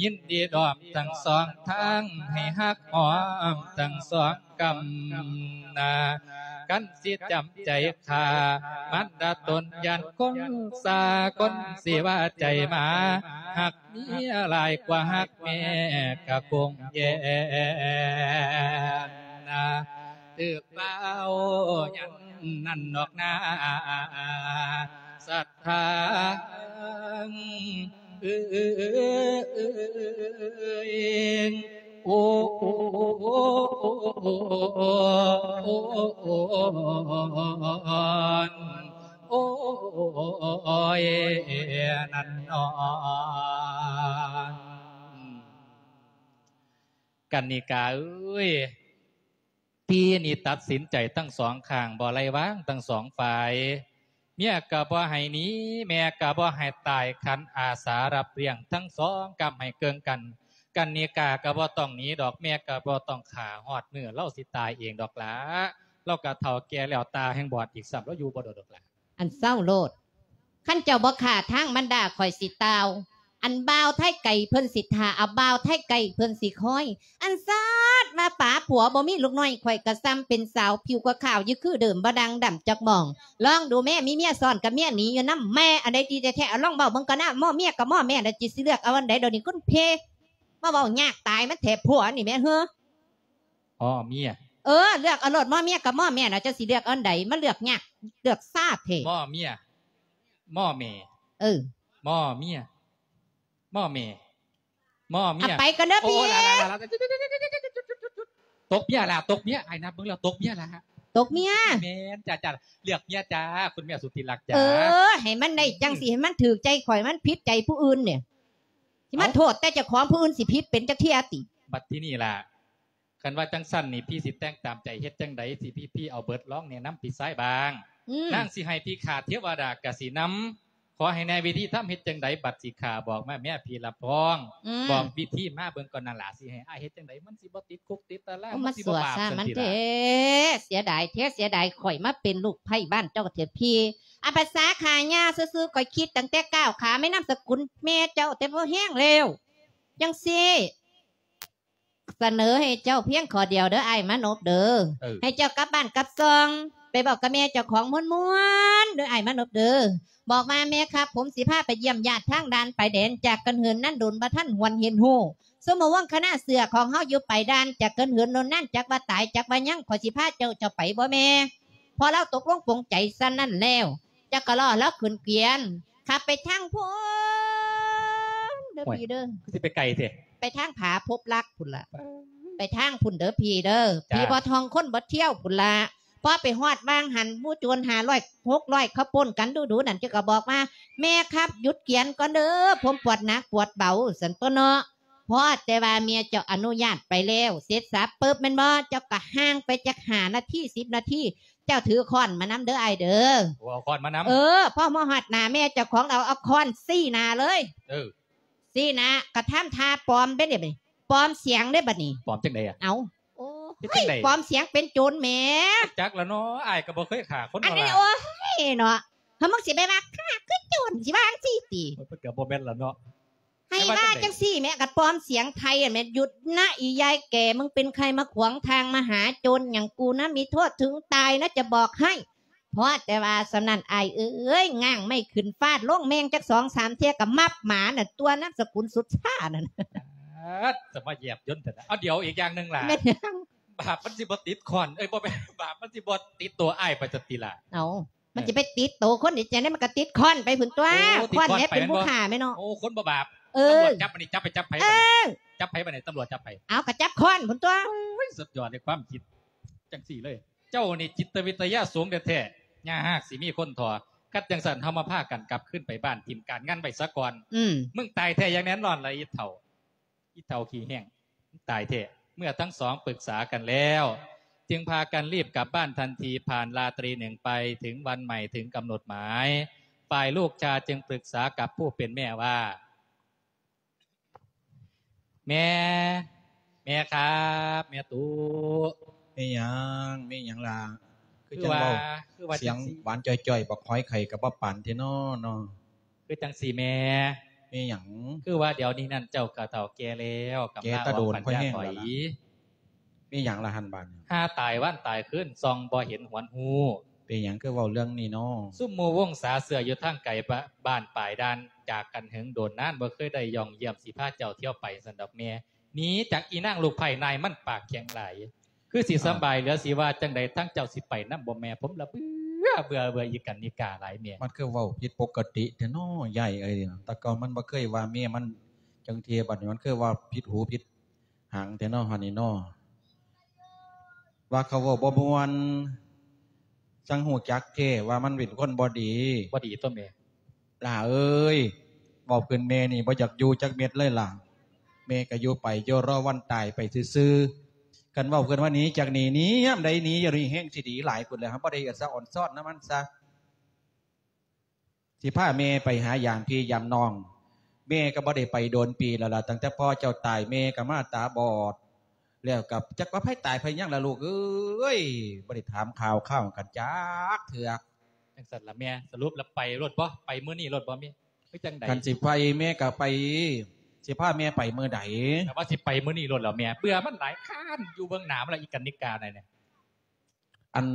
ຍິນດີດອມທັງສອງທາງ ໃຫ້ຮັກຫອມທັງສອງ ກຳນາ ຄັນຊິຈຳໃຈຂ້າ ມັນດາຕົນຢ້ານຄົນສາ ຄົນຊິວ່າໃຈໝາ ຮັກເມຍຫຼາຍກວ່າຮັກແມ່ກະຄົງແຍ່ນາ ຖືກເວົ້າຢ່າງນັ້ນດອກນາ ສັດທາ ເອີຍ ໂອ້ ໂອ້ ໂອ້ ໂອ້ ໂອ້ ໂອ້ ໂອ້ຍ ນັ້ນນອນ ກັນນິກາເອີຍ. ທີ່ນີ້ຕັດສິນໃຈທັງສອງຂ້າງ ບໍ່ໄລ່ວາງທັງສອງຝ່າຍ ເມຍກະບໍ່ໃຫ້ໜີ ແມ່ກະບໍ່ໃຫ້ຕາຍ ຂັນອາສາຮັບລ້ຽງທັງສອງ ກຳໃຫ້ເກິ່ງກັນ ກັນນິກາກະບໍ່ຕ້ອງໜີດອກ ແມ່ກະບໍ່ຕ້ອງຂ້າ ຮອດມື້ລາວຊິຕາຍເອງດອກຫຼ້າ ລາວກະເຖົ້າແກ່ແລ້ວ ຕາແຮ່ງບອດອີກຊ້ຳ ລາວຢູ່ບໍ່ດົນດອກຫຼ້າ. ອັນເຊົາໂລດ ຄັນເຈົ້າບໍ່ຂ້າທາງມັນດາຂ້ອຍຊິຕ່າວ ອັນບ່າວໄທໄກເພິ່ນຊິຖ້າເອົາ ບ່າວໄທໄກເພິ່ນຊິຄອຍ ອັນຊາດມາປາຜົວບໍ່ມີລູກນ້ອຍ ຂ້ອຍກະຊ່ຳເປັນສາວຜິວກະຂາວຢູ່ຄືເດີມ ບໍ່ດ່າງດຳຈັກໝ່ອງ ລອງດູແມ້ ມີເມຍຊ້ອນກັບເມຍໜີຢູ່ນຳ ແມ່ອັນໃດດີແທ້ໆ ເອົາລອງເວົ້າເບິ່ງກ່ອນນະ ໝໍ້ເມຍກະໝໍ້ແມ່ນະ ຊິເລືອກເອົາອັນໃດ ດຽວນີ້ຄຸນເພ ມາເວົ້າຍາກຕາຍ ມັນແທ້ຜົວນີ້ແມ່ເຮີ. ໝໍ້ເມຍ ເອີ ເລືອກເອົາໂລດ ໝໍ້ເມຍກັບໝໍ້ແມ່ນະ ເຈົ້າຊິເລືອກອັນໃດ ມາເລືອກຍາກເລືອກຊາແທ້. ໝໍ້ເມຍ ໝໍ້ແມ່ ເອີ ໝໍ້ເມຍ ໝໍ້ແມ່ ໝໍ້ເມຍ ໄປກ່ອນເດີພີ່. ຕົກເມຍລະ ຕົກເມຍ ອ້າຍນັບເບິ່ງແລ້ວຕົກເມຍລະ ຕົກເມຍ. ແມ່ນຈ້າ ເລືອກເມຍຈ້າ ຄຸນແມ່ສຸດທີ່ຮັກຈ້າ. ເອີ ໃຫ້ມັນໄດ້ຈັ່ງຊີ້ ໃຫ້ມັນຖືກໃຈຂ້ອຍ ມັນຜິດໃຈຜູ້ອື່ນນີ້ ຊິມາໂທດແຕ່ເຈົ້າຂອງ ຜູ້ອື່ນຊິຜິດເປັນຈັກເທື່ອຕິ. ບັດທີນີ້ລະ ຄັນວ່າຈັ່ງຊັ້ນນີ້ ພີ່ຊິແຕ່ງຕາມໃຈເຮັດຈັ່ງໃດ ຊິພີ່ ພີ່ເອົາເບີດລອງແນະນຳພີ່ຊາຍບ້າງ. ນາງຊິໃຫ້ພີ່ຂ້າເທວະດາກະຊິນຳ ຂໍໃຫ້ແນະວິທີທຳເຮັດຈັ່ງໃດ ບັດຊິຂ້າບອກມາ ແມ່ພີ່ລຳພອງ ບອກວິທີມາເບິ່ງກ່ອນນະຫຼ້າ ຊິໃຫ້ອ້າຍເຮັດຈັ່ງໃດ ມັນຊິບໍ່ຕິດຄຸກຕິດຕາລາງ ມັນຊິບໍ່ບາບຊັ້ນຕິລະ. ເສຍດາຍແທ້ ເສຍດາຍຂ້ອຍມາເປັນລູກໃພ້ບ້ານເຈົ້າແທ້ພີ່. ອາ ພາສາຂ້າຍ່າຊື່ໆ ຂ້ອຍຄິດຕັ້ງແຕ່ກ້າວຂາແມ່ນາມສະກຸນແມ່ເຈົ້າແຕ່ພໍແຮງແລ້ວ ຈັ່ງຊີ້ ສະເໜີໃຫ້ເຈົ້າພຽງຂໍ້ດຽວເດີອ້າຍມານົບເດີ ເອີ ໃຫ້ເຈົ້າກັບບ້ານກັບຊ່ອງ ໄປເວົ້າກັບແມ່ເຈົ້າຂອງມ່ວນໆ ເດີອ້າຍມານົບເດີ ບອກວ່າ ແມ່ຄັບ ຜົມຊິພາໄປຢ້ຽມຍາດທາງດ່ານຊາຍແດນ ຈາກກັນເຫີນນານດົນ ບໍ່ທັນຫວນເຫັນຮູ້ ຊຸມໝູ່ວົງຄະນະເສືອຂອງເຮົາຢູ່ປາຍດ່ານ ຈັກເກີນເຫີນໂນ່ນນັ້ນ ຈັກວ່າຕາຍ ຈັກວ່າຍັງ ຂ້ອຍຊິພາເຈົ້າ ເຈົ້າໄປບໍ່ແມ່? ພໍລາວຕົກລົງປົງໃຈສ່ຳນັ້ນແລ້ວ ຈັກກະລໍ້ລາວຂຶ້ນກວຽນ ຂັບໄປທາງພຸ້ນເດີ ໂອ້ຍ ພີ່ເດີ ຄືຊິໄປໄກແທ້ ໄປທາງຜາພົບລັກພຸ້ນລະ ໄປທາງພຸ້ນເດີພີ່ເດີ ຈ້າ ຜີບໍ່ທ່ອງຄົນບໍ່ທ່ຽວພຸ້ນລະ. ພໍໄປຮອດຫວ່າງຫັ້ນ ໝູ່ໂຈນຫ້າຮ້ອຍຫົກຮ້ອຍເຂົາປົນກັນດູໆນັ້ນ ເຈົ້າກໍບອກວ່າ ແມ່ຄັບ ຢຸດກວຽນກ່ອນເດີ ຜົມປວດໜັກປວດເບົາ ຊັ້ນຕົວະເນາະ. ພໍແຕ່ວ່າເມຍເຈົ້າອະນຸຍາດໄປແລ້ວ ເສັດສັບປຶບແມ່ນບໍ່ ເຈົ້າກໍຫ່າງໄປຈັກຫ້ານາທີ ສິບນາທີ ເຈົ້າຖືຄ້ອນມານຳເດີອ້າຍເດີ. ໂອ້ ເອົາຄ້ອນມານຳ. ເອີ ພໍມາຮອດໜ້າແມ່ເຈົ້າຂອງລາວ ເອົາຄ້ອນຊີ້ໜ້າເລີຍ. ເອີ ຊີ້ໜ້າ ກະທຳທ່າປອມເດ້ ບັດນີ້ ປອມສຽງເດ້ບັດນີ້. ປອມຈັ່ງໃດອະ? ເອົ້າ ໂອ້ ເຮັດຈັ່ງໃດ? ປອມສຽງເປັນໂຈນແໝ. ຈັກລະເນາະ ອ້າຍກໍບໍ່ເຄີຍຂ້າຄົນ ອັນນີ້ ເນາະລະ. ໂອ້ຍເນາະ ຖ້າມຶງຊິໄປວ່າຂ້າຄືໂຈນ ຊິວ່າຈັ່ງຊີ້ຕິ? ເພິ່ນກໍບໍ່ແມ່ນລະເນາະ. ໃຫ້ວ່າຈັ່ງຊີ້ແໝ ຄັນປອມສຽງໄທຫັ້ນແໝ ຢຸດນະອີ່ຍາຍແກ່ ມຶງເປັນໃຜມາຂວາງທາງມະຫາໂຈນຫຍັງ ກູນະມີໂທດເຖິງຕາຍນະ ຈະບອກໃຫ້. ພໍແຕ່ວ່າສ່ຳນັ້ນອ້າຍເອີຍ ງ່າງໄມ້ຂຶ້ນຟາດລົງແມງຈັກສອງສາມເທື່ອ ກໍມັບໝານັ້ນຕົວະ ນາມສະກຸນສຸດຊານັ້ນ. ອາດ ຈະມາແຍບຍົນແທ້ນະ. ເອົາ ດຽວອີກຢ່າງໜຶ່ງຫຼ້າ ແມ່ນຫຍັງ? ບາບມັນຊິບໍ່ຕິດຄ້ອນ ເອີຍ ບໍ່ແມ່ນ ບາບມັນຊິບໍ່ຕິດໂຕອ້າຍໄປຊັ້ນຕິລະ? ເອົ້າ ມັນຊິໄປຕິດໂຕຄົນໄດ້ຈັ່ງໃດ ມັນກໍຕິດຄ້ອນໄປພຸ້ນຕົວະ. ໂອ້ ຄ້ອນແຫຼະເປັນຜູ້ຂ້າແມ່ເນາະ. ໂອ້ ຄົນບໍ່ບາບ. ເອີ ຕຳຫຼວດຈັບບັດນີ້ ຈັບໄປ ຈັບໃຜບັດນີ້? ເອີ ຈັບໃຜບັດນີ້? ຕຳຫຼວດຈັບໃຜ? ເອົາ ກໍຈັບຄ້ອນພຸ້ນຕົວະ. ໂອ້ຍ ສຸດຍອດໃນຄວາມຄິດ ຈັ່ງຊີ້ເລີຍ ເຈົ້ານີ້ຈິດຕະວິທະຍາສູງແທ້ໆ ຢ່າຫາກຊິມີຄົນທໍ່. ຄັນຈັ່ງຊັ້ນ ເຮົາມາພາກັນກັບຄືນໄປບ້ານ ຖິ້ມການງານໄວ້ສາກ່ອນ. ອືມ ມຶງຕາຍແທ້ຢ່າງແນ່ນອນລະ ອີເຖົ້າ ອີເຖົ້າຂີ້ແຫ້ງ ຕາຍແທ້. ເມື່ອທັງສອງປຶກສາກັນແລ້ວ ຈຶ່ງພາກັນລີບກັບບ້ານທັນທີ. ຜ່ານລາຕຣີໜຶ່ງໄປ ເຖິງວັນໃໝ່ ເຖິງກຳນົດໝາຍ ຝ່າຍລູກຊາຍຈຶ່ງປຶກສາກັບຜູ້ເປັນແມ່ວ່າ ແມ່ ແມ່ຄັບ ແມ່ຕູ້. ແມ່ຫຍັງ? ແມ່ຫຍັງລະ? ຄື ຄື ຈັ່ງ ວ່າ ເວົ້າ ຄືວ່າ ສຽງ ຈັ່ງຊີ້ ຫວານຈ່ອຍໆ ບັກຫອຍໄຂ່ກໍບໍ່ປານແທ້ນໍເນາະ. ຄືຈັ່ງຊີ້ແມ່. ແມ່ຫຍັງ? ຄືວ່າດຽວນີ້ນັ້ນເຈົ້າກໍເຖົ້າແກ່ແລ້ວ ກຳລາອອກປັນຍາຖອຍ. ແກ່ຕາໂດນ ຂ້ອຍແຮງແລ້ວລະ. ແມ່ຫຍັງລະຫັ້ນບາດນີ້? ຫາຕາຍວັນຕາຍຄືນ ສ່ອງບໍ່ເຫັນຫວນຮູ້. ເປັນຫຍັງຄືເວົ້າເລື່ອງນີ້ນໍ? ຊຸມໝູ່ວົງສາເສືອຢູ່ທາງໄກ ບ້ານປາຍດ່ານ ຈາກກັນເຫິງໂດນນານ ບໍ່ເຄີຍໄດ້ຍ່ອງຢ້ຽມ ຊິພາເຈົ້າທ່ຽວໄປຊັ້ນດອກແມ່. ໜີຈາກອີນາງລູກໃພ້ນາຍມັນປາກແຂງຫຼາຍ ຄືຊິສຳບາຍເຫຼືອຊິວ່າຈັ່ງໃດ. ທັງເຈົ້າຊິໄປນຳບໍ່ແມ່? ຜົມລະເບື່ອ ເບື່ອ ເບື່ອອີກັນນິກາຫຼາຍແມ່. ມັນຄືເວົ້າຜິດປົກກະຕິແທ້ນໍຍາຍເອີຍ. ແຕ່ເກົ່າມັນບໍ່ເຄີຍວ່າເມຍມັນຈັ່ງເທື່ອ ບັດນີ້ມັນຄືວ່າຜິດຫູຜິດຫາງແທ້ນໍ ອັນນີ້ນໍ. ວ່າເຂົາເວົ້າບໍ່ມ່ວນ ຈັ່ງຮູ້ຈັກແທ້ວ່າມັນເປັນຄົນບໍ່ດີ. ບໍ່ດີຕົວະແມ່. ຫຼ້າເອີຍ ເວົ້າເປັນແມ່ນີ້ບໍ່ຢາກຢູ່ຈັກເມັດເລີຍຫຼ້າ. ແມ່ກໍຢູ່ໄປ ຢູ່ລໍວັນຕາຍໄປຊື່ໆ. ຄັນເວົ້າເພິ່ນວ່າໜີຈາກນີ້ ໜີຍາມໃດໜີຢູ່ນີ້ແຮງຊິດີຫຼາຍພຸ້ນແຫຼະ. ເຮົາບໍ່ໄດ້ສະອອນຊອນນຳມັນຊະ. ຊິພາແມ່ໄປຫາຢາມພີ່ຢາມນ້ອງ. ແມ່ກໍບໍ່ໄດ້ໄປໂດນປີແລ້ວລະ ຕັ້ງແຕ່ພໍ່ເຈົ້າຕາຍ ແມ່ກໍມາຕາບອດ. ແລ້ວກໍຈັກວ່າໃຜຕາຍໃຜຫຍັງລະລູກເອີຍ ບໍ່ໄດ້ຖາມຂ່າວຄາວກັນຈັກເທື່ອ. ຈັ່ງຊັ້ນລະແມ່ ສະຫຼຸບລະໄປໂລດບໍ? ໄປມື້ນີ້ໂລດບໍແມ່ ຄືຈັ່ງໃດ? ຄັນຊິໄປແມ່ກໍໄປ ຊິພາແມ່ໄປມື້ໃດ? ແຕ່ວ່າຊິໄປມື້ນີ້ໂລດແລ້ວແມ່ ເບື່ອມັນຫຼາຍ ຄ້ານຢູ່ເບິ່ງໜ້າມັນລະ ອີການິກາໃດນີ້. ອັນ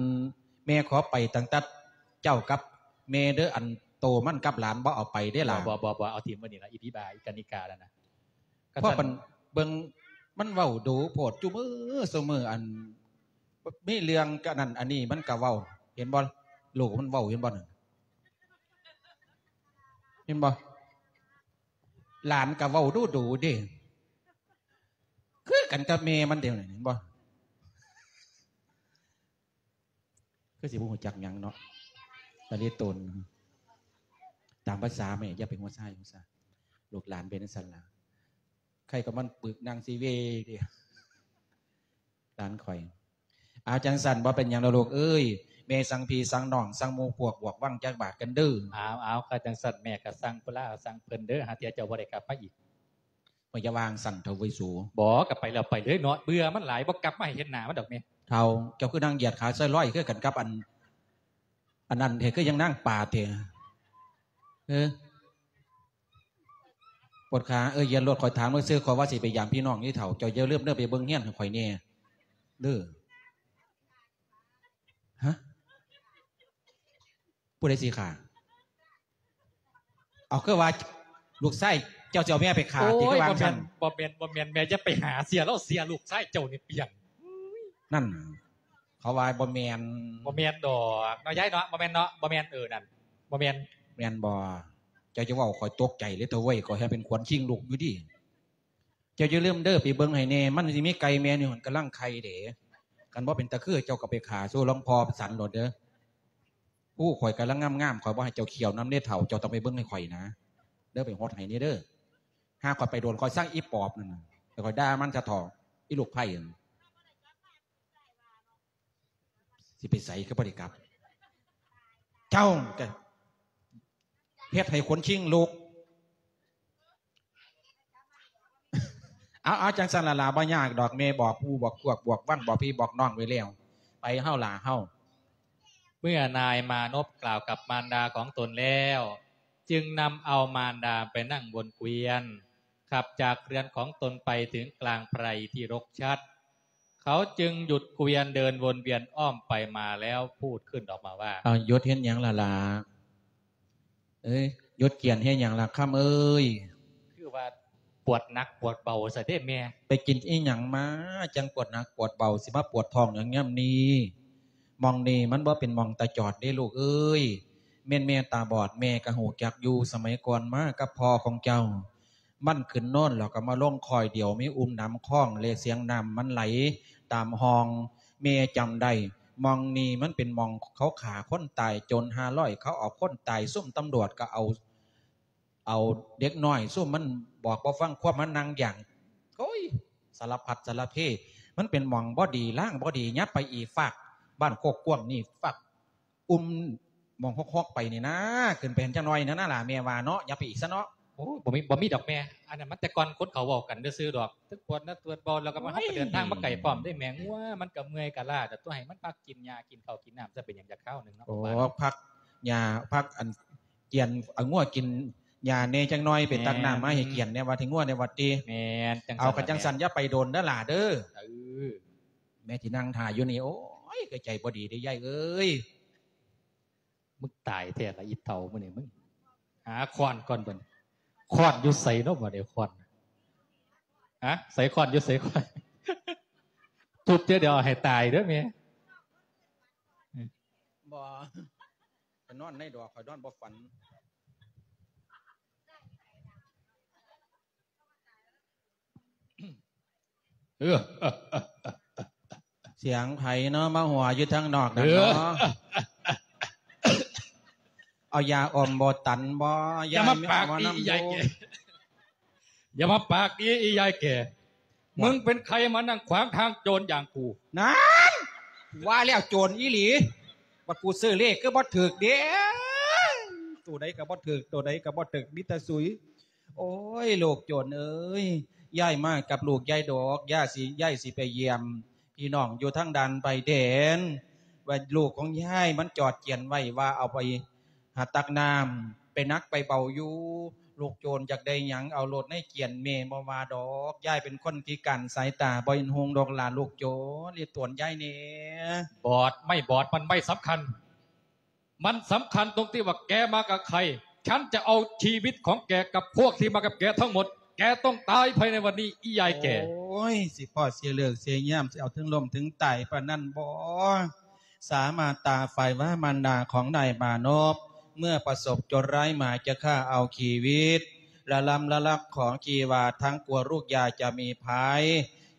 ແມ່ຂໍໄປຕັ້ງແຕ່ເຈົ້າກັບແມ່ເດີ ອັນໂຕມັນກັບຫຼານບໍ່ເອົາໄປເດ້ຫຼານ. ບໍ່ ບໍ່ ບໍ່ ເອົາຖິ້ມໄວ້ນີ້ລະ ອີຜີບ້າ ອີການິການັ້ນນະ. ເພາະມັນເບິ່ງ ມັນເວົ້າດູໂພດ ຊຸມື້ຊຸມື້ ອັນມີເລື່ອງກະນັ້ນອັນນີ້ມັນກະເວົ້າ ເຫັນບໍ່? ລູກມັນເວົ້າ ເຫັນບໍ່ນັ້ນ? ເຫັນບໍ່? ຫຼານກະເວົ້າດູໆເດ້ ຄືກັນກັບແມ່ມັນເດ ເຫັນບໍ່? ຄືຊິບໍ່ຮູ້ຈັກຫຍັງເນາະ ຕະລິໂຕນ. ຕາມພາສາແມ່ ຢ່າໄປຫົວຊາຍຫົວຊາ ລູກຫຼານເປັນຈັ່ງຊັ້ນລະ. ໃຄກໍມັນປຶກນາງຊີເວເດ ຫຼານຂ້ອຍ. ເອົາ ຈັ່ງຊັ້ນບໍ່ເປັນຫຍັງດອກລູກເອີຍ ແມ່ສັ່ງພີ່ສັ່ງນ້ອງ ສັ່ງໝູ່ພວກບວກວັງຈັກບາດກັນເດີ. ເອົາ ເອົາ ຄັນຈັ່ງຊັ້ນແມ່ກໍສັ່ງພຸ້ນລະ ສັ່ງເພິ່ນເດີ ຫາເທື່ອເຈົ້າບໍ່ໄດ້ກັບມາອີກ. ໂອ້ຍ ຢ່າວ່າຈັ່ງຊັ້ນເຖົ້າເວີຍສູ. ບໍ່ ກໍໄປແລ້ວໄປເລີຍເນາະ ເບື່ອມັນຫຼາຍ ບໍ່ກັບມາໃຫ້ເຫັນໜ້າມັນດອກແມ່. ເຖົ້າ ເຈົ້າຄືນາງຢຽດຂາຊອຍລອຍຄືກັນກັບອັນ ອັນນັ້ນແທ້ ຄືຍັງນາງປາແທ້. ເອີ ປວດຂາ ເອີ ຢ່າໂລດ ຂ້ອຍຖາມຊື່ໆ ຂ້ອຍວ່າຊິໄປຢາມພີ່ນ້ອງນີ້ເຖົ້າ ເຈົ້າຢ່າລືມເດີ ໄປເບິ່ງເຮືອນໃຫ້ຂ້ອຍແດ່ເດີ. ຮະ? ຜູ້ໃດຊິຂ້າ? ເອົາ ຄືວ່າລູກຊາຍ ເຈົ້າຊິເອົາແມ່ໄປຂ້າຕິ ຄືວ່າຊັ້ນ? ບໍ່ແມ່ນ ບໍ່ແມ່ນ ແມ່ຢ່າໄປຫາເຊື່ອລາວ ເຊື່ອລູກຊາຍເຈົ້ານີ້ປ່ຽງ. ນັ້ນ ເຂົາວ່າບໍ່ແມ່ນ. ບໍ່ແມ່ນດອກເນາະ ຍາຍເນາະ ບໍ່ແມ່ນເນາະ ບໍ່ແມ່ນ. ເອີ ນັ້ນ ບໍ່ແມ່ນ. ແມ່ນບໍ່? ເຈົ້າຈະເວົ້າຂ້ອຍຕົກໃຈເລີຍເທີເວີຍ ຂ້ອຍເຮັດເປັນຂວັນຄິງລຸກຢູ່ຕິ. ເຈົ້າຢ່າລືມເດີ ໄປເບິ່ງໃຫ້ແດ່ ມັນຊິມີໄກ່ແມ່ໜຶ່ງກຳລັງໄຂ່ເດ້. ຄັນບໍ່ເປັນຕາຄື ເຈົ້າກໍໄປຂ້າສູ່ຫຼວງພໍ່ສັນໂລດເດີ. ໂອ້ ຂ້ອຍກຳລັງງາມໆ ຂ້ອຍບໍ່ໃຫ້ເຈົ້າຂ້ຽວນຳເດ້ເຖົ້າ ເຈົ້າຕ້ອງໄປເບິ່ງໃຫ້ຂ້ອຍນະເດີ ໄປຫົດໃຫ້ແດ່ເດີ. ຫາຂ້ອຍໄປໂດນ ຂ້ອຍຊັງອີປອບນັ້ນນະ ແລ້ວຂ້ອຍດ່າມັນສະເຖາະ ອີລູກໄຜ່ນັ້ນ. ຊິໄປໃສ ຄືບໍ່ໄດ້ກັບ? ເຈົ້າກະເຮັດໃຫ້ຂົນຄີງລຸກ. ເອົາ ເອົາ ຈັ່ງຊັ້ນລະລາ ບໍ່ຍາກດອກ ແມ່ບອກໝູ່ບອກພວກ ບອກວັງ ບອກພີ່ບອກນ້ອງໄວ້ແລ້ວ. ໄປເຮົາຫຼ້າເຮົາ. ເມື່ອນາຍມານົບກ່າວກັບມານດາຂອງຕົນແລ້ວ ຈຶ່ງນຳເອົາມານດາໄປນັ່ງບົນເກວີຍນ ຂັບຈາກເຮືອນຂອງຕົນໄປເຖິງກາງໄພທີ່ລົກຊັດ ເຂົາຈຶ່ງຢຸດເກວີຍນເດີນວົນວຽນອ້ອມໄປມາແລ້ວພູດຂຶ້ນອອກມາວ່າ ເອົາ ຢຸດເຮັດຫຍັງລະລາ? ເອີຍ ຢຸດກຽນເຮັດຫຍັງລະຄຳເອີຍ? ຄືວ່າປວດໜັກປວດເບົາຊະເດ້ແມ່. ໄປກິນອີຫຍັງມາ ຈັ່ງປວດໜັກປວດເບົາ ຊິມາປວດທ້ອງຫຍັງຍາມນີ້? ໝ່ອງນີ້ມັນບໍ່ເປັນໝ່ອງຕາຈອດເດ້ລູກເອີຍ. ແມ່ນແມ່ຕາບອດ ແມ່ກໍຮູ້ຈັກຢູ່ ສະໄໝກ່ອນມາກັບພໍ່ຂອງເຈົ້າ ມັນຂຶ້ນນອນແລ້ວກໍມາລົງຄ້ອຍດຽວ ມີອຸມນ້ຳຄອງ ແລະ ສຽງນ້ຳມັນໄຫຼຕາມຮ່ອງ. ແມ່ຈຳໄດ້ ໝ່ອງນີ້ມັນເປັນໝ່ອງເຂົາຂ້າຄົນຕາຍ ໂຈນຫ້າຮ້ອຍ ເຂົາເອົາຄົນຕາຍ ຊຸມຕຳຫຼວດກໍເອົາ ເອົາເດັກນ້ອຍ ຊຸມມັນບອກບໍ່ຟັງຄວາມ ມານັ່ງຢ່າງ ໂອ້ຍ ສາລະພັດສາລະເພ. ມັນເປັນໝ່ອງບໍ່ດີ ລາງບໍ່ດີ ຫຍັບໄປອີກຟາກບ້ານໂຄກກວ້າງນີ້ ຟາກ ອຸມໝ່ອງຮອກໆໄປນີ້ນາ ຂຶ້ນໄປຫັ້ນຈັກໜ້ອຍນັ້ນນະຫຼ້າ ແມ່ວ່າເນາະ ຢ່າໄປອີກຊະເນາະ. ໂອ້ຍ ບໍ່ມີ ບໍ່ມີດອກແມ່ ອັນນັ້ນມັນແຕ່ກ່ອນຄົນເຂົາເວົ້າກັນຊື່ໆດອກ ເຖິງປວດໜັກປວດເບົາ ແລ້ວກໍມາ ເຮົາກໍເດີນທາງມາໄກພ້ອມເດ້ແມ່. ງົວມັນກໍເມື່ອຍກໍລ້າ ແຕ່ຕົວະໃຫ້ມັນພັກກິນຫຍ້າກິນເຂົ້າກິນນ້ຳຊະ ເປັນຫຍັງຢາກຄາວໜຶ່ງເນາະ. ໂອ້ ພັກຫຍ້າ ພັກອັນກຽນ ເອົາງົວກິນຫຍ້າແດ່ຈັກໜ້ອຍ ໄປຕັກນ້ຳມາໃຫ້ກຽນແດ່ ວ່າເຖິງງົວແດ່ວ່າຕິ. ແມ່ນ ເອົາ ຄັນຈັ່ງຊັ້ນຢ່າໄປດົນເດີຫຼ້າເດີ. ເອີ ແມ່ຊິນັ່ງຖ້າຢູ່ນີ້. ໂອ້ຍ ກໍໃຈບໍ່ດີເດ້ຍາຍເອີຍ. ມຶງຕາຍແທ້ລະອີເຖົ້າມື້ນີ້ ມຶງຫາຄ້ອນກ່ອນບັດນີ້. ຄ້ອນຢູ່ໃສເນາະບັດນີ້ ຄ້ອນ ຮະ ໃສຄ້ອນ ຢູ່ໃສຄ້ອນ? ທຸບເທື່ອດຽວໃຫ້ຕາຍເດີແມ່. ບໍ່ ຂ້ອຍນອນໃນດອກ ຂ້ອຍນອນບໍ່ຝັນ. ເອີ ສຽງໃຜເນາະ ມາຫົວຢູ່ທາງນອກນັ້ນເນາະ? ເອີ ເອົາຢາອົມບໍ່ຕັນບໍ່? ຢ່າມາປາກດີອີ່ຍາຍແກ່ ຢ່າມາປາກດີອີ່ຍາຍແກ່. ວ່າ ມຶງເປັນໃຜມານັ່ງຂວາງທາງໂຈນຢ່າງກູ? ນັ້ນ ວ່າແລ້ວໂຈນອີ່ຫຼີ. ວ່າກູຊື້ເລກຄືບໍ່ຖືກເດ້ ໂຕໃດກໍບໍ່ຖືກ ໂຕໃດກໍບໍ່ຖືກ ມີແຕ່ສຸຍ. ໂອ້ຍ ລູກໂຈນເອີຍ ຍາຍມາກັບລູກຍາຍດອກ ຍາຍຊິ ຍາຍຊິໄປຢ້ຽມພີ່ນ້ອງຢູ່ທາງດ່ານຊາຍແດນ ວ່າລູກຂອງຍາຍມັນຈອດກຽນໄວ້ ວ່າເອົາໄປຫາຕັກນ້ຳ ໄປໜັກໄປເບົາຢູ່. ລູກໂຈນຢາກໄດ້ຫຍັງເອົາໂລດໃນກຽນ ແມ່ບໍ່ວ່າດອກ. ຍາຍເປັນຄົນພິການສາຍຕາ ບໍ່ເຫັນຮຸ່ງດອກຫຼ້າ ລູກໂຈນ ເລດຕວນຍາຍແດ່. ບອດ ໄມ້ບອດມັນໄມ້ສຳຄັນ ມັນສຳຄັນຕົງທີ່ວ່າແກມາກັບໃຄ. ສັນຈະເອົາຊີວິດຂອງແກກັບພວກທີ່ມາກັບແກທັງໝົດ. ແກຕ້ອງຕາຍພາຍໃນວັນນີ້ ອີ່ຍາຍແກ່. ໂອ້ຍ ຊິພໍ້ເສຍເລີກເສຍຍາມ ຊິເອົາເຖິງລົ້ມເຖິງຕາຍປານນັ້ນບໍ? ສາມາດຕາຝ່າຍວ່າມານດາຂອງນາຍມານົບ ເມື່ອປະສົບໂຈນຮ້າຍມາຈະຂ້າເອົາຊີວິດ ລະລຳລະລັກຂອງທີ່ວ່າທັງກົວລູກຢ່າຈະມີໄພ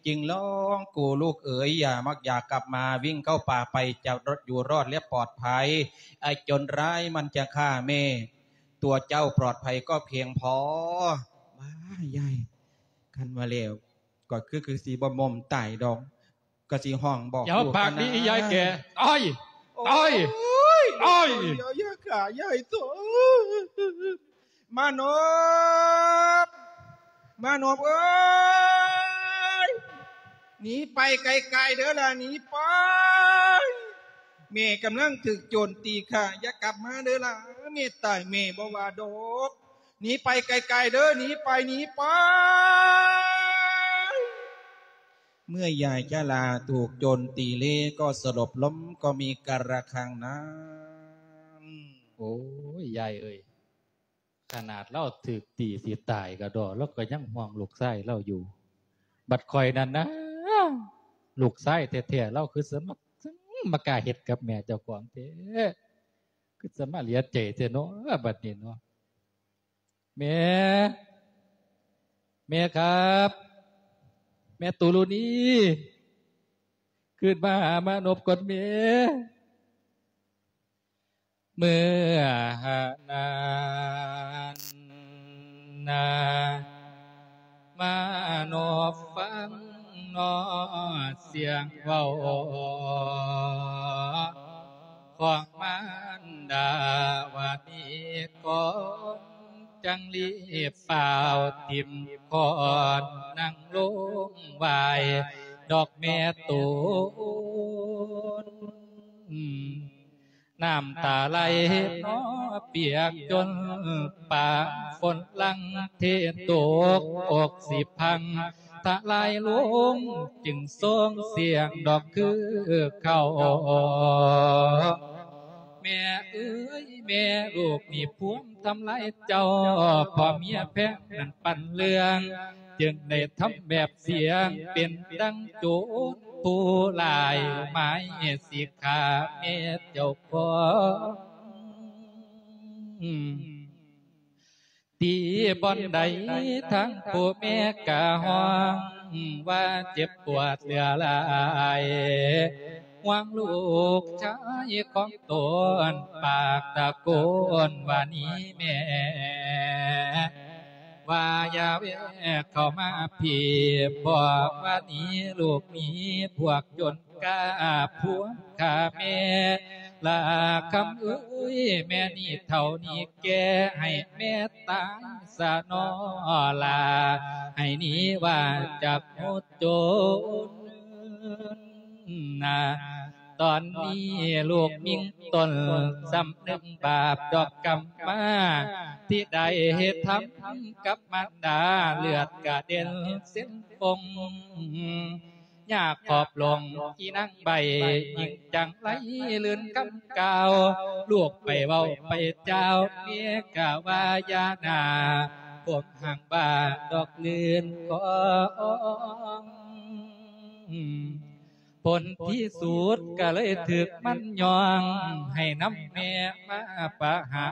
ຈຶ່ງຮ້ອງ ກູລູກເອີຍ ຢ່າມັກຢາກັບມາ ວິ່ງເຂົ້າປ່າໄປ ຈະຢູ່ລອດ ແລະ ປອດໄພ. ໄອ້ໂຈນຮ້າຍມັນຈະຂ້າແມ່ ຕົວເຈົ້າປອດໄພກໍພຽງພໍ. ວ້າຍ ຍາຍ ຄັນວ່າແລ້ວ ກໍຄື ຄືຊິບໍ່ໝົມຕາຍດອກ ກໍຊິຮ້ອງບອກ. ຢ່າມາປາກດີ ອີ່ຍາຍແກ່ ຕາຍ ຕາຍ ຕາຍ. ໂອ້ຍ ໂອ້ຍ ຢ່າຂ້າຍາຍໂຕ. ມານົບ ມານົບເອີຍ ໜີໄປໄກໆເດີລະ ໜີໄປ. ແມ່ກຳລັງຖືກໂຈນຕີຂ້າ ຢ່າກັບມາເດີລະ. ແມ່ຕາຍແມ່ບໍ່ວ່າດອກ ໜີໄປໄກໆເດີ ໜີໄປ ໜີໄປ. ເມື່ອຍາຍຈະລາຖືກໂຈນຕີເລກໍສະຫຼົບລົມ ກໍມີກາລະຄັງນຳ. ໂອ້ຍ ຍາຍເອີຍ. ຂະໜາດລາວຖືກຕີຊິຕາຍກະດໍ ລາວກະຍັງຫ່ວງລູກຊາຍລາວຢູ່. ບັດຂ້ອຍນັ້ນນາ ລູກຊາຍແທ້ໆ ລາວຄືຊິມາ ມາກ້າເຮັດກັບແມ່ເຈົ້າຂອງແທ້ ຄືຊິມາເຫຼືອໃຈແທ້ເນາະ ບັດນີ້ເນາະ. ແມ່ ແມ່ຄັບ ແມ່ຕຸລຸນີ ຄືນມາຫາມານົບກ່ອນແມ່. ເມື່ອນັ້ນນາ ມານົບຟັງນອ ສຽງເວົ້າຂອງມານດາ ວ່ານີ້ກ່ອນ ຈັ່ງລີບຟ້າວຖິ້ມຄ້ອນ ນັ່ງລົງໄຫວ້ດອກແມ່ຕຸນ. ນ້ຳຕາໄຫຼນອປຽກຈົນປາ ຝົນຫຼັ່ງເທຕົກ ອົກຊິພັງທະລາຍລົງ ຈຶ່ງສົ່ງສຽງດອກຄືເຂົາ. ແມ່ເອີຍແມ່ ລູກນີ້ພວມທຳລາຍເຈົ້າ ພໍ່ເມຍແພງນັ້ນປັນເລື່ອງ ຈຶ່ງໄດ້ທຳແບບສຽງ ເປັນດັ່ງໂຈນຜູ້ຮ້າຍ ໝາຍຊິຂ້າແມ່ເຈົ້າຂອງ. ຕີບ່ອນໃດທາງຜູ້ແມ່ກະຮ້ອງ ວ່າເຈັບປວດເຫຼືອຫຼາຍ ຫວັງລູກຊາຍຂອງຕົນ ປາກຕະໂກນວ່ານີ້ແມ່ ວ່າຢ່າແວະເຂົ້າມາພີ້ ບອກວ່ານີ້ລູກນີ້ພວກຈົນ ກາພວມຂ້າແມ່ ລາຄຳເອີຍ ແມ່ນີ້ເຖົ້ານີ້ແກ່ ໃຫ້ແມ່ຕາຍສະນໍລາ ໃຫ້ໜີວ່າຈາກໝູ່ໂຈນນາ. ຕອນນີ້ລູກຍິງຕົນ ສຳນຶກບາບດອກກຳມາ ທີ່ໄດ້ເຮັດທຳກັບມານດາ ເລືອດກະເດັນເສັ້ນຟົງ ຍາກຂອບລົງອີນາງໃບ ຍິງຈັ່ງໄຫຼລື່ນຄຳກ່າວ ລູກໄປເວົ້າໄປຈາວ ເມຍກະວ່າຢ່າໜ້າ ຜົມຮັ່ງວ່າດອກລື່ນຂອງ. ຜົນທີ່ສຸດກະເລີຍຖືກມັນຍ່ອງ ໃຫ້ນຳແມ່ມາປະຫາ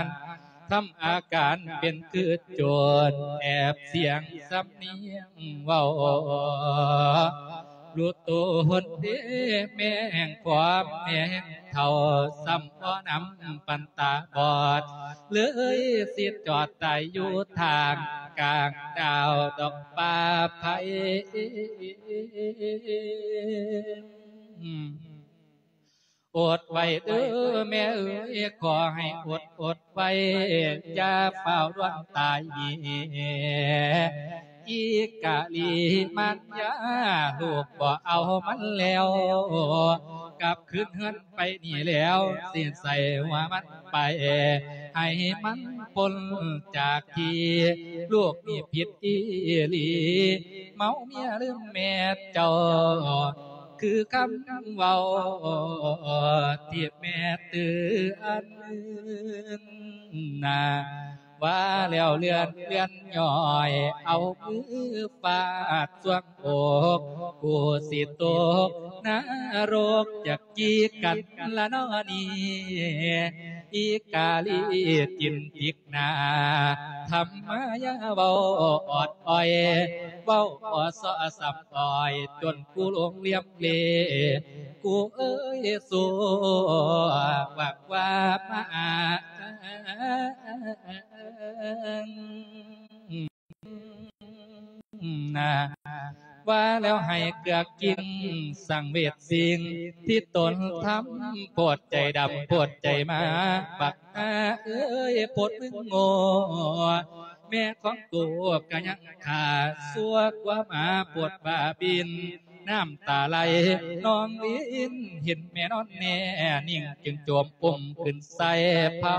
ນ ທຳອາການເປັນຄືໂຈນ ແອບສຽງສຳນຽງເວົ້າ ລູກໂຕຫົນເດ ແມ່ແຫ່ງຄວາມແມ່ແຫ່ງເຖົ້າ ສ່ຳບໍ່ນຳປັນຕາບອດ ເລີຍຊິຈອດຕາຍຢູ່ທາງກາງດາວດອກປ່າໄຜ່. ອົດໄວ້ເດີແມ່ເອີຍ ຂໍໃຫ້ອົດອົດໄວ້ ຢ່າຟ້າວດ່ວນຕາຍແມ່. ອີກາລີມານຍາ ລູກບໍ່ເອົາມັນແລ້ວ ກັບຄືນເຮືອນໄປນີ້ແລ້ວ ຊິໃສ່ຫົວມັນໄປ ໃຫ້ມັນພົ້ນຈາກທີ່ ລູກນີ້ຜິດອີ່ຫຼີ ເມົາເມຍລືມແມ່ເຈົ້າ ຄືຄຳເວົ້າທີ່ແມ່ເຕືອນນາ. ວ່າແລ້ວເລື່ອນເລື່ອນຍ້ອຍ ເອົາມືຟາດສ່ວງອົກ ກູຊິຕົກນະລົກຈັກກີ່ກັນລະນໍນີ້ ອີກາລີຈິນຕິກ ໜ້າທຳມາຢ່າເວົ້າອອດອອຍ ເວົ້າບໍ່ຊໍ່ຊ້ຳອ້ອຍ ຈົນກູຫຼົງຫຼຽມເລ ກູເອີຍ ສວກວ່າມາ ນາ ວ່າແລ້ວໃຫ້ເກືອກກິນສັງເວດສິ່ງທີ່ຕົນທຳ ໂພດໃຈດຳໂພດໃຈໝາ ບັກຫາເອີຍ ໂພດມຶງໂງ່ ແມ່ຂອງໂຕກະຍັງຂ້າ ຊົ່ວກວ່າໝາໂພດບ້າບິນ ນ້ຳຕາໄຫຼນອງລິນ ເຫັນແມ່ນອນແນ່ນິ່ງ ຈຶ່ງໂຈມອຸ້ມຂຶ້ນໃສ່ເພົ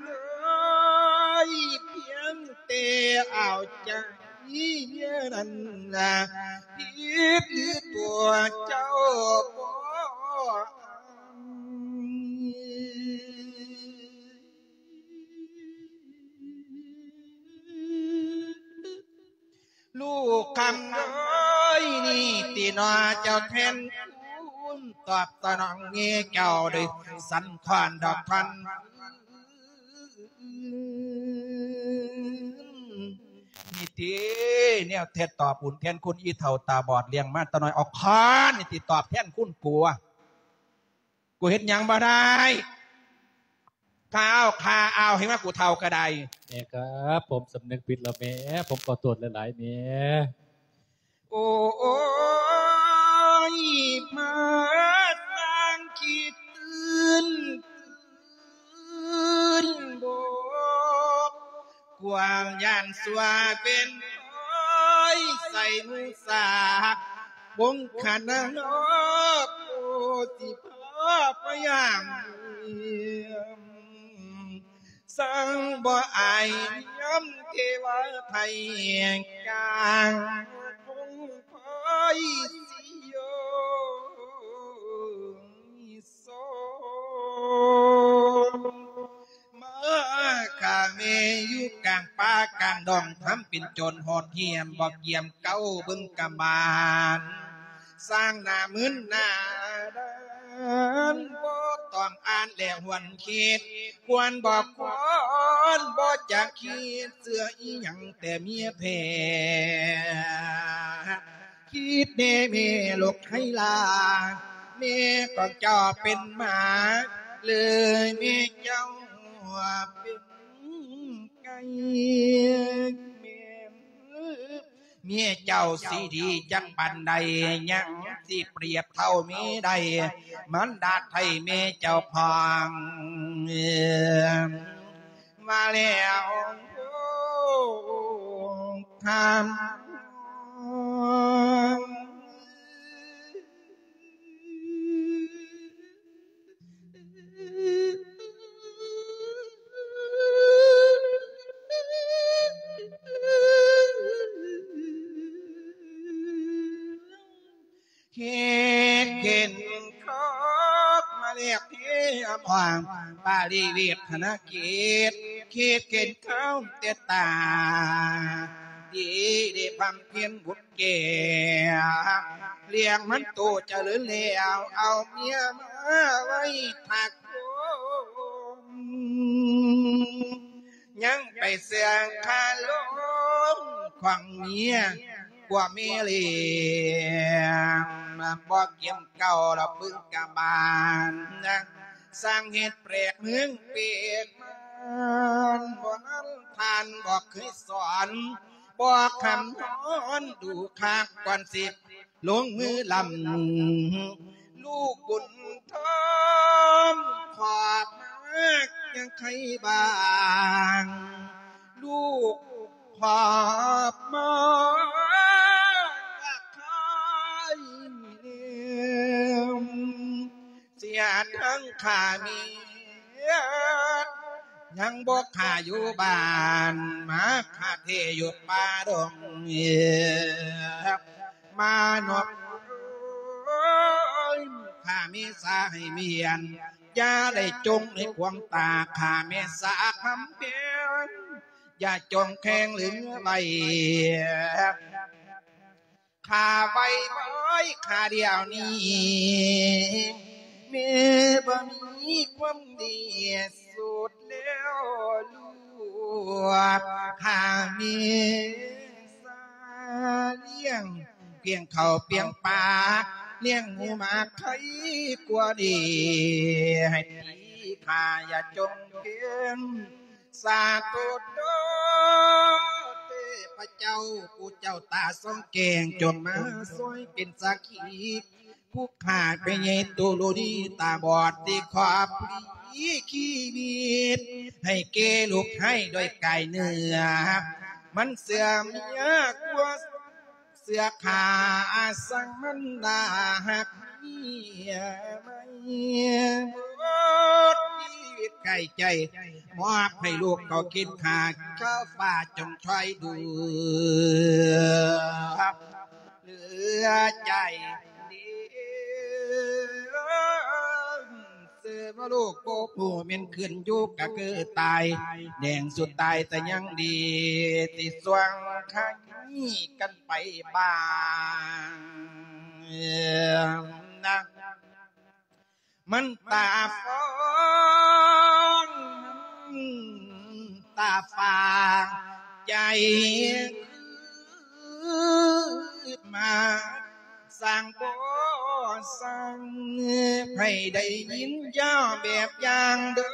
ເອີຍ ພຽງແຕ່ເອົາໃຈນັ້ນນະ ຜິດຫຼືຕົວເຈົ້າບໍ່ ລູກຄຳເອີຍ ນີ້ຕິໜໍເຈົ້າແທນຄຸນ ຕອບສະໜອງແມ່ເຈົ້າໂດຍສັນຄອນດອກທ່ອນ ນີ້ຕິແນວແທ້ຕອບບຸນແທນຄຸນ ອີ່ເຖົ້າຕາບອດລ້ຽງມາແຕ່ນ້ອຍ ເອົາຄອນນີ້ຕິຕອບແທນຄຸນກູ. ກູເຮັດຫຍັງບໍ່ໄດ້ ຂ້າເອົາ ຂ້າເອົາ ໃຫ້ວ່າກູເຖົ້າກໍໄດ້. ແມ່ຄະ ຜົມສຳນຶກຜິດແລ້ວແມ່ ຜົມຂໍໂທດຫຼາຍໆແມ່. ໂອ້ຍ ມາສ້າງຄິດຕື່ນ ຕື່ນບໍ ກວາງຢ້ານຊົ່ວເປັນຮ້ອຍ ໃສ່ມຸສາບົງຄະນະນອກ ໂອ ຊິພາພະຍາມ ສັງບໍ່ອາຍຍາມເທວາໄທກາງ ຄົງຄອຍຊິໂຍ ມາຂ້າແມ່ຢູ່ກາງປ່າກາງດອງ ທຳເປັນໂຈນໂຫດຫ້ຽມ ບໍ່ກຽມເກົ້າເບິ່ງກຳບານ ສ້າງໜ້າມຶນໜ້າດານ ບໍ່ຕ້ອງອ່ານແລຫວນຄິດ ຄວນບໍ່ຄວນ ບໍ່ຈັກຄິດເຊື່ອອີ່ຫຍັງແຕ່ເມຍແທ້ ຄິດແນ່ແມ່ລູກໄຄລາ ແມ່ຂອງເຈົ້າເປັນໝາ ເລີຍແມ່ເຈົ້າເປັນໄກ່ ແມ່ນເມຍເຈົ້າຊິດີຈັກປານໃດ ຍັງຊິປຽບເທົ່າເມຍໃດ ມັນດາດໄທເມຍເຈົ້າຂອງ ມາແລ້ວທຳ ເຮັດເຫັນຄອບມາແລກເພອມອງ ປາລິເວດທະນະເກດ ເຂດເຂດເຂົ້າແຕ່ຕາ ດີໄດ້ບຳເພັນບຸນແກ່ ລ້ຽງມັນໂຕຈະເລີນແລ້ວ ເອົາເມຍມາໄວ້ຖ້າຄົນ ຍັງໄປເຊື່ອງຄາລົມຂອງເມຍ ກວ່າແມ່ລ້ຽງ ບໍ່ກຽມເກົ່າລະປຶງກະບານ ສ້າງເຫດແປກເມືອງເປກມານ ບໍ່ນຳທ່ານບໍ່ເຄີຍສອນ ບໍ່ຄຳນອນດູຄັກ ກ່ອນຊິລົງມືລຳ ລູກບຸນທອມຂອບມາກຍັງໄຄບາງ ລູກຂອບມາກໄຄແນມ ເສຍທັງຂ້າເມຍ ຍັງບໍ່ຂ້າຢູ່ບ້ານ ມາຂ້າແທ້ຢູ່ປ່າດົງ ມານອບ ຂ້າເມສາໃຫ້ເມຍນ ຢ່າໄດ້ຈົ່ງໃນຄວາມຕາ ຂ້າເມສາຄຳແພງ ຢ່າຈົ່ງແຂງເຫຼືອໄວ້ ຂ້າໄວ້ໄວ້ຂ້າດຽວນີ້ ແມ່ບໍ່ມີຄວາມດີສຸດແລ້ວລູກ ຂ້າແມ່ສາລ້ຽງ ປຽງເຂົ້າປຽງປາ ລ້ຽງໝູໝາໄຄກວ່າດີ ໃຫ້ຕີຂ້າຢ່າຈົ່ງເຄງ ສາທຸໂຕ ເທພະເຈົ້າ ຜູ້ເຈົ້າຕາສ່ອງແຈ້ງ ຈົ່ງມາຊ່ວຍເປັນສັກຂີ ຜູ້ຂ້າແມ່ໃຫຍ່ຕຸລຸນີຕາບອດ ທີ່ຂອບລີຊີວິດ ໃຫ້ແກ່ລູກໃຫ້ດ້ວຍກາຍເນື້ອ ມັນເສື່ອມຍາກວ່າເສືອຂ້າ ສັງມັນດາຮັກເມຍໃໝ່ ດໄກ່ໃຈ ມອບໃຫ້ລູກເຂົາກິນຂ້າ ເຈົ້າຟ້າຈົ່ງຊ່ອຍດູເຫຼືອໃຈດີ ເສືອວ່າລູກບໍ່ຮູ້ແມ່ນຂຶ້ນຢູ່ກະຄືຕາຍ ແດງສຸດຕາຍແຕ່ຍັງດີ ທີ່ຊ່ວງໄຄກັນໄປບ້າງນະ. ມັນຕາຟອງ ຕາຟາງໃຈຄືມາ ສ້າງບໍ່ສ້າງ ໃຫ້ໄດ້ຍິນຢ່າແບບຢ່າງເດີ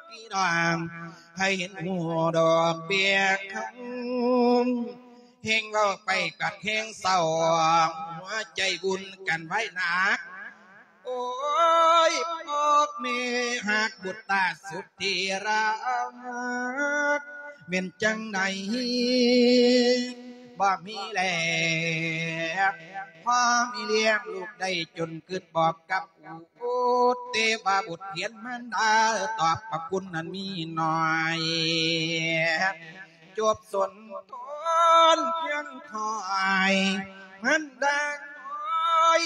ພີ່ນ້ອງ ໃຫ້ເຫັນຮູ້ດອກເບ້ຍຄຳ ແຮ່ງເວົ້າໄປກັດແຮ່ງເສົ້າ ຫົວໃຈວຸ່ນກັນໄວ້ໜັກ. ໂອ້ຍ ພວກແມ່ຮັກບຸດຕາສຸດທີ່ຮັກ ແມ່ນຈັ່ງໃດບໍ່ມີແລ ພໍ່ແມ່ລ້ຽງລູກໄດ້ຈົນ ຄິດບອກກັບບຸດ ແຕ່ວ່າບຸດພຽນມານດາ ຕອບພະຄຸນນັ້ນມີໜ້ອຍ. ຈົບສົນທອນພຽງຖ້ອຍ ມັນດານ້ອຍ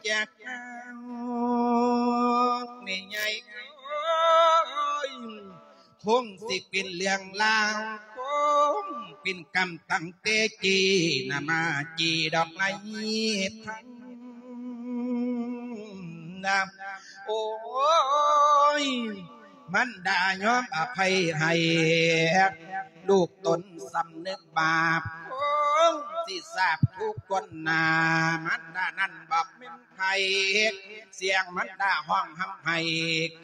ຈາກເຮົາ ແມ່ໃຫຍ່ເອີຍ ຄົງຊິເປັນເລື່ອງລາວ ຄົງເປັນກຳຕັ້ງແຕ່ກີ້ນະ ມາຈີດອກໄນທັນນະ. ໂອ້ຍ ມັນດາຍອມອະໄພໃຫ້ ລູກຕົນສຳນຶກບາບ ຄົງຊິສາບທຸກຄົນນາ ມັນດານັ້ນບອກແມ່ນໃຜ ສຽງມັນດາຮ້ອງຮ່ຳໄຫ້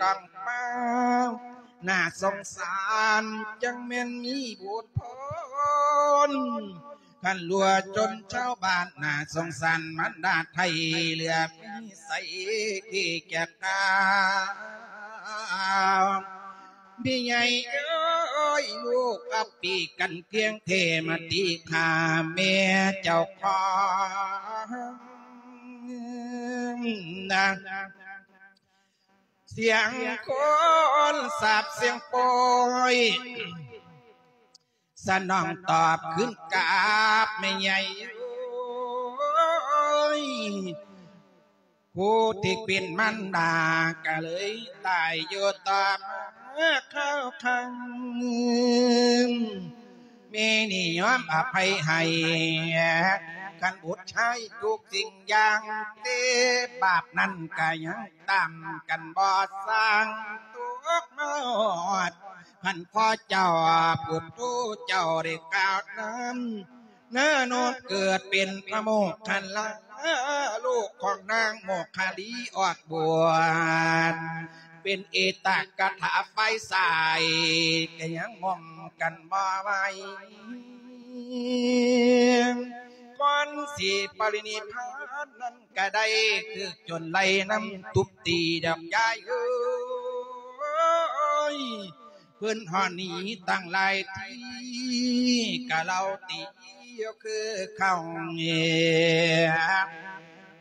ກ້ອງຟ້າ ໜ້າສົງສານ ຈັ່ງແມ່ນມີບຸດພົນ ຄັນລັວຈົນຊາວບ້ານໜ້າສົງສານ ມັນດາໄທເຫຼືອມີໃສທີ່ຈະກາວ ພີ່ໃຫຍ່ເອີຍ ລູກອັບປີກັນຄຽງເທມາຕີຂ້າແມ່ເຈົ້າຂອງນະ ສຽງຄົນສາບສຽງໂປຍ ສະໜອງຕອບຄືນກັບແມ່ໃຫຍ່ເອີຍ ຜູ້ທີ່ເປັນມານດາກະເລີຍຕາຍຢູ່ຕໍ່ມາຄາວຄັງ ແມ່ນີ້ຍອມອະໄພໃຫ້ ຄັນບຸດຊາຍທຸກສິ່ງຢ່າງ ແຕ່ບາບນັ້ນກະຍັງຕາມກັນບໍ່ສ້າງ ຕົກມາຮອດ ພັນພໍ່ເຈົ້າ ພຸດໂທເຈົ້າໄດ້ກ່າວນຳ ນາໂນດເກີດເປັນພະໂມກຄັນລາ ລູກຂອງນາງໂມກຄະລີອອກບວດ ເປັນເອຕະກະຖາຝ່າຍຊ້າຍ ກະຍັງງົມກັນບໍ່ໄຫວ ກ່ອນຊິປະລິນິບພານນັ້ນກະໄດ້ຖືກໂຈນໄລ່ນຳທຸບຕີດອກຍາຍເອີຍ ເພິ່ນຮ້ອນໜີຕັ້ງຫຼາຍທີ່ ກະເລົ່າຕີຢູ່ຄືເກົ່າ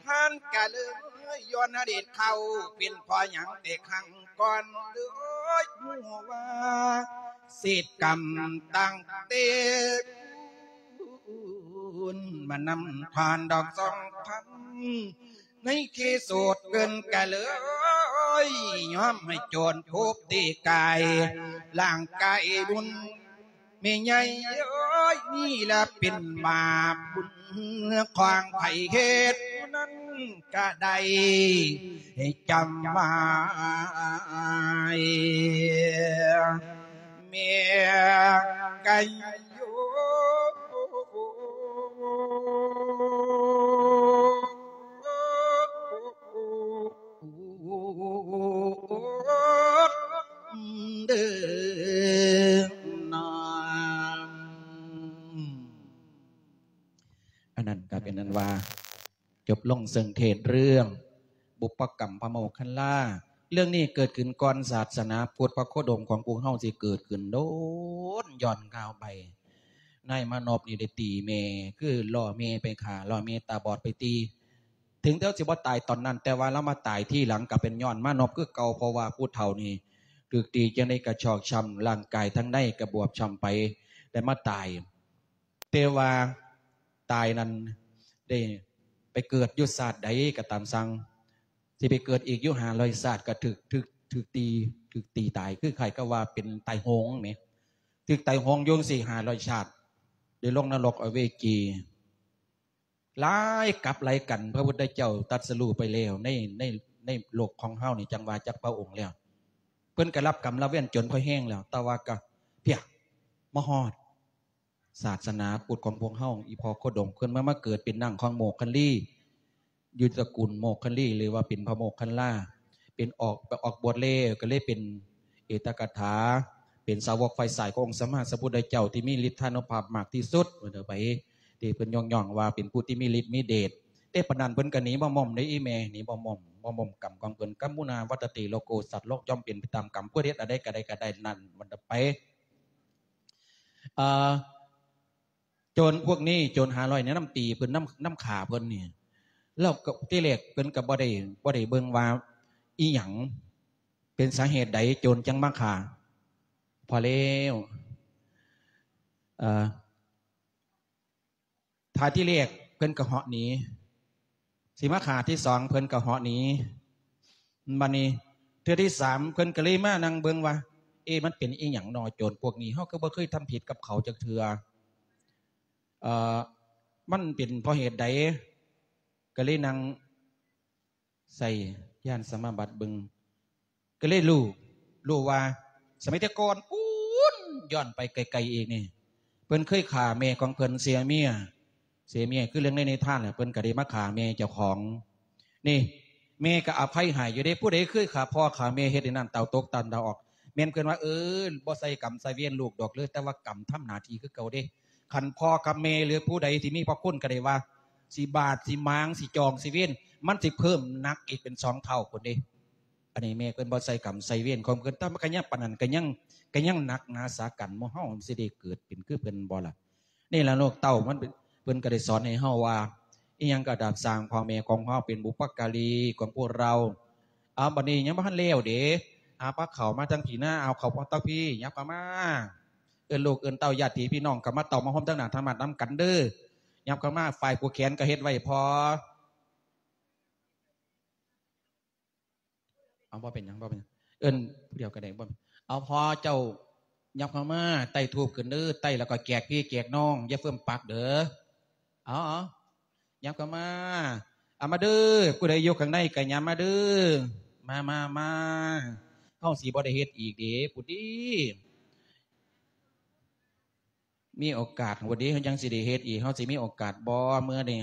ທ່ານກະເລີຍຍ້ອນອະດີດເຂົາ ເປັນເພາະຫຍັງແຕ່ຄັ້ງກ່ອນ ເລີຍຮູ້ວ່າ ເສບກຳຕັ້ງແຕ່ ມານຳທອນດອກສອງພັນ ໃນທີ່ສຸດເພິ່ນກະເລີຍຍອມໃຫ້ໂຈນທຸບຕີກາຍ ຮ່າງກາຍບຸນ ແມ່ໃຫຍ່ເອີຍ ນີ້ລະເປັນບາບບຸນຂອງໃຜເຮັດ ຜູ້ນັ້ນກະໄດ້ໃຫ້ຈຳໄວ້ ແມ່ໄກ່ຢູ່ ເດີນາງ. ອັນນັ້ນກໍເປັນອັນວ່າ ຈົບລົງເຊິ່ງເທດເລື່ອງບຸບປະກຳພະໂມກຄັນລາ. ເລື່ອງນີ້ເກີດຂຶ້ນກ່ອນສາສະໜາພຸດພະໂຄດົມຂອງພວກເຮົາຊິເກີດຂຶ້ນໂດນ ຍ້ອນຄາວໄປ ນາຍມານົບນີ້ໄດ້ຕີແມ່ ຄືລໍ້ແມ່ໄປຂ້າ ລໍ້ແມ່ຕາບອດໄປຕີ ເຖິງແຕ່ວ່າຊິບໍ່ຕາຍຕອນນັ້ນ ແຕ່ວ່າລາວມາຕາຍທີຫຼັງກໍເປັນຍ້ອນມານົບຄືເກົ່າ ເພາະວ່າຜູ້ເຖົ້ານີ້ຖືກຕີຈັ່ງໃດກໍຊອກຊ້ຳ ຮ່າງກາຍທາງໃນກໍບວບຊ້ຳໄປ ໄດ້ມາຕາຍ. ແຕ່ວ່າຕາຍນັ້ນໄດ້ໄປເກີດຢູ່ຊາດໃດກໍຕາມຊ່າງ ຊິໄປເກີດອີກຢູ່ຫ້າຮ້ອຍຊາດ ກໍຖືກ ຖືກ ຖືກຕີ ຖືກຕີຕາຍ ຄືຄ້າຍກັບວ່າເປັນຕາຍໂຫງແໝ ຖືກຕາຍໂຫງຢູ່ຈັ່ງຊີ້ຫ້າຮ້ອຍຊາດ ໄດ້ລົງນະລົກອະເວຈີ ຫຼາຍກັບຫຼາຍກັນ. ພະພຸດທະເຈົ້າຕັດສະຮູ້ໄປແລ້ວ ໃນ ໃນ ໃນໂລກຂອງເຮົານີ້ ຈັ່ງວ່າຈັກພະອົງແລ້ວ ເພິ່ນກໍຮັບກຳລະເວນຈົນພໍແຮງແລ້ວ ແຕ່ວ່າກໍ ເພຍ ມາຮອດ ສາສະໜາພຸດຂອງພວກເຮົາ ອີ່ພໍ່ໂຄດົງ ເພິ່ນມາ ມາເກີດເປັນນາງຂອງໂມກຄັນລີ ຢູ່ຕະກູນໂມກຄັນລີ ຫຼືວ່າເປັນພະໂມກຄັນລາ ເປັນອອກ ໄປອອກບວດແລ້ວ ກໍເລີຍເປັນເອດຕະກະຖາ ເປັນສາວົກຝ່າຍຊ້າຍຂອງອົງສຳມາສຳພຸດທະເຈົ້າ ທີ່ມີລິດທານຸພາບມາກທີ່ສຸດ ວ່າເດີໄປ ທີ່ເພິ່ນຍ້ອງໆວ່າເປັນຜູ້ທີ່ມີລິດມີເດດ. ແຕ່ປານນັ້ນເພິ່ນກໍໜີບໍ່ໝ້ອມເດ້ ອີ່ແມ່ ໜີບໍ່ໝ້ອມ ບໍ່ໝ້ອມກຳຂອງເພິ່ນ ກຳມຸນາວັດຕະຕິໂລໂກ ສັດໂລກຍ່ອມເປັນໄປຕາມກຳ ຜູ້ເຮັດອັນໃດກໍໄດ້ ກໍໄດ້ນັ້ນ ວ່າເດີໄປ. ເອີ ໂຈນພວກນີ້ ໂຈນຫ້າຮ້ອຍນີ້ນຳຕີເພິ່ນ ນຳ ນຳຂ້າເພິ່ນນີ້ ແລ້ວກໍທີແລກເພິ່ນກໍບໍ່ໄດ້ ບໍ່ໄດ້ເບິ່ງວ່າອີ່ຫຍັງ ເປັນສາເຫດໃດໂຈນຈັ່ງມາຂ້າ. ພໍແລ້ວ ເອີ ຖ້າທີແລກເພິ່ນກໍເຫາະໜີ ຊິມາຂ້າທີສອງເພິ່ນກໍເຫາະໜີ. ບັດນີ້ເທື່ອທີສາມເພິ່ນກໍເລີຍມານັ່ງເບິ່ງວ່າ ເອ ມັນເປັນອີ່ຫຍັງນໍ ໂຈນພວກນີ້ ເຮົາກໍບໍ່ເຄີຍທຳຜິດກັບເຂົາຈັກເທື່ອ ເອີ ມັນເປັນເພາະເຫດໃດ ກໍເລີຍນັ່ງໃສ່ຍານສະມາບັດເບິ່ງ ກໍເລີຍຮູ້ ຮູ້ວ່າສະໄໝແຕ່ກ່ອນພຸ້ນ ຍ້ອນໄປໄກໆອີກນີ້ ເພິ່ນເຄີຍຂ້າແມ່ຂອງເພິ່ນເສຍເມຍ ເສຍເມຍ ຄືເລື່ອງໃນນິທານແຫຼະ ເພິ່ນກໍໄດ້ມາຂ້າແມ່ເຈົ້າຂອງນີ້ ແມ່ກໍອະໄພໃຫ້ຢູ່ເດ້. ຜູ້ໃດເຄີຍຂ້າພໍ່ຂ້າແມ່ ເຮັດໃຫ້ນ້ຳເຕົ້າຕົກຕາມດາວອອກ ແມ່ນເພິ່ນວ່າ ເອີ ບໍ່ໃສ່ກຳໃສ່ເວນລູກດອກເລີຍ ແຕ່ວ່າກຳທຳໜ້າທີ່ຄືເກົ່າເດ້. ຄັນພໍ່ກັບແມ່ ຫຼື ຜູ້ໃດທີ່ມີພະຄຸນກໍໄດ້ວ່າ ຊິບາດ ຊິໝາງ ຊິຈອງ ຊິເວນ ມັນຊິເພີ່ມໜັກອີກເປັນສອງເທົ່າພຸ້ນເດ້. ອັນນີ້ແມ່ເພິ່ນບໍ່ໃສ່ກຳໃສ່ເວນຂອງເພິ່ນ ແຕ່ມັນກໍຍັງປານນັ້ນ ກໍຍັງ ກໍຍັງໜັກໜາສາກັນ. ໝູ່ເຮົາມັນຊິໄດ້ເກີດເປັນຄືເພິ່ນບໍ່ລະ? ນີ້ລະ ລູກເຕົ້າມັນເປັນ ເພິ່ນກໍໄດ້ສອນໃຫ້ເຮົາວ່າ ອີ່ຫຍັງກໍຕາມຊ່າງ ພໍ່ແມ່ຂອງເຮົາເປັນບຸບພະກາລີຂອງພວກເຮົາ. ເອົາ ບັດນີ້ຍັງບໍ່ທັນແລ້ວເດ້. ອາ ພາເຂົ້າມາທາງພີ້ນະ ເອົາເຂົ້າມາທາງພີ້ ຫຍັບເຂົ້າມາ ເອີ້ນລູກເອີ້ນເຕົ້າ ຍາດຕິພີ່ນ້ອງ ກໍມາເຕົ້າມາໂຮມທາງໜ້າທຳມະນຳກັນເດີ້. ຫຍັບເຂົ້າມາ ຝ່າຍຜູກແຂນກໍເຮັດໄວ້ພໍ ເອົາ ບໍ່ເປັນຫຍັງ ບໍ່ເປັນຫຍັງ ເອີ້ນຜູ້ດຽວກໍໄດ້ ບໍ່ ເອົາ ພໍ່ເຈົ້າຫຍັບເຂົ້າມາ ໄຕ້ທູບຂຶ້ນເດີ້ ໄຕ້ແລ້ວກໍແຈກພີ່ແຈກນ້ອງ ຢ່າເຟີ້ມປັກເດີ້. ເອົາ ເອົາ ຫຍັບເຂົ້າມາ ເອົາມາເດີ້ ຜູ້ໃດຢູ່ຂ້າງໃນກໍຫຍັບມາເດີ້. ມາ ມາ ມາ ເຮົາຊິບໍ່ໄດ້ເຮັດອີກເດ້ ພຸ້ນຕິ ມີໂອກາດພຸ້ນຕິ ເຮົາຍັງຊິໄດ້ເຮັດອີກ ເຮົາຊິມີໂອກາດບໍ່ມື້ນີ້?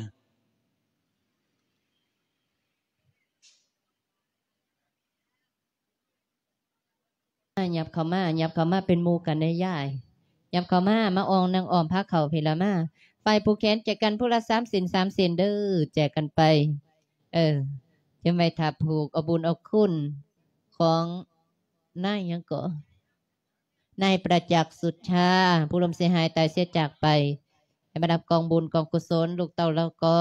ຫຍັບເຂົ້າມາ ຫຍັບເຂົ້າມາເປັນໝູ່ກັນແດ່ຍາຍ ຫຍັບເຂົ້າມາ ມາອ່ອງນັ່ງອ້ອມພາເຂົ້າພີ້ລະມາ. ຝ່າຍຜູກແຂນແຈກກັນຜູ້ລະສາມເສັ້ນ ສາມເສັ້ນເດີ້ ແຈກກັນໄປ. ເອີ ຈະໄວ້ຖ້າຜູກເອົາບຸນເອົາຄຸນຂອງນາຍຫຍັງເກາະ ນາຍປະຈັກ ສຸດຊາ ຜູ້ລົມເສຍຫາຍຕາຍເສຍຈາກໄປ ໃຫ້ມາຮັບກອງບຸນກອງກຸສົນ ລູກເຕົ້າລາວກໍ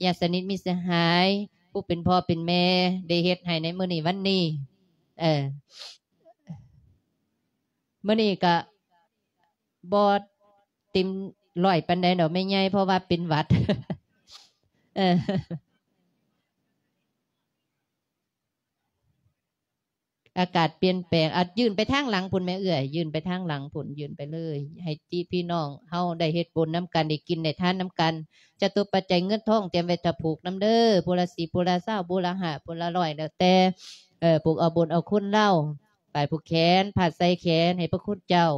ຍາດສະໜິດມິດສະຫາຍ ຜູ້ເປັນພໍ່ເປັນແມ່ ໄດ້ເຮັດໃຫ້ໃນມື້ນີ້ວັນນີ້. ເອີ ມື້ນີ້ກະບໍ່ເຕັມຮ້ອຍປານໃດດອກແມ່ໃຫຍ່ ເພາະວ່າເປັນຫວັດ ເອີ. ອາກາດປ່ຽນແປງ ອາ ຍື່ນໄປທາງຫຼັງພຸ້ນແມ່ເອື້ອຍ ຍື່ນໄປທາງຫຼັງພຸ້ນ ຍື່ນໄປເລີຍ ໃຫ້ຕິພີ່ນ້ອງເຮົາໄດ້ເຮັດບຸນນຳກັນ ໄດ້ກິນໄດ້ທານນຳກັນ. ຈະຕຸປັດໄຈເງິນທອງຕຽມໄວ້ຖ້າຜູກນຳເດີ້ ຜູ້ລະສິບ ຜູ້ລະຊາວ ຜູ້ລະຫ້າ ຜູ້ລະຮ້ອຍ ແລ້ວແຕ່ ເອີ ຜູກເອົາບຸນເອົາຄຸນລາວ. ຝາຍຜູກແຂນ ພາດໃສ່ແຂນໃຫ້ພະຄຸນເຈົ້າ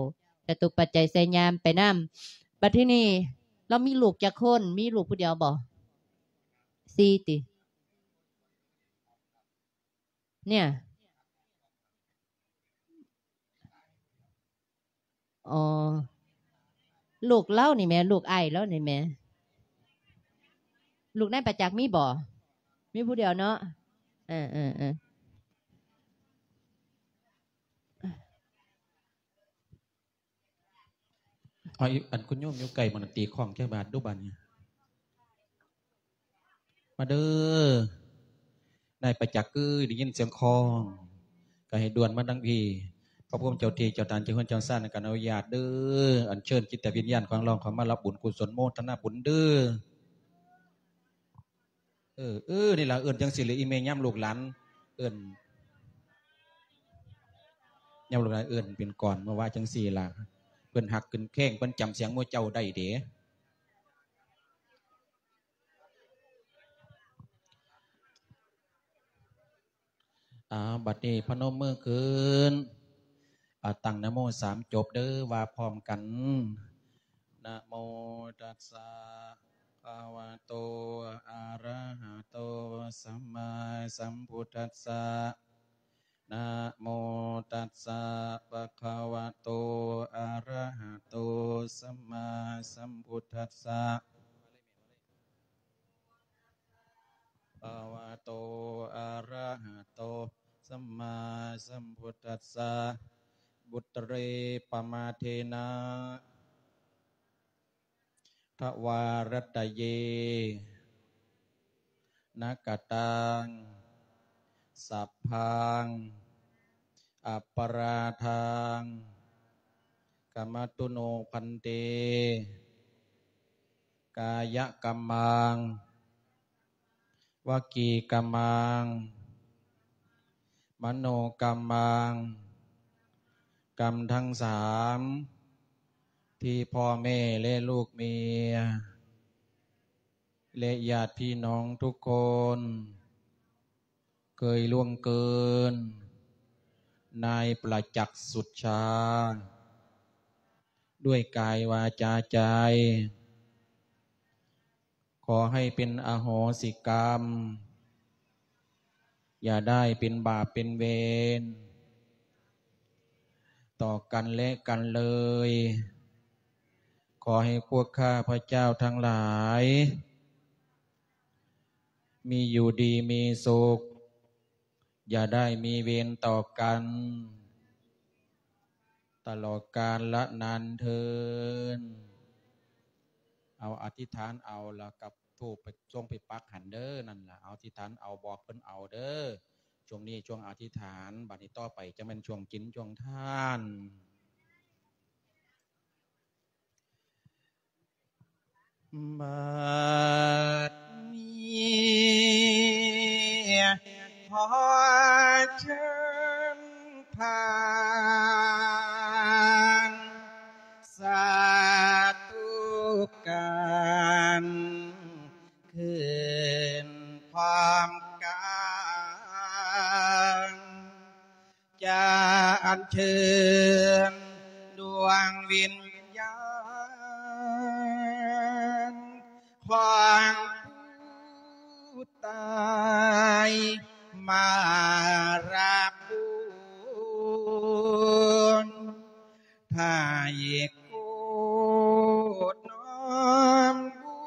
ຈະຕຸປັດໄຈໃສ່ຍາມໄປນຳ. ບັດທີນີ້ ລາວມີລູກຈັກຄົນ? ມີລູກຜູ້ດຽວບໍ່? ສີ່ຕິ? ເນຍ ອໍ ລູກລາວນີ້ແໝ ລູກອ້າຍລາວນີ້ແໝ ລູກນາຍປະຈັກມີບໍ່? ມີຜູ້ດຽວເນາະ ເອີ ເອີ ເອີ. ເອົາ ອັນຄຸນໂຍມຢູ່ໃກ້ໝ່ອງນັ້ນ ຕີຄ້ອງຈັກບາດດູບາດນີ້. ມ ມາເດີ ນາຍປະຈັກເອີຍ ໄດ້ຍິນສຽງຄ້ອງ ກໍໃຫ້ດ່ວນມາທາງພີ້. ພະພູມເຈົ້າທີ່ເຈົ້າທານເຈົ້າເຮືອນເຈົ້າຊານ ກໍອະນຸຍາດເດີ ອັນເຊີນຈິດຕະວິນຍານຂອງລາວເຂົ້າມາຮັບບຸນກຸສົນໂມທະນາບຸນເດີ. ເອີ ເອີ ນີ້ລະ ເອີ້ນຈັ່ງຊີ້ລະ ອີ່ແມ່ ຍາມລູກຫຼານເອີ້ນ ຍາມລູກຫຼານເອີ້ນເປັນກອນ ມາວ່າຈັ່ງຊີ້ລະ ເພິ່ນຮັກຂຶ້ນແຂ້ງ ເພິ່ນຈຳສຽງໝູ່ເຈົ້າໄດ້ເດ. ອາ ບັດນີ້ພະນົມມືຂຶ້ນ ອາ ຕັ້ງນະໂມສາມຈົບເດີ ວ່າພ້ອມກັນ ນະໂມຕັດສະ ພະຄະວະໂຕ ອະຣະຫະໂຕ ສຳມາສຳພຸດທັດສະ ນະໂມຕັດສະ ພະຄະວະໂຕ ອະຣະຫະໂຕ ສຳມາສຳພຸດທັດສະ. ພະຄະວະໂຕ ອະຣະຫະໂຕ ສຳມາສຳພຸດທັດສະ ບຸດເຣ ປະມາເທນະ ທະວາຣັດຕະເຍ ນະກະຕັງ ສັບພັງ ອະປະຣາທັງ ຂະມະຕຸໂນ ພັນເຕ ກາຍະກຳມັງ ວະຈີກຳມັງ ມະໂນກຳມັງ ກຳທັງສາມ ທີ່ພໍ່ແມ່ ແລະ ລູກເມຍ ແລະ ຍາດພີ່ນ້ອງທຸກຄົນ ເຄີຍລ່ວງເກີນ ນາຍປະຈັກສຸດຊາ ດ້ວຍກາຍ ວາຈາ ໃຈ ຂໍໃຫ້ເປັນອະໂຫສິກຳ, ຢ່າໄດ້ເປັນບາບເປັນເວນຕໍ່ກັນແລະກັນເລີຍ. ຂໍໃຫ້ພວກຂ້າພະເຈົ້າທັງຫຼາຍ ມີຢູ່ດີມີສຸກ, ຢ່າໄດ້ມີເວນຕໍ່ກັນ ຕະຫຼອດການລະນານເທີນ. ເອົາອະທິຖານເອົາ ແລ້ວກັບທູບໄປ ສົ່ງໄປປັກຫັ້ນເດີ. ນັ້ນລະ ອະທິຖານເອົາ ບອກເພິ່ນເອົາເດີ. ຊ່ວງນີ້ຊ່ວງອະທິຖານ, ບັດນີ້ຕໍ່ໄປຈະແມ່ນຊ່ວງກິນຊ່ວງທານ. ບັດນີ້ຂໍເຊີນທ່ານສາທຸການ ຂຶ້ນພ້ອມກັນ ຈະອັນເຊີນດວງວິນຍານຂອງຜູ້ຕາຍມາຮັບບຸນ ໄທໂກດນ້ອມບູ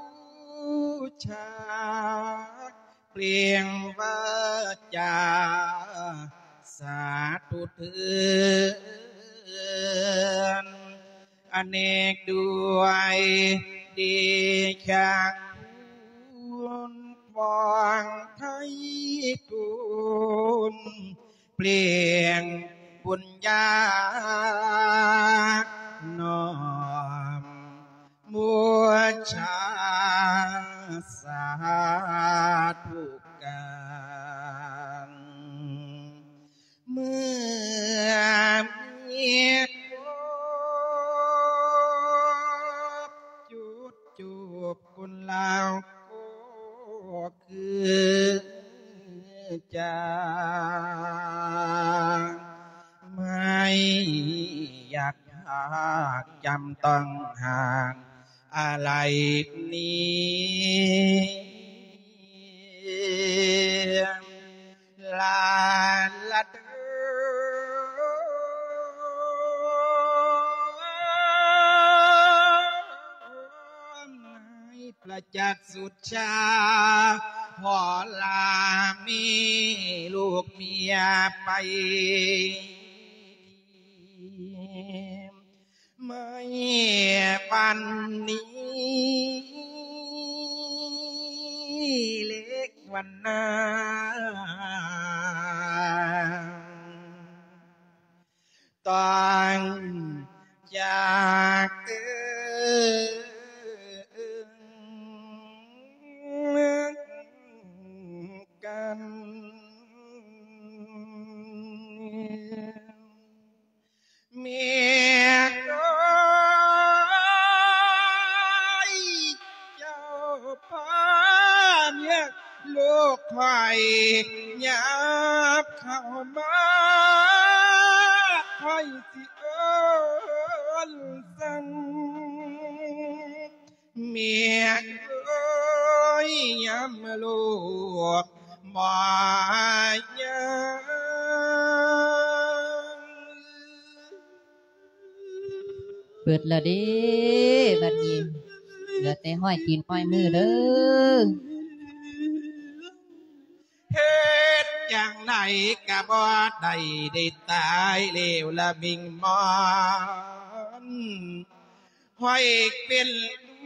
ຊາ ເປ່ງວາຈາສາທຸເທີນ ອະເນກດ້ວຍເດຊະຄຸນຂອງໄທທູນ ເປ່ງບຸນຍານ້ອມບູຊາສາທຸການ ເມື່ອມີຄົບຈຸດຈູບຄົນລາວກໍຄື ຈາໄມ່ຢາກພາກຈຳຕ້ອງຫ່າງອາໄລນີ້ ລາລະເດີ ໃນ ປະຈັກສຸດຊາ ພໍ່ລາມີລູກເມຍໄປ ໃນວັນນີ້ ເລກ ນາ ຕ້ອງຈາກເຕີງກັນ ແມ່ເອີຍ ເຈົ້າພາເມຍລູກຂ້ອຍຫຍັບເຂົ້າມາ ຂ້ອຍຊິເອີ້ນສັ່ງ ແມ່ເອີຍ ຍາມລູກບໍ່ຍັງ ເບິດແລ້ວເດ້ ບັດນີ້ເຫຼືອແຕ່ຫ້ອຍຕີນຫ້ອຍມືເດີ້ ເຮັດຈັ່ງໃດກະບໍ່ໄດ້ ໄດ້ຕາຍແລ້ວລະມິ່ງມອນ ຂ້ອຍເປັນ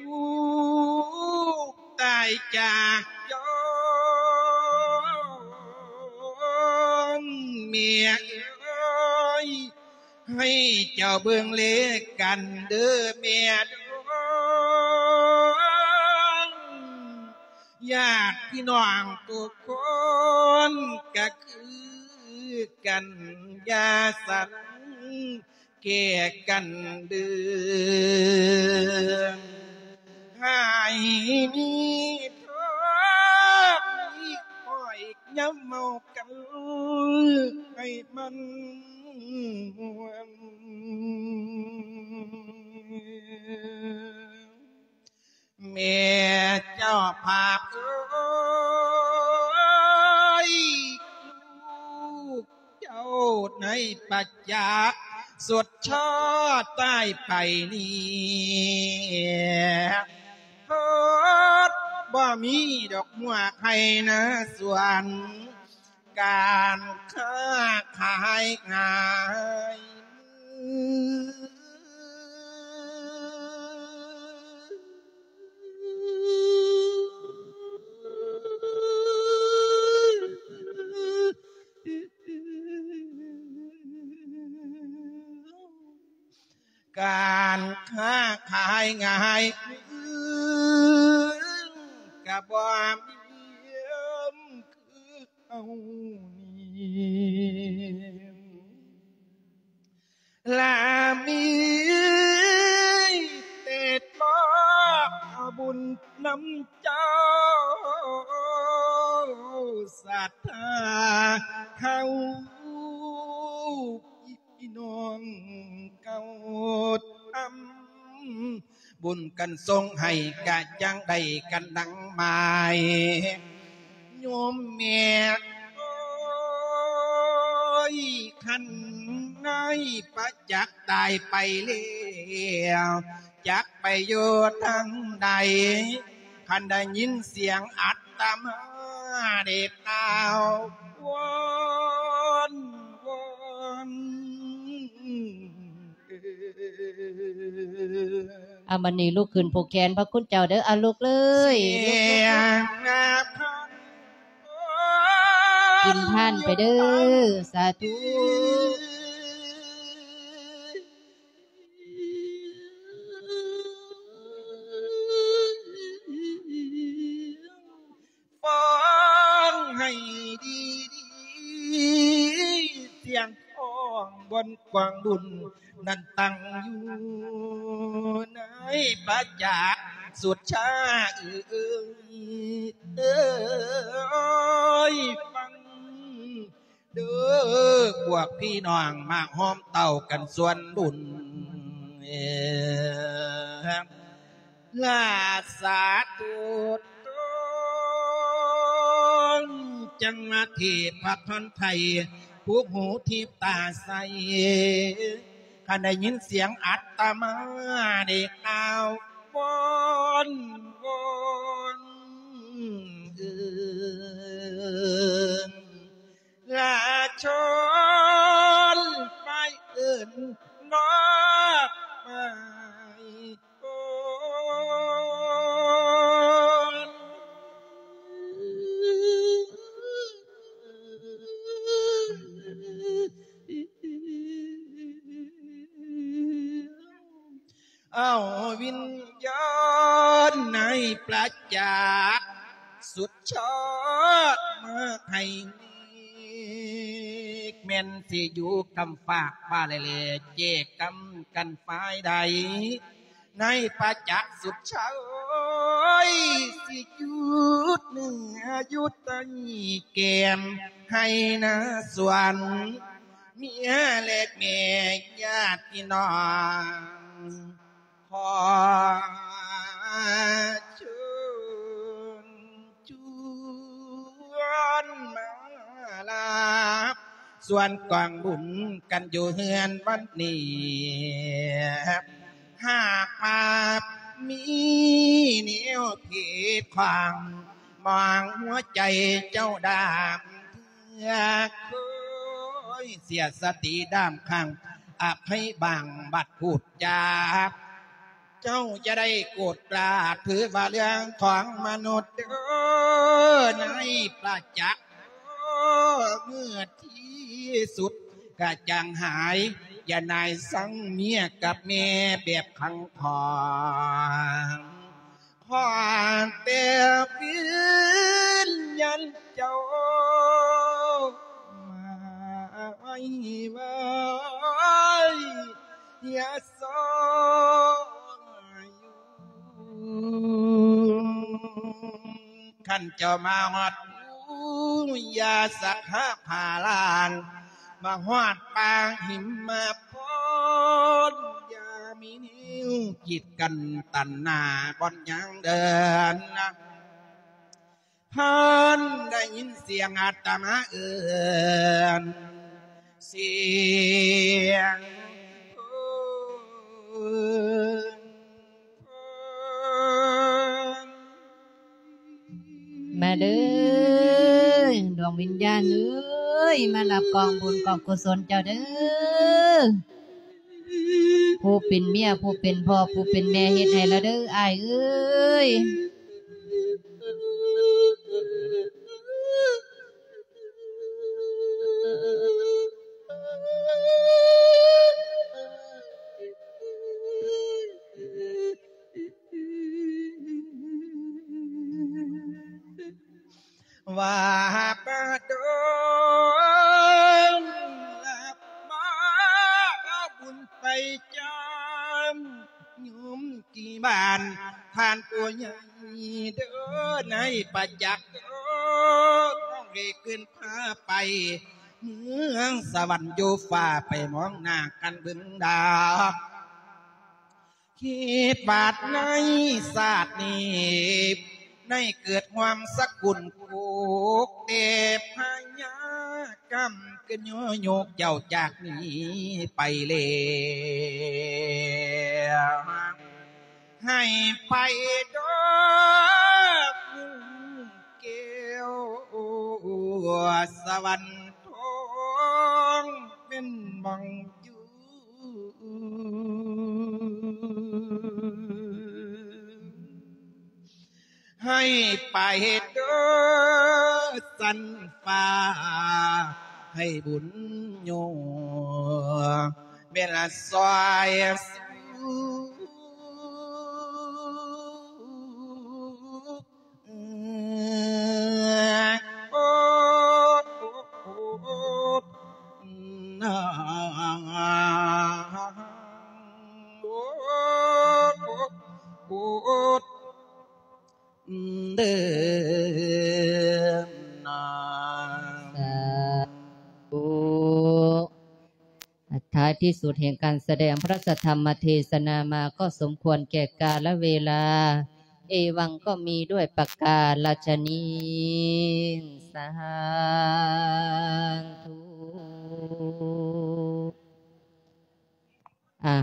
ລູກຕາຍຈາກຍ້ອນ ແມ່ເອີຍ ໃຫ້ເຈົ້າເບິ່ງແລກັນເດີ້ແມ່ດອງ ຍາດພີ່ນ້ອງທຸກຄົນກະຄືກັນ ຢ່າສັນ ແກ່ກັນເດີ້ ໃຫ້ມີທອກມີອ້ອຍ ຢ່າເມົາກັນໃຫ້ມັນມ່ວນ. ແມ່ເຈົ້າພາບເອີຍ ລູກເຈົ້າໃນປະຈັກ ສຸດຊາຕາຍໄປນີ້ ເພິ່ນບໍ່ມີດອກຫົວໄຮ່ນາສວນ ການຄ້າຂາຍງ່າຍມື ການຄ້າຂາຍງ່າຍ ກະບໍ່ມີຄືເຮົານີ້ ລະມີແຕ່ມອບເອົາບຸນນຳເຈົ້າ ສັດທາເຮົາ ພີ່ນ້ອງເກົ່າທຳບຸນກັນສົ່ງໃຫ້ ກະຈັ່ງໄດ້ກັນດັ່ງໝາຍ ໂຍມແມ່ເອີຍ ຄັນນາຍປະຈັກຕາຍໄປແລ້ວ ຈັກໄປຢູ່ທາງໃດ ຄັນໄດ້ຍິນສຽງອັດຕະມາໄດ້ກ່າວວອນ ວອນ ເອີ ອາ ບັດນີ້ລຸກຂຶ້ນຜູກແຂນພະຄຸນເຈົ້າເດີ້ ອາ ລຸກເລີຍ ສຽງ ລຸກ ລຸກ ກິນທານໄປເດີ້ ສາທຸ. ຟັງໃຫ້ດີໆ ສຽງຂອງບ່ອນກວາງບຸນນັ້ນຕັ້ງຢູ່ໃນປະຈັກສຸດຊາເອີຍ ເອີຍ ຟັງ ເດີພວກພີ່ນ້ອງມາຮ່ວມເຕົ້າກັນສ່ວນບຸນ ລາຊາໂຕນ ຈັງມາເທພະທອນໄທ ຜູ້ຫູທິບຕາໃສ ຄັນໄດ້ຍິນສຽງອັດຕະມາໄດ້ກ່າວວອນ ວອນ ເອີ ລາຊົນໄປເອີ້ນນ້ອງໄປກ່ອນ ເອົາວິນຍານໃນປະຈັກສຸດຍອດມາໃຫ້ເມກ ແມ່ນຊິຢູ່ກຳຟາກຟ້າແລ ແຈກກຳກັນຝ່າຍໃດ ໃນປະຈັກສຸດຊາຍ ຊິຢຸດເນື້ອຢຸດໄຕແກ້ມໃຫ້ນາສວນ ເມຍແລະແມ່ຍາດພີ່ນ້ອງ ຂໍເຊີນຊວນມາລາບ ຊວນກອງບຸນກັນຢູ່ເຮືອນວັດນີ້ ຫາກວ່າມີແນວຜິດຂວາງ ມອງຫົວໃຈເຈົ້າດາມເທື່ອ ເຄີຍເສຍສະຕິດາມຂ້າງ ອະໄພບາງບັດພູດຈາ ເຈົ້າຈະໄດ້ໂກດກາ ຖືວ່າເລື່ອງຂອງມະນຸດເດີ ໃນປະຈັກ ເມື່ອທີ່ສຸດກະຈ່າງຫາຍ ຢ່ານາຍສັງເມຍກັບແມ່ແບບຂັງຂອງ ຂໍແຕ່ວິນຍານເຈົ້າມາໄວ້ ໄວ້ ຢ່າຊອຍຢູ່ ຄັນເຈົ້າມາຮອດ ຢ່າສັກຫາພາລານ ມາຮອດປາງຫິມມະພອນ ຢ່າມີແນວກີດກັ້ນຕັນໜ້າບ່ອນຍາງເດີນ ທ່ານໄດ້ຍິນສຽງອາດຕະມາເອີ້ນ ສຽງ ມາເດີ ດວງວິນຍານເອີຍ ມາຮັບກອງບຸນກອງກຸສົນເຈົ້າເດີ ຜູ້ເປັນເມຍ ຜູ້ເປັນພໍ່ ຜູ້ເປັນແມ່ ເຮັດໃຫ້ລະເດີ ອ້າຍເອີຍ. ວ່າປະດົງ ຮັບມາເອົາບຸນໄປຈາມ ໂຍມທີ່ບ້ານທ່ານຜູ້ໃຫຍ່ເດີ ໃນປະຈັກເດີ ນ້ອງເອກຂຶ້ນພາໄປ ເມືອງສະຫວັນຢູ່ຟ້າ ໄປມອງໜ້າກັນເບິ່ງດາວ ຄິດວ່າໃນຊາດນີ້ ໄດ້ເກີດຮ່ວມສະກຸນໂຄກ ແຕ່ພະຍາກຳກະໂຍໂຍກເຈົ້າຈາກນີ້ໄປແລ້ວ ໃຫ້ໄປດອກແກ້ວ ສະຫວັນທອງເປັນບ່ອນຢູ່ ໃຫ້ໄປເດີສັນຟ້າ ໃຫ້ບຸນໂຍເວລາຊ່ອຍສູ່ ເດີນາ ສາທຸ. ທ້າຍທີ່ສຸດແຫ່ງການສະແດງພະທຳມະເທສະນາມາກໍສົມຄວນແກ່ກາລະເວລາ ເອວັງກໍມີດ້ວຍປະກາລະຊະນີ້ ສາທຸ. ອ່າ